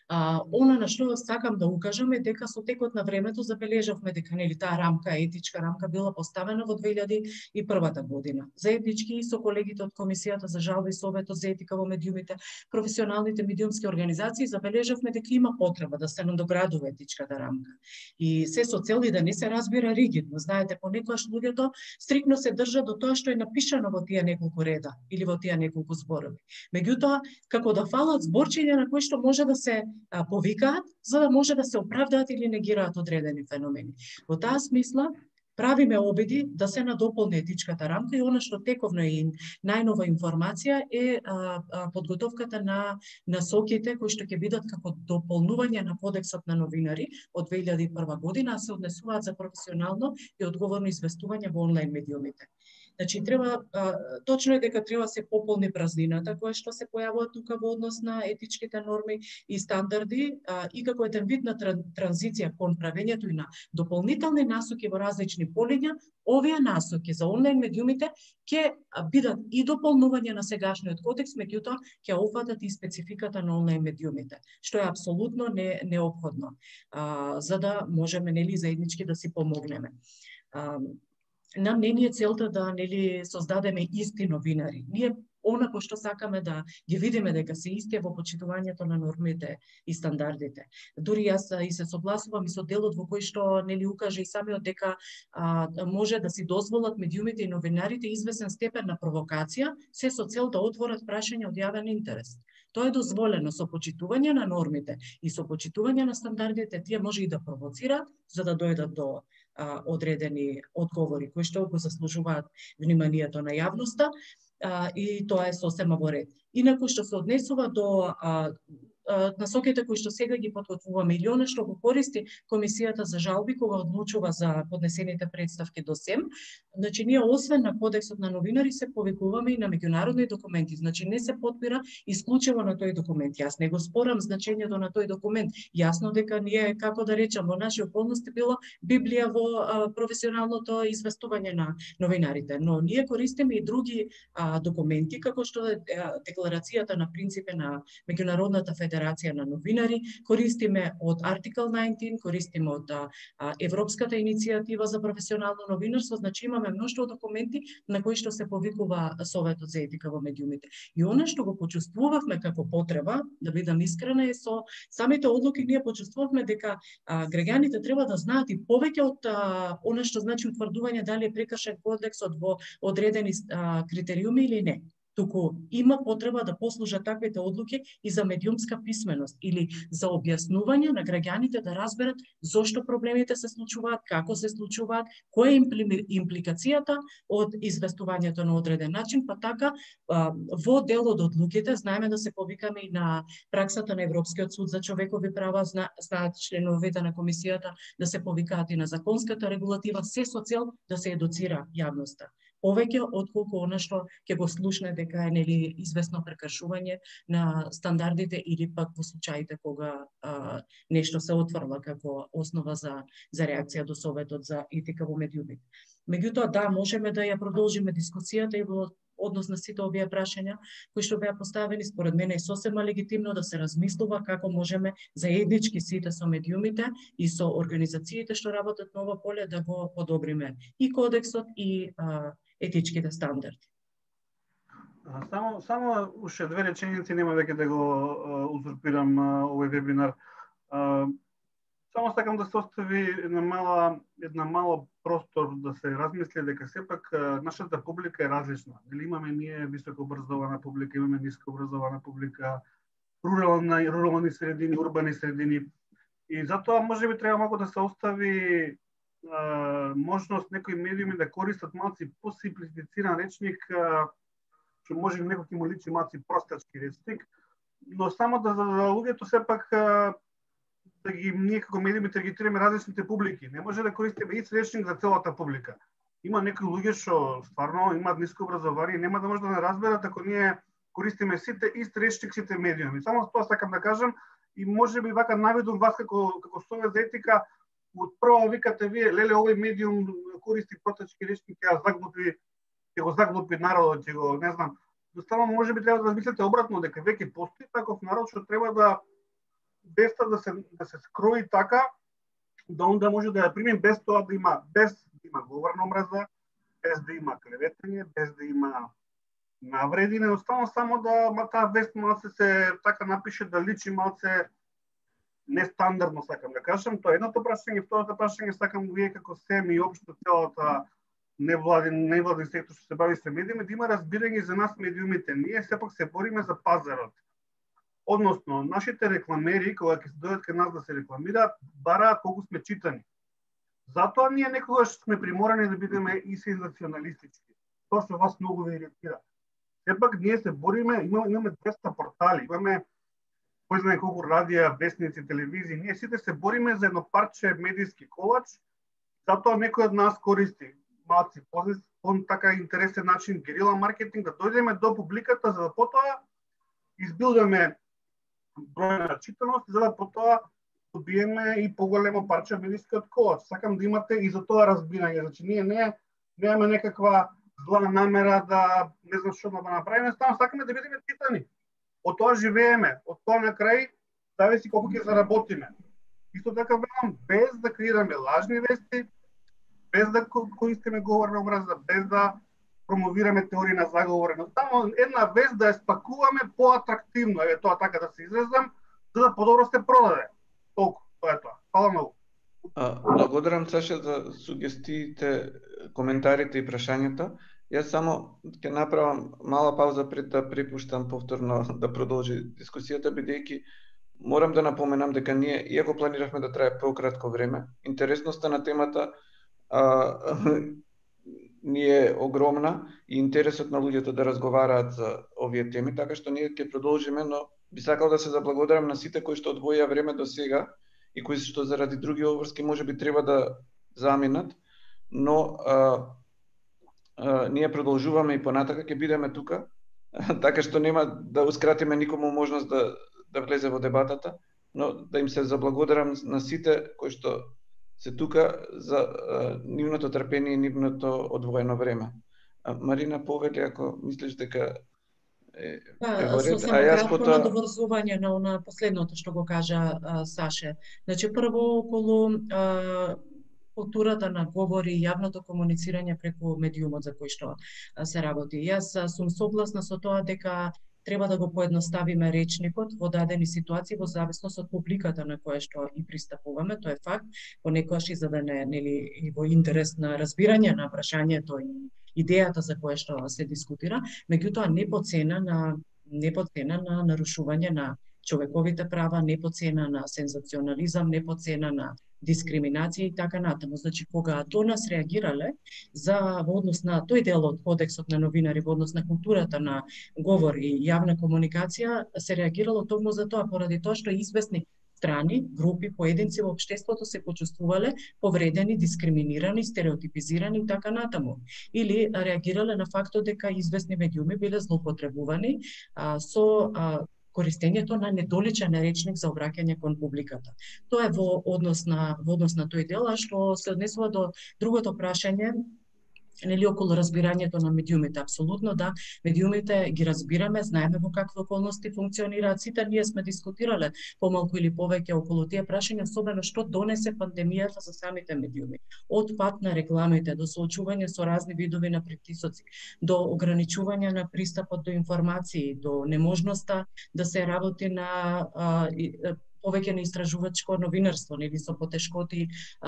она на што сакам да укажам е дека со текот на времето забележавме дека нели таа рамка, етичка рамка била поставена во 2001 година. Заеднички со колегите од Комисијата за жалби и Советот за етика во медиумите, професионалните медиумски организации забележавме дека има потреба да се надоградува етичката рамка. И се со цел и да не се разбира ригидно. Знаете, понекогаш луѓето стрикно се држат до тоа што е напишано во тие неколку реда или во тие неколку зборови. Меѓутоа, како да фалат зборчиња на кои што може да се повикаат, за да може да се оправдаат или негираат одредени феномени. Во таа смисла, правиме обиди да се надополни етичката рамка и она што тековно е најнова информација е подготовката на насоките кои што ќе бидат како дополнување на Кодексот на новинари од 2001 година, а се однесуваат за професионално и одговорно известување во онлайн медиумите. Значи, точно е дека треба се пополни празнината која што се појавува тука во однос на етичките норми и стандарди и како еден вид на транзиција кон правењето и на дополнителни насоки во различни полиња, овие насоки за онлайн медиумите ќе бидат и дополнување на сегашниот кодекс, меѓутоа ќе опфатат и спецификата на онлайн медиумите, што е апсолутно неопходно, за да можеме нели заеднички да си помогнеме. Нам не е целта да нели создадеме исти новинари. Ние онако што сакаме да ги видиме дека се исти во почитувањето на нормите и стандардите. Дури јас и се согласувам и со делот во кој што нели укаже и самиот дека може да си дозволат медиумите и новинарите известен степен на провокација, се со цел да отворат прашања од јавен интерес. Тоа е дозволено со почитување на нормите и со почитување на стандардите, тие може и да провоцираат за да дојдат до одредени одговори кои што го заслужуваат вниманието на јавноста и тоа е сосема во ред. Инаку што се однесува до насоките кои што сега ги подготвуваме или она што го користи Комисијата за жалби кога одлучува за поднесените представки до СЕМ, значи ние освен на Кодексот на новинари се повикуваме и на меѓународни документи, значи не се подпира исклучиво на тој документ. Јас не го спорам значењето на тој документ. Јасно дека ние, како да речам, во наши околности било Библија во професионалното известување на новинарите, но ние користиме и други документи, како што е декларацијата на принципи на Меѓународната федерација на новинари, користиме од Article 19, користиме од Европската иницијатива за професионално новинарство, значи имаме мноштво документи на кои што се повикува Советот за етика во медиумите. И она што го почувствувавме како потреба, да бидам искрена, е со самите одлуки ние почувствувавме дека граѓаните треба да знаат и повеќе од она што значи утврдување дали е прекршен кодексот во одредени критериуми или не. туку има потреба да послужат таквите одлуки и за медиумска писменост или за објаснување на граѓаните да разберат зошто проблемите се случуваат, како се случуваат, која е импликацијата од известувањето на одреден начин, па така во дел од одлуките знаеме да се повикаме и на праксата на Европскиот суд за човекови права, знаат членовите на комисијата да се повикаат и на законската регулатива, се со цел да се едуцира јавноста. Повеќе отколку она што ќе го слушне дека е нели известно прекршување на стандардите или пак во случаите кога нешто се отврла како основа за реакција до Советот за етика во медиумите. Меѓутоа да, можеме да ја продолжиме дискусијата и во однос на сите овие прашања кои што беа поставени. Според мене е сосема легитимно да се размислува како можеме заеднички сите со медиумите и со организациите што работат на ова поле да го подобриме и кодексот и етичките стандарди. Само уште две реченици, нема веќе да го узурпирам овој вебинар. Само сакам да се остави една мала простор да се размисли дека сепак нашата публика е различна. Дали имаме ние високо образована публика, имаме ниско образована публика, рурални средини, урбани средини. И затоа можеби треба малку да се остави можност некои медиуми да користат малци посимплифициран речник, што може некој ќе му личи малци простачки речник, но само да луѓето сепак да ги ние како медиуми таргетираме различните публики. Не може да користиме ист речник за целата публика. Има некои луѓе што стварно имаат ниско образование, нема да може да не разберат ако ние користиме сите ист речник, сите медиуми. Само тоа сакам да кажам и можеби вака наведувам вас како Совет за етика, од прво викате вие, леле, овој медиум користи простачки речник, ќе го заглупи народот, ќе го, не знам. Доставно можеби треба да размислите обратно, дека веќе постои таков народ што треба да да се скрои така, да онда може да ја примем без тоа да има говор на омраза, без да има клеветање, без да има навреди, неоставно само да таа вест малце се така напише да личи малце нестандардно, сакам да кажам. Тоа е едното прашање, второто прашање сакам вие како СЕМ и општо целата невладен сектор што се бави со медиуми, да има разбирање за нас медиумите. Ние сепак се бориме за пазарот. Односно, нашите рекламери, кога ќе се дојдат кај нас да се рекламираат, бараат колку сме читани. Затоа ние некогаш сме приморани да бидеме и сензационалистички. Тоа што вас многу ве иритира. Сепак ние се бориме, имаме 200 портали, имаме кој знае колку радија, вестници, телевизии. Ние сите се бориме за едно парче медиски колач, затоа некој од нас користи малци така интересен начин герила маркетинг, да дојдеме до публиката, за да потоа избилдаме број на читаност, за да потоа добиеме и поголемо парче медискиот колач. Сакам да имате и за тоа разбирање. Значи, ние немаме некаква зла намера да не знам што да направиме, само сакаме да бидеме читани. Од тоа живееме, од тоа на крај зависи колку ќе заработиме. Исто така велам, без да креираме лажни вести, без да користиме говор на омраза, без да промовираме теории на заговор, но само една вест да ја спакуваме поатрактивно, еве тоа така да се изразам, за да подобро се продаде. Толку, тоа е тоа. Фала многу. Благодарам, Саша, за сугестиите, коментарите и прашањата. Јас само ќе направам мала пауза пред да припуштам повторно да продолжи дискусијата, бидејќи морам да напоменам дека ние, иако планиравме да трае пократко време, интересноста на темата ни е огромна и интересот на луѓето да разговараат за овие теми, така што ние ќе продолжиме, но би сакал да се заблагодарам на сите кои што одвоија време до сега и кои што заради други обврски можеби треба да заминат, но ние продолжуваме и понатака, ќе бидеме тука, така што нема да ускратиме никому можност да влезе во дебатата, но да им се заблагодарам на сите кои што се тука за нивното трпение и нивното одвоено време. Марина, повели ако мислиш дека е во ред, а јас потоа надоврзување на последното што го кажа Саше. Значи прво околу културата на говори и јавното комуницирање преку медиумот за кој што се работи. Јас сум согласна со тоа дека треба да го поедноставиме речникот во дадени ситуации во зависност од публиката на која што и пристапуваме, тоа е факт, понекогаш и за да не, нели, и во интерес на разбирање на прашањето идејата за која што се дискутира, меѓутоа не по цена на нарушување на човековите права, не по цена на сензационализам, не по цена на дискриминација и така натаму. Значи, кога до нас реагирале во однос на тој дел од кодексот на новинари, во однос на културата на говор и јавна комуникација, се реагирало токму за тоа, поради тоа што известни страни, групи, поединци во општеството се почувствувале повредени, дискриминирани, стереотипизирани и така натаму. Или реагирале на фактот дека известни медиуми биле злоупотребувани со користењето на недоличен речник за обраќање кон публиката. Тоа е во однос на тој дел, а што се однесува до другото прашање, нели околу разбирањето на медиумите. Апсолутно да, медиумите ги разбираме, знаеме во какви околности функционираат. Сите ние сме дискутирале помалку или повеќе околу тие прашања, особено што донесе пандемијата за самите медиуми. Од пат на рекламите, до соочување со разни видови на притисоци, до ограничување на пристапот до информации, до неможноста да се работи на повеќе на истражувачко новинарство, нели со потешкоти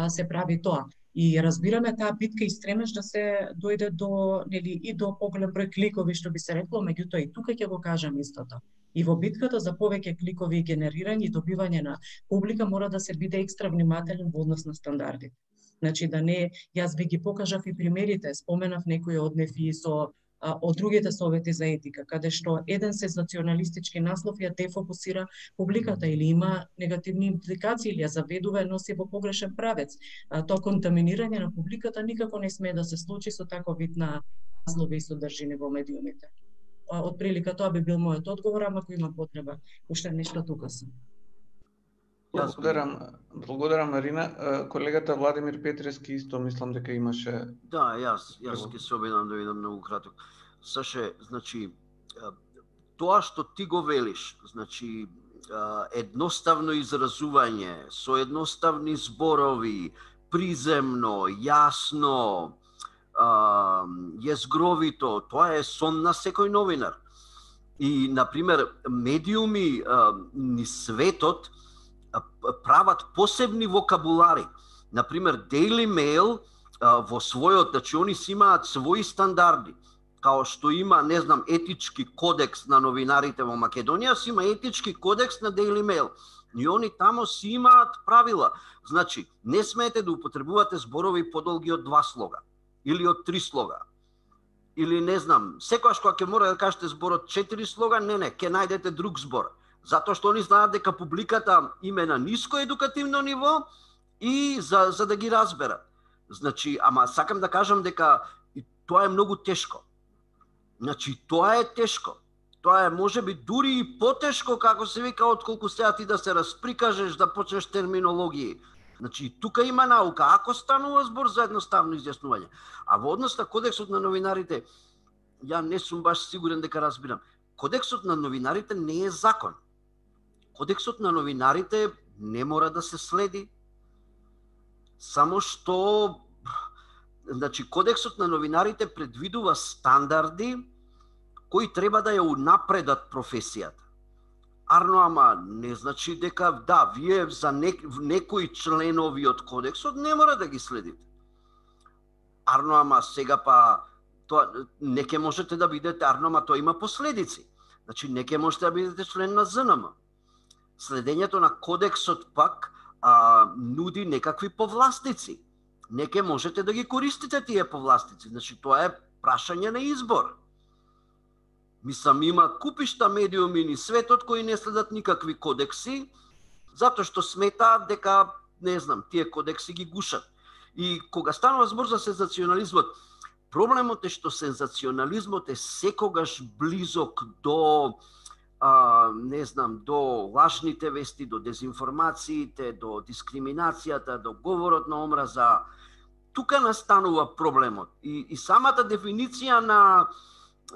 се прави тоа. И разбираме таа битка и стремеж да се дојде до, нели, и до поголем број кликови, што би се рекло, меѓутоа и тука ќе го кажам истото. И во битката за повеќе кликови, генерирање и добивање на публика мора да се биде екстра внимателен во однос на стандардите. Значи да не, јас би ги покажав и примерите, споменав некои од нив и од другите совети за етика, каде што еден сензационалистички наслов ја дефокусира публиката или има негативни импликации или ја заведува, носи во погрешен правец. Тоа контаминирање на публиката никако не смее да се случи со таков вид на наслови и содржини во медиумите. Од прилика тоа би бил мојот одговор, ама ако има потреба, уште нешто тука сум. Благодарам Марина. Колегата Владимир Петрески исто мислам дека имаше. Да, јас ќе се обидам да видам многу краток. Саше, значи тоа што ти го велиш, значи едноставно изразување, со едноставни зборови, приземно, јасно, језгровито, тоа е сон на секој новинар. И на пример медиуми ни светот прават посебни вокабулари. Например, Daily Mail во својот, значи они си имаат своји стандарди, као што има, не знам, етички кодекс на новинарите во Македонија, си има етички кодекс на Daily Mail. И они тамо си имаат правила. Значи, не смеете да употребувате зборови подолги од 2 слога или од 3 слога. Или не знам, секогаш кога ќе мора да кажете зборот 4 слога, не, ќе најдете друг збор. Затоа што они знаат дека публиката им е на ниско едукативно ниво и за да ги разберат. Значи, ама сакам да кажам дека тоа е многу тешко. Значи, тоа е тешко. Тоа е можеби дури и потешко, како се вика, отколку сега ти да се расприкажеш, да почнеш терминологии. Значи, тука има наука, ако станува збор за едноставно изјаснување. А во однос на кодексот на новинарите, ја не сум баш сигурен дека разбирам. Кодексот на новинарите не е закон. Кодексот на новинарите не мора да се следи. Само што, значи, кодексот на новинарите предвидува стандарди кои треба да ја унапредат професијата. Арно, ама не значи дека да, вие за некои членови од кодексот не мора да ги следите. Арно, ама сега па тоа не ќе можете да бидете, арно, ама тоа има последици. Значи не ќе можете да бидете член на ЗНМ. Следењето на кодексот пак нуди некакви повластици. Не ќе можете да ги користите тие повластици. Значи тоа е прашање на избор. Мислам, има купишта медиуми ни светот кои не следат никакви кодекси, затоа што сметаат дека, не знам, тие кодекси ги гушат. И кога станува збор за сензационализмот, проблемот е што сензационализмот е секогаш близок до, не знам, до лажните вести, до дезинформациите, до дискриминацијата, до говорот на омраза. Тука настанува проблемот. И самата дефиниција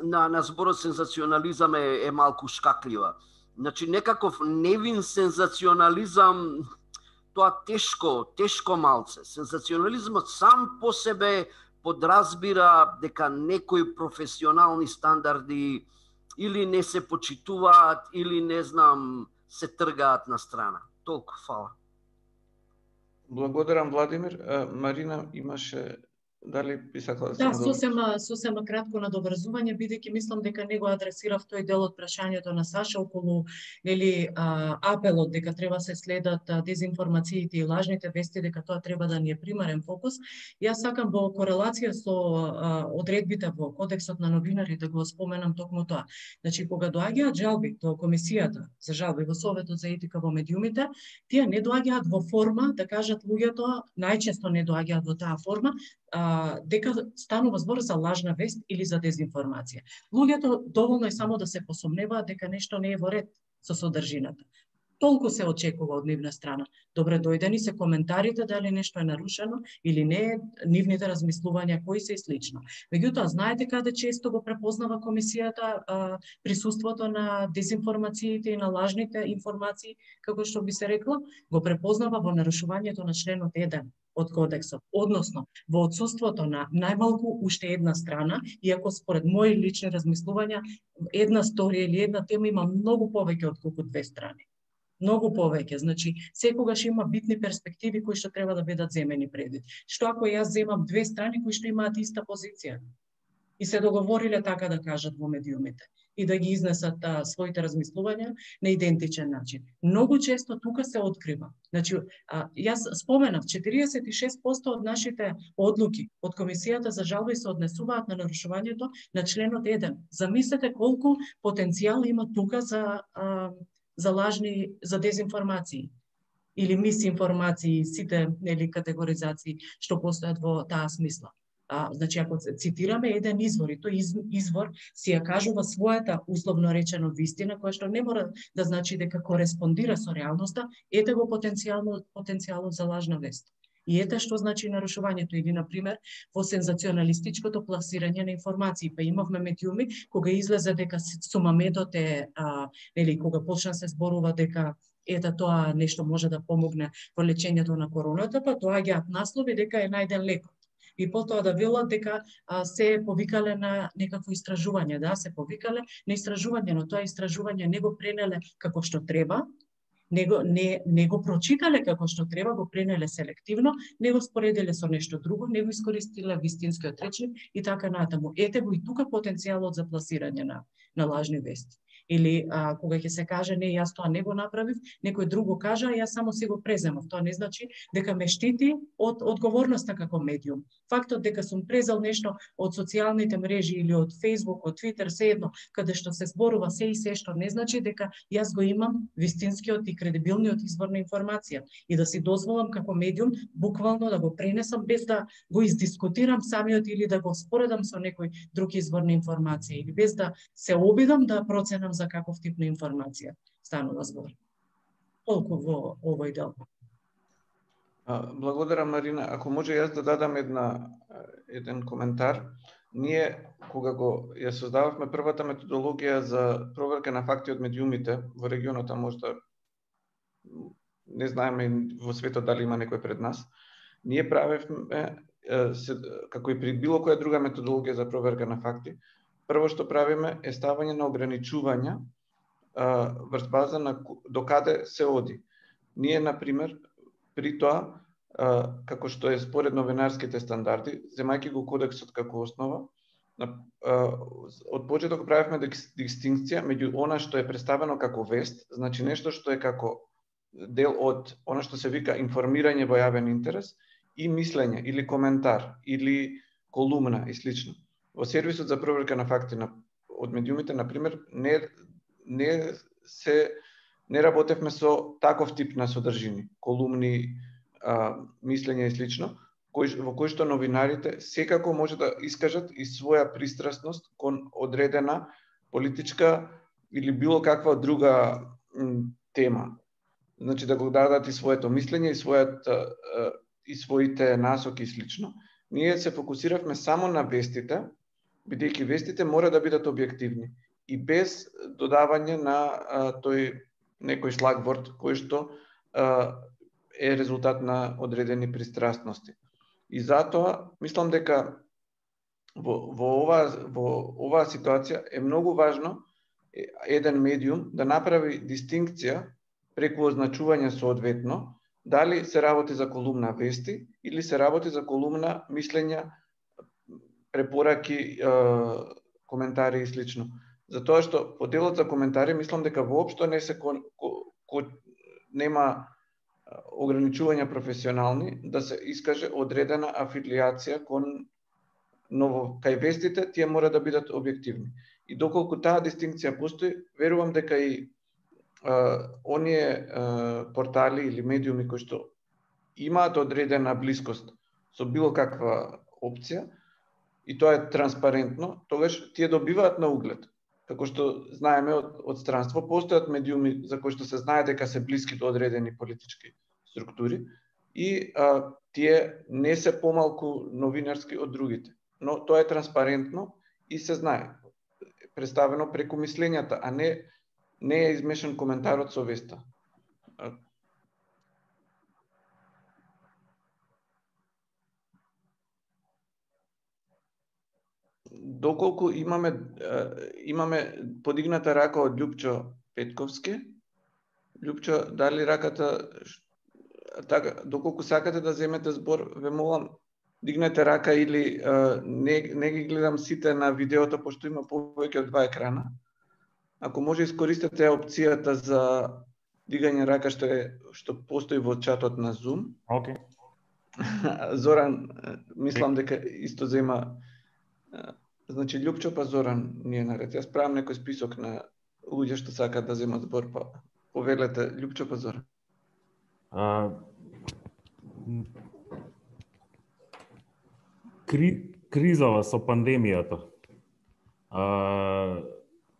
на зборот сензационализам е малку шкаклива. Значи, некаков невин сензационализам, тоа тешко малце. Сензационализмот сам по себе подразбира дека некои професионални стандарди или не се почитуваат, или не знам, се тргаат на страна. Толку, фала. Благодарам, Владимир. Марина имаше дали би сакала Да, сосема кратко надоврзување, бидејќи мислам дека него адресирав тој дел од прашањето на Саша околу апелот дека треба се следат дезинформациите и лажните вести, дека тоа треба да ни е примарен фокус. Јас сакам во корелација со одредбите во Кодексот на новинарите го споменам токму тоа. Значи, кога доаѓаат жалби до Комисијата за жалби во Советот за етика во медиумите, тие не доаѓаат во форма, да кажат луѓето, најчесто не доаѓаат во таа форма, дека станува збор за лажна вест или за дезинформација. Луѓето доволно е само да се посомневаат дека нешто не е во ред со содржината. Толку се очекува од нивна страна. Добре дојдени се коментарите дали нешто е нарушено или не, нивните размислувања кои се и слично. Меѓутоа, знаете каде често го препознава Комисијата присуството на дезинформациите и на лажните информации, како што би се рекло, го препознава во нарушувањето на членот 1 од Кодексот, односно во отсуството на најмалку уште една страна, иако според мои лични размислувања една сторија или една тема има многу повеќе од колку две страни. Многу повеќе, значи секогаш има битни перспективи кои што треба да бидат земени предвид. Што ако јас земам две страни кои што имаат иста позиција и се договориле така да кажат во медиумите и да ги изнесат своите размислувања на идентичен начин. Многу често тука се открива. Значи, јас споменав, 46% од нашите одлуки од Комисијата за жалби се однесуваат на нарушувањето на членот 1. Замислете колку потенцијал има тука за лажни, за дезинформации или мисинформации, сите категоризации што постојат во таа смисла. Значи, ако цитираме еден извор, и тој извор си ја кажува својата, условно речено, вистина, која што не мора да значи дека кореспондира со реалноста, ете го потенцијалот за лажна вест. И ете што значи нарушувањето, или, например, во сензационалистичкото пласирање на информации. Па имавме медиуми, кога излезе дека сумамедот е, кога почна се зборува дека ета тоа нешто може да помогне во лечењето на короната, па доаѓаат наслови дека е најден лекот. И потоа да велат дека се повикале на некакво истражување, да, се повикале на истражување, но тоа истражување не го пренеле како што треба, не го прочитале како што треба, го пренеле селективно, не го споределе со нешто друго, не го искористиле вистинскиот речник и така натаму. Ете го и тука потенцијалот за пласирање на лажни вести. Или кога ќе се каже не, јас тоа не го направив, некој друго кажа, јас само си го преземав. Тоа не значи дека ме штити од одговорноста како медиум. Фактот дека сум презел нешто од социјалните мрежи или од Facebook, од Twitter, seедно, каде што се зборува се и се што, не значи дека јас го имам вистинскиот и кредибилниот извор на информација и да си дозволам како медиум буквално да го пренесам без да го издискутирам самиот или да го споредам со некој друг извор на информација или без да се обидам да проценам за каков тип на информација станува збор. Толку во овој дел. Благодарам, Марина. Ако може јас да дадам еден коментар. Ние, кога ја создававме првата методологија за проверка на факти од медиумите во регионот, а можда не знаеме во светот дали има некој пред нас, ние правевме, како и при било која друга методологија за проверка на факти, прво што правиме е ставање на ограничувања врз база на докаде се оди. Ние, например, при тоа, како што е според новинарските стандарди, земајќи го кодексот како основа, од почеток правевме дистинкција меѓу она што е представено како вест, значи нешто што е како дел од она што се вика информирање во јавен интерес, и мислење или коментар или колумна и слично. Во сервисот за проверка на факти од медиумите, например, не работевме со таков тип на содржини, колумни, мислење и слично, во кои што новинарите секако може да искажат и своја пристрасност кон одредена политичка или било каква друга тема. Значи да го дадат и своето мислење и своите насоки и слично. Ние се фокусиравме само на вестите, бидејќи вестите мора да бидат објективни и без додавање на тој некој шлагворд кој што е резултат на одредени пристрасности. И затоа мислам дека во оваа ситуација е многу важно еден медиум да направи дистинкција преку означување соодветно дали се работи за колумна вести или се работи за колумна мислења препораки, коментари и слично. Затоа што по делот за коментари мислам дека воопшто не се нема ограничувања професионални да се искаже одредена афилиација кон кај вестите, тие мора да бидат објективни. И доколку таа дистинкција постои, верувам дека и оние портали или медиуми кои што имаат одредена блискост со било каква опција, и тоа е транспарентно, тогаш тие добиваат на углед. Како што знаеме од странство, постојат медиуми за кои што се знае дека се блиски до одредени политички структури и тие не се помалку новинарски од другите. Но тоа е транспарентно и се знае. Представено преку мислењата, а не е измешан коментарот со веста. Доколку имаме подигната рака од Љупчо Петковски, Љупчо, дали раката, така, доколку сакате да земете збор, ве молам, дигнете рака или не ги гледам сите на видеото, пошто има повеќе од 2 екрана. Ако може, искористете опцијата за дигање рака што постои во чатот на Zoom. Океј. Зоран, мислам дека исто зема. Значи, Љупчо па Зоран ни е наред. Јас правам некој список на луѓе што сакаат да земат збор, па повелете Љупчо па Зоран. Кризава со пандемијата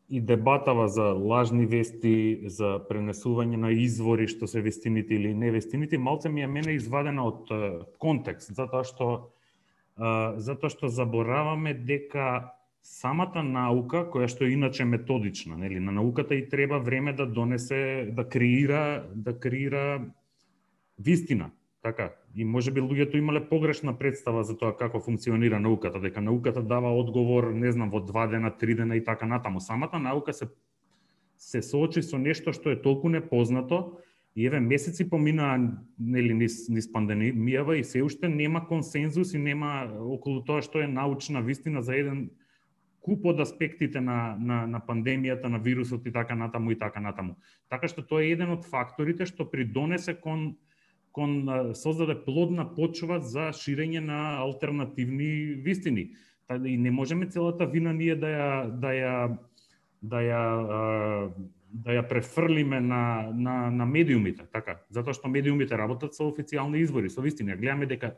и дебатава за лажни вести, за пренесување на извори што се вестините или невестините, малце ми е мене извадена од контекст, затоа што забораваме дека самата наука, која што е иначе методична, нели, на науката и треба време да донесе, да креира вистина, така. И можеби луѓето имале погрешна представа за тоа како функционира науката, дека науката дава одговор, не знам, во 2 дена, 3 дена и така натаму. Самата наука се соочи со нешто што е толку непознато и еве месеци поминаа, нели, низ пандемијава и се уште нема консензус и нема околу тоа што е научна вистина за еден куп од аспектите на пандемијата, на вирусот и така натаму и така натаму. Така што тоа е еден од факторите што придонесе кон создаде плодна почва за ширење на алтернативни вистини. И не можеме целата вина ние да ја префрлиме на медиумите, така, затоа што медиумите работат со официјални извори, со вистини. Гледаме дека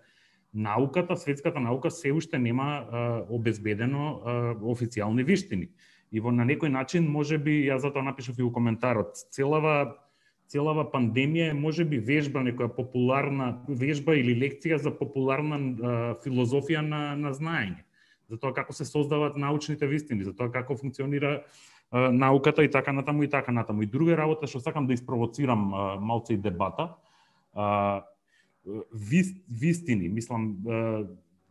науката, светската наука се уште нема обезбедено официјални вистини. И на некој начин, можеби, јас затоа напишав и у коментарот, целава пандемија е можеби вежба, некоја популарна вежба или лекција за популарна филозофија на знаење. За тоа како се создаваат научните вистини, за тоа како функционира науката и така натаму и така натаму. И друга работа што сакам да испровоцирам малце и дебата, вистини, мислам,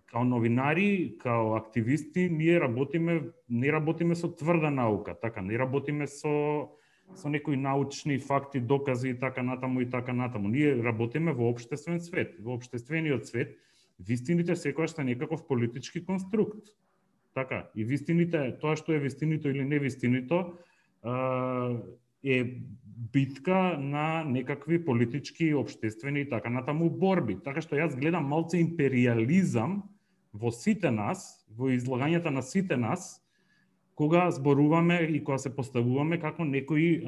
као новинари, као активисти, ние не работиме со тврда наука, така, не работиме со некои научни факти, докази и така натаму и така натаму. Ние работиме во општествен свет. Во општествениот свет вистините секогаш се некаков политички конструкт. Така, и вистините, тоа што е вистинито или невистинито, е битка на некакви политички, општествени и така натаму борби. Така што јас гледам малце империализам во сите нас, во излагањата на сите нас, кога зборуваме и кога се поставуваме како некои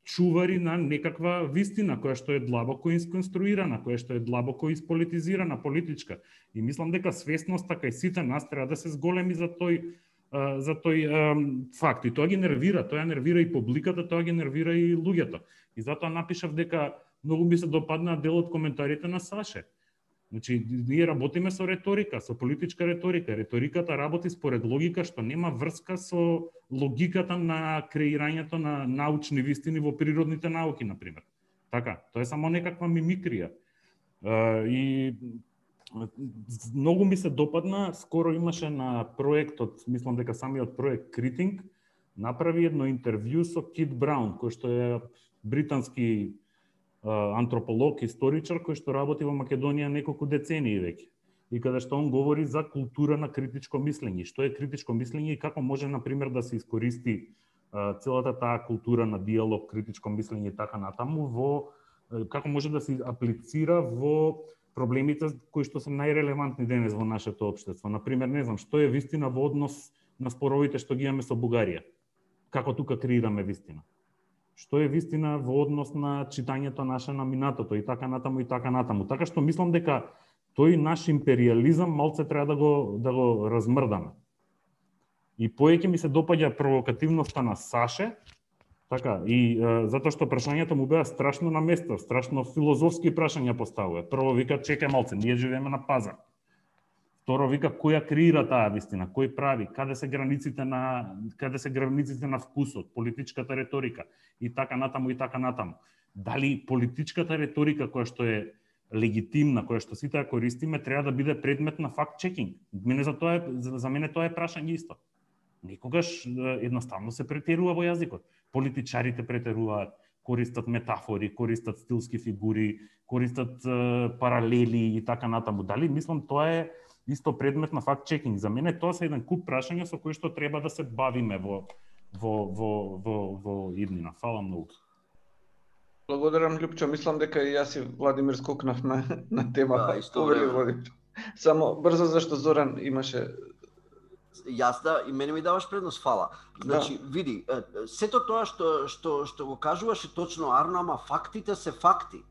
чувари на некаква вистина, која што е длабоко исконструирана, која што е длабоко исполитизирана, политичка. И мислам дека свесноста кај сите нас треба да се зголеми за тој факт. И тоа ги нервира, тоа нервира и публиката, тоа ги нервира и луѓето. И затоа напишав дека многу ми се допадна дел од коментарите на Саше. Значи, ние работиме со реторика, со политичка реторика. Реториката работи според логика што нема врска со логиката на креирањето на научни вистини во природните науки, например. Така, тоа е само некаква мимикрија. И многу ми се допадна, скоро имаше на проектот, мислам дека самиот проект Критинг, направи едно интервју со Кит Браун, кој што е британски антрополог, историчар, кој што работи во Македонија неколку децении веќе. и каде што он говори за култура на критичко мислење. Што е критичко мислење и како може, например, да се искористи целата таа култура на диалог, критичко мислење и така натаму, како може да се аплицира во проблемите кои што се најрелевантни денес во нашето општество. Например, не знам, што е вистина во однос на споровите што ги имаме со Бугарија? Како тука креираме вистина? Што е вистина во однос на читањето наше на минатото и така натаму и така натаму. Така што мислам дека тој наш империализам малце треба да го размрдаме. И поеќе ми се допаѓа провокативноста на Саше, така, и затоа што прашањето му беа страшно на место, страшно филозофски прашања поставува. Прво вика, чекај малце, ние живееме на пазар. Второ вика, која креира таа вистина, кој прави, каде се границите на вкусот, политичката риторика и така натаму и така натаму. Дали политичката риторика која што е легитимна, која што сите ја користиме, треба да биде предмет на факт-чекинг? За мене тоа е прашање исто. Некогаш едноставно се претерува во јазикот. Политичарите претеруваат, користат метафори, користат стилски фигури, користат паралели и така натаму. Дали мислам тоа е исто предмет на факт-чекинг? За мене тоа се еден куп прашања со кои што треба да се бавиме во иднина. Фала многу. Благодарам, Љупчо. Мислам дека и јас и Владимир скокнавме на тема. Да, исто време. Само брзо, зашто Зоран имаше... Јас и мене ми даваш предност, фала. Значи, види, сето тоа што го кажуваш е точно, Арно, ама фактите се факти.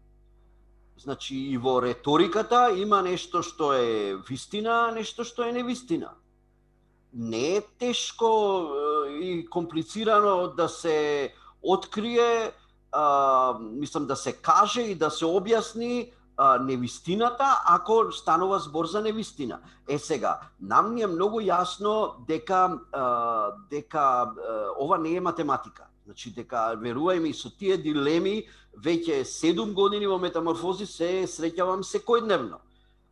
Значи, и во реториката има нешто што е вистина, нешто што е невистина. Не е тешко и комплицирано да се открие, мислам да се каже и да се објасни невистината, ако станува збор за невистина. Сега, нам ни е многу јасно дека ова не е математика. Значи, дека, верувај ми, со тие дилеми, веќе 7 години во метаморфози се среќавам секојдневно.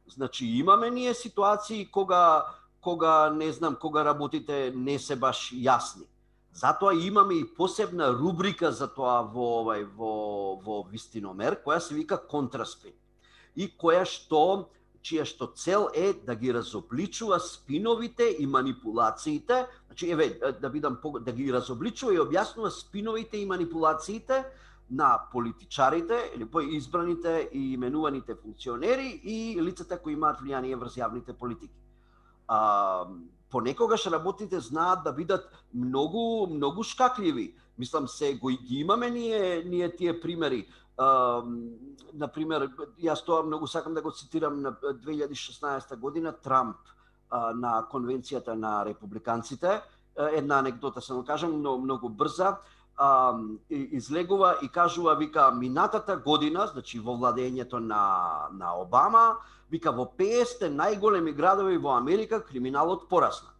Значи, имаме ние ситуации кога не знам, кога работите не се баш јасни. Затоа имаме и посебна рубрика за тоа во Вистиномер, која се вика контраспин. И чија што цел е да ги разобличува спиновите и манипулациите, значи да ги разобличува и објаснува спиновите и манипулациите на политичарите или избраните и именуваните функционери и лицата кои имаат влијание врз јавните политики. Понекогаш работите знаат да бидат многу шкакливи. Мислам се ги имаме ние тие примери. Например, јас тоа многу сакам да го цитирам на 2016 година Трамп на конвенцијата на републиканците. Една анекдота само кажам, многу брза. Излегува и кажува, вика, минатата година, значи во владењето на Обама, вика, во 50 најголеми градови во Америка криминалот порасна.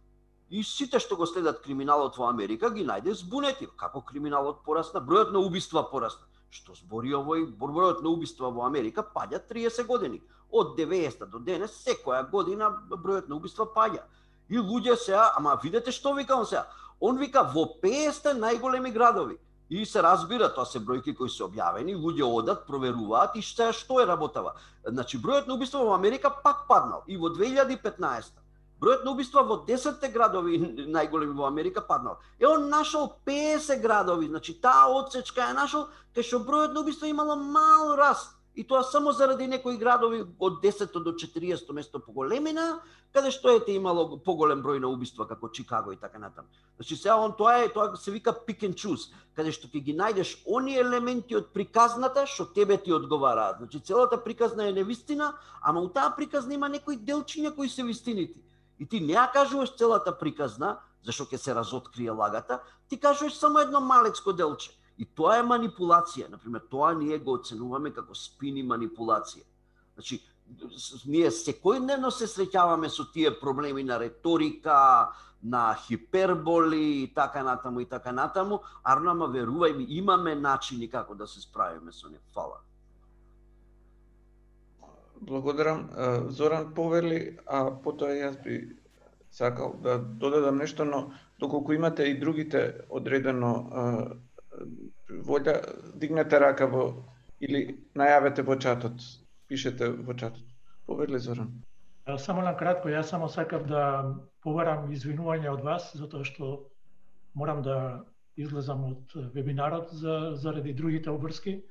И сите што го следат криминалот во Америка ги најде збунети. Како криминалот порасна? Бројот на убиства порасна. Што збори овој? Бројот на убиства во Америка паѓа 30 години. Од 90 до денес, секоја година бројот на убиства паѓа. И луѓе сега, ама видете што вика он сега? Он вика во 50 најголеми градови. И се разбира, тоа се бројки кои се објавени, луѓе одат, проверуваат и што е работава. Значи, бројот на убиства во Америка пак паднал. И во 2015 бројот на убиства во 10 градови најголеми во Америка паднал. Он нашол 50 градови, значи таа одсечка е нашол кај што бројот на убиства имало мал раст. И тоа само заради некои градови од 10 до 40 место поголемина, каде што имало поголем број на убиства како Чикаго и така натаму. Значи сега тоа се вика pick and choose, каде што ќе ги најдеш оние елементи од приказната што тебе ти одговараат. Значи целата приказна е невистина, ама у таа приказна има некои делчиња кои се вистинити. И ти не ја кажуваш целата приказна, зашто ќе се разоткрие лагата, ти кажуваш само едно малецко делче. И тоа е манипулација. Например, тоа ние го оценуваме како спин и манипулација. Значи, ние секојдневно се среќаваме со тие проблеми на реторика, на хиперболи и така натаму. Арно, ама верувај ми, имаме начини како да се справиме со нив. Фала. Благодарам. Зоран повели, а потоа јас би сакал да додадам нешто, но доколку имате и другите одредено волја, дигнете рака или најавете во чатот, пишете во чатот. Повели, Зоран. Само на кратко, јас само сакав да побарам извинување од вас, затоа што морам да излезам од вебинарот заради другите обврски.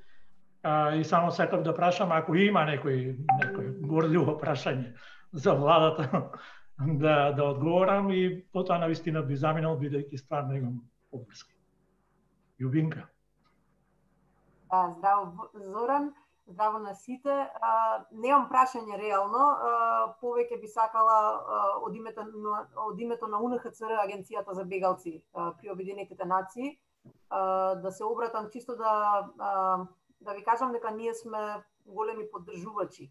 И само сакав да прашам, ако има некој горливо прашање за владата, да одговорам и потоа навистина би заминал, бидејќи стварно имам обврски. Јубинка. Здраво, Зоран. Здраво на сите. Немам прашање реално, повеќе би сакала од името на УНХЦР, Агенцијата за бегалци при Обединетите нации, да се обратам чисто да ви кажам дека ние сме големи поддржувачи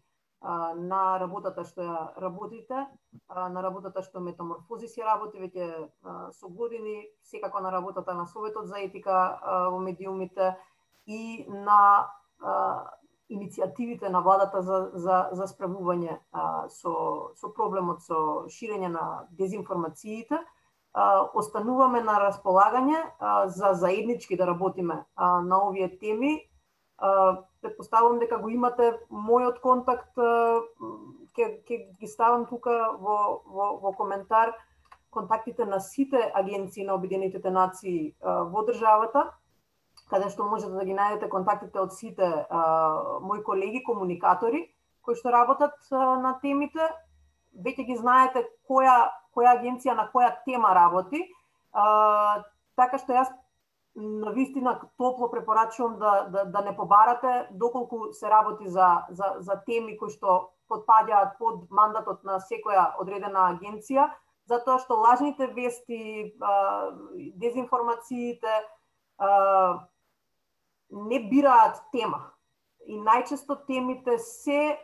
на работата што ја работите, на работата што Метаморфозис ја работи веќе со години, секако на работата на Советот за етика во медиумите и на иницијативите на владата за справување со проблемот со ширење на дезинформациите. Остануваме на располагање за заеднички да работиме на овие теми. Претпоставувам дека го имате мојот контакт, ќе ги ставам тука во коментар контактите на сите агенции на Обединетите нации во државата, каде што можете да ги најдете контактите од сите мои колеги, комуникатори, кои што работат на темите. Веќе ги знаете која агенција на која тема работи, така што јас навистина топло препорачувам да не побарате доколку се работи за теми кои што потпаѓаат под мандатот на секоја одредена агенција, затоа што лажните вести, дезинформациите не бираат тема. И најчесто темите се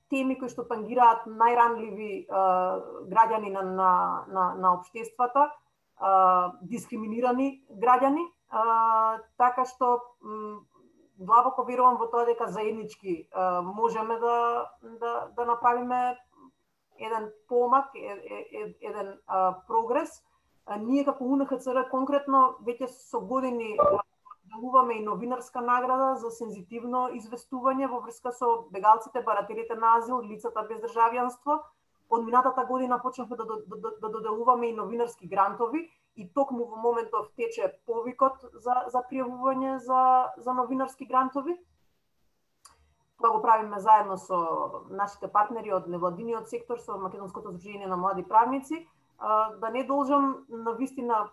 теми кои што тангираат најранливи граѓани на општествата, дискриминирани граѓани, така што длабоко верувам во тоа дека заеднички можеме да направиме еден помак, еден прогрес. Ние како УНХЦР конкретно веќе со години делуваме и новинарска награда за сензитивно известување во врска со бегалците, барателите на азил, лицата без државјанство. Од минатата година почнавме да доделуваме и новинарски грантови и токму во моментов тече повикот за пријавување за новинарски грантови. Тоа го правиме заедно со нашите партнери од невладиниот сектор, со Македонското здружение на млади правници. Да не должам навистина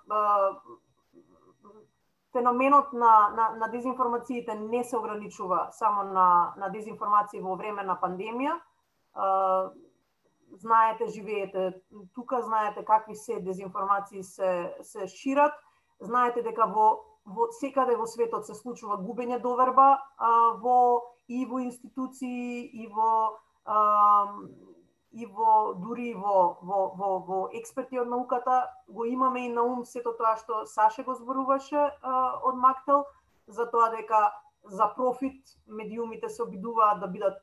феноменот на дезинформациите не се ограничува само на дезинформации во време на пандемија. Знаете, живеете тука, знаете какви се дезинформации се шират, знаете дека во секаде во светот се случува губење доверба и во институции, дури во експерти од науката. Го имаме и на ум сето тоа што Саше го зборуваше од Мактел, за тоа дека за профит медиумите се обидуваат да бидат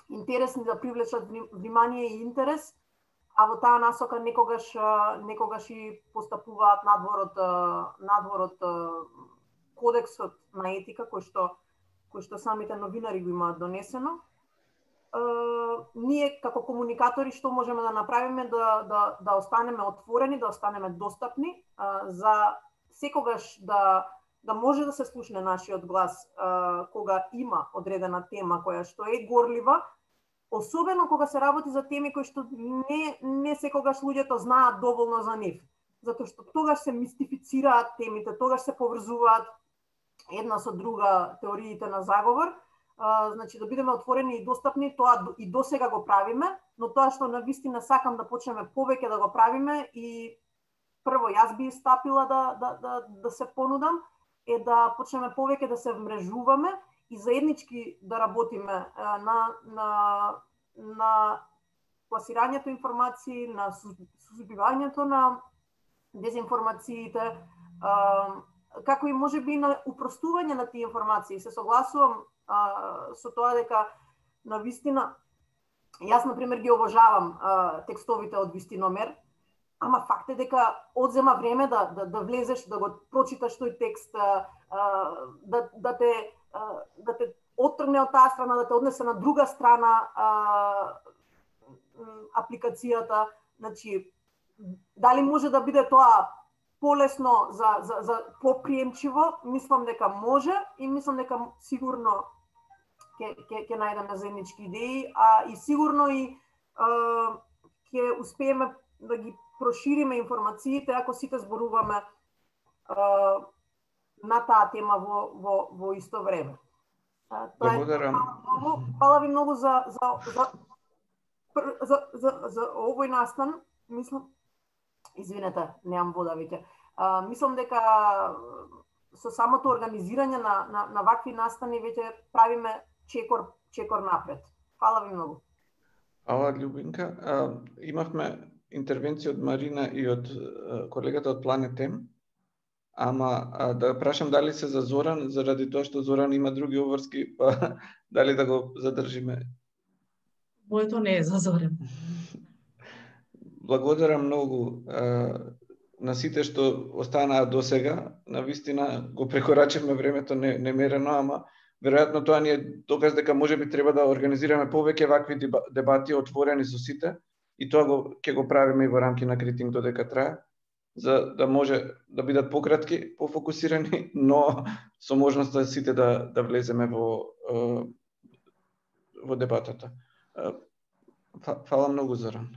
интересни, да привлечат внимание и интерес, а во таа насока некогаш и постапуваат надвор од кодексот на етика кој што самите новинари го имаат донесено. Ние како комуникатори што можеме да направиме да останеме отворени, да останеме достапни, за секогаш да може да се слушне нашиот глас кога има одредена тема која што е горлива, особено кога се работи за теми кои што не секогаш луѓето знаат доволно за нив, затоа што тогаш се мистифицираат темите, тогаш се поврзуваат една со друга теориите на заговор. Значи да бидеме отворени и достапни, тоа и досега го правиме, но тоа што навистина сакам да почнеме повеќе да го правиме и прво јас би стапила да се понудам е да почнеме повеќе да се вмрежуваме и заеднички да работиме на пласирањето информации, на сузбивањето на дезинформациите, како и можеби на упростување на тие информации. Се согласувам со тоа дека на вистина, јас например ги обожавам текстовите од Вистиномер, ама факт е дека одзема време да влезеш, да го прочиташ тој текст, да те оттргне од таа страна, да те однесе на друга страна, апликацијата, значи дали може да биде тоа полесно за поприемчиво, мислам дека може и мислам дека сигурно ќе најдеме заеднички идеи, и сигурно и ќе успееме да ги прошириме информациите ако сите зборуваме на таа тема во исто време. Благодарам. Фала ви многу за овој настан. Мислам, извинете, немам вода веќе. Мислам дека со самото организирање на вакви настани веќе правиме чекор напред. Фала ви многу. Фала, Љубинка. Имавме интервенција од Марина и од колегата од Планет М. Ама да прашам дали се за Зоран, заради тоа што Зоран има други обврски, па дали да го задржиме? Моето не е за Зоран. Благодарам многу на сите што останаа до сега. Навистина го прекорачивме времето немерено, ама веројатно тоа ни е доказ дека можеби треба да организираме повеќе вакви дебати отворени со сите и тоа ќе го правиме и во рамки на Критинг додека трае, за да може да бидат пократки, пофокусирани, но со можност да сите да влеземе во дебатата. Фала многу, Зоран.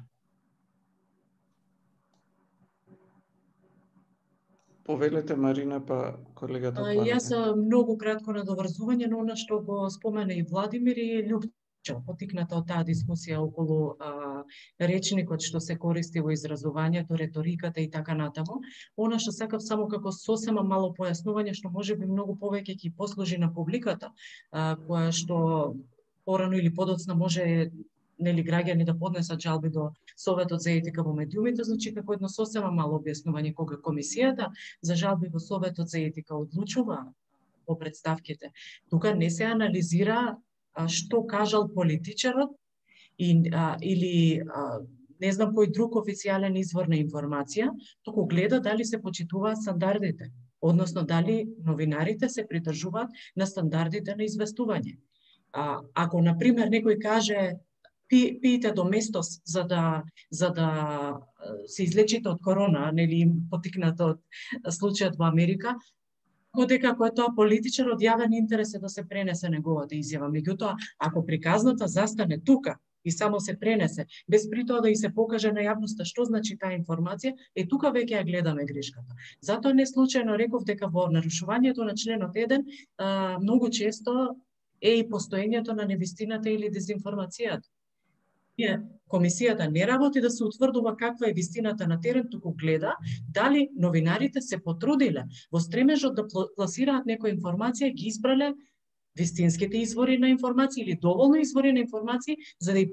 Повелете, Марина, па колегата Планет. Јас многу кратко надоврзување на она што го спомена и Владимир и Љупчо, потикната од таа дискусија околу речникот што се користи во изразувањето, реториката и така натаму. Она што сакав само како сосема мало појаснување што можеби многу повеќе ќе послужи на публиката, која што порано или подоцна може граѓани да поднесат жалби до Советот за етика во медиумите, значи како едно сосема мало објаснување кога комисијата за жалби во Советот за етика одлучува по представките. Тука не се анализира што кажал политичарот или не знам кој друг официјален извор на информација, туку гледа дали се почитуваат стандардите, односно дали новинарите се придржуваат на стандардите на известување. Ако, например, некој каже пиете доместос за да се излечите од корона, нели потикнато од случајот во Америка, дека ако е тоа политичар од јавен интерес е да се пренесе неговата изјава. Меѓутоа, ако приказната застане тука и само се пренесе, без при тоа да и се покаже на јавноста што значи таа информација, тука веќе ја гледаме грешката. Затоа не случајно реков дека во нарушувањето на членот 1 многу често е и постоењето на невистината или дезинформацијата. Комисијата не работи да се утврдува каква е вистината на терен, туку гледа дали новинарите се потрудиле во стремежот да пласираат некоја информација, ги избрале вистинските извори на информација или доволно извори на информација за да и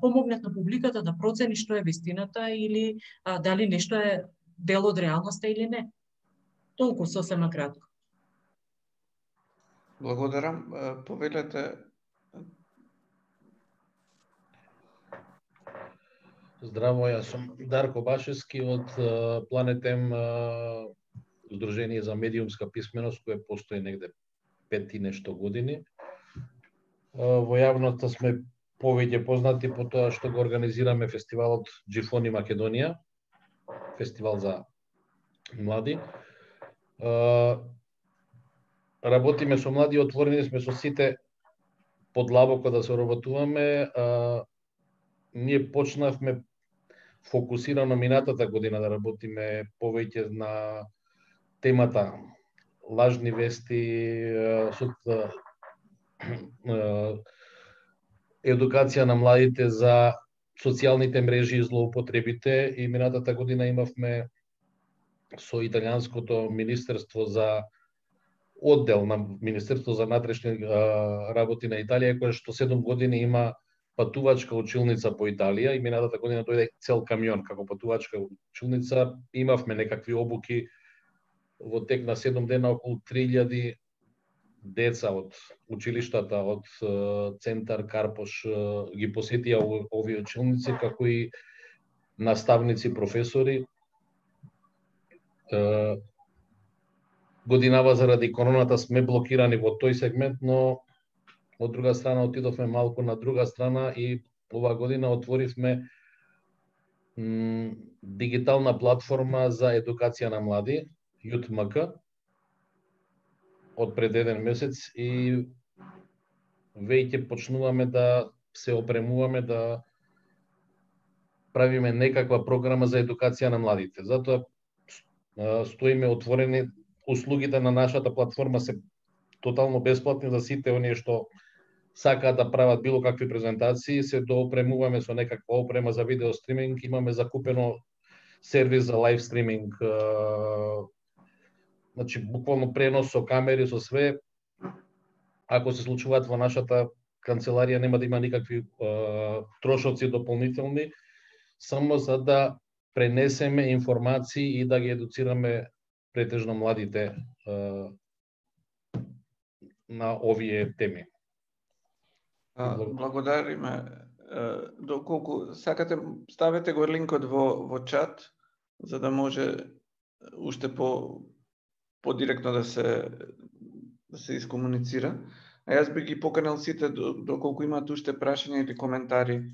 помогнат на публиката да процени што е вистината или дали нешто е дел од реалноста или не. Толку сосема кратко. Благодарам. Повелете. Здраво, јас сум Дарко Башевски од Планет М, Сдружение за медиумска писменост, кое постои негде 5 и нешто години. Во јавноста сме повеќе познати по тоа што го организираме фестивалот Джифони Македонија, фестивал за млади. Работиме со млади, отворени сме со сите подлабоко да се работуваме. Ние почнавме фокусирано минатата година да работиме повеќе на темата лажни вести, едукација на младите за социјалните мрежи и злоупотребите, и минатата година имавме со италијанското министерство за оддел на Министерство за внатрешни работи на Италија, кој што 7 години има патувачка училница по Италија, и минатата година дојде цел камион како патувачка училница. Имавме некакви обуки во тек на 7 дена, околу 3000 деца од училиштата, од Центар Карпош ги посетија овие училници, како и наставници, професори. Годинава заради короната сме блокирани во тој сегмент, но од друга страна отидовме малку на друга страна и оваа година отворивме дигитална платформа за едукација на млади, YouthMK, од пред еден месец и веќе почнуваме да се опремуваме да правиме некаква програма за едукација на младите. Затоа стоиме отворени, услугите на нашата платформа се тотално бесплатни за сите оние што сакаат да прават било какви презентации, се доопремуваме со некаква опрема за видео стриминг, имаме закупено сервис за лайв стриминг, значи буквално пренос со камери, со све. Ако се случуваат во нашата канцеларија нема да има никакви трошоци дополнителни, само за да пренесеме информации и да ги едуцираме претежно младите на овие теми. Благодариме. Доколку сакате, ставете го линкот во чат, за да може уште подиректно да се искомуницира. А јас би ги поканил сите, доколку имаат уште прашања или коментари,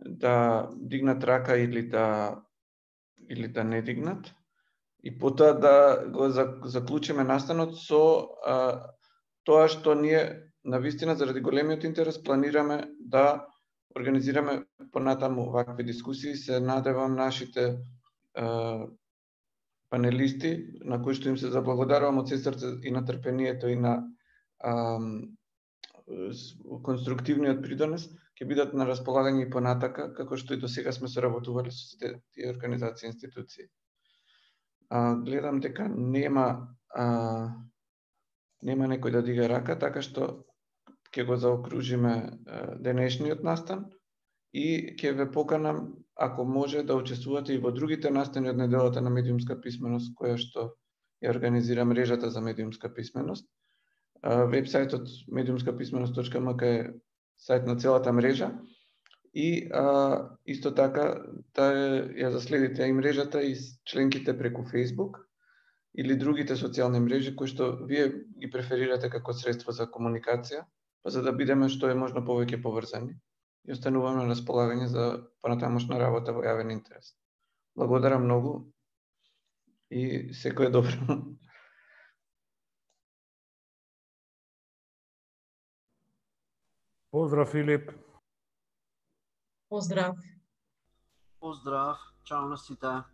да дигнат рака или да не дигнат. И потоа да го заклучиме настанот со тоа што ние навистина заради големиот интерес планираме да организираме понатаму вакви дискусии. Се надевам нашите панелисти, на кои што им се заблагодарувам од се срце и на трпението и на конструктивниот придонес, ќе бидат на располагање и понатака, како што и до сега сме соработували со сите тие организации и институции. Гледам дека нема некој да дига рака, така што ќе го заокружиме денешниот настан и ќе ве поканам, ако може, да учествувате и во другите настани од неделата на медиумска писменост, која што ја организира мрежата за медиумска писменост. Вебсајтот mediumskapисменост.mk е сајт на целата мрежа и исто така да ја заследите и мрежата и членките преку Facebook или другите социјални мрежи кои што вие ги преферирате како средство за комуникација, за да бидеме што е можно повеќе поврзани и остануваме на располагање за понатамошна работа во јавен интерес. Благодарам многу и секое добро. Поздрав, Филип. Поздрав. Поздрав, чао на сите.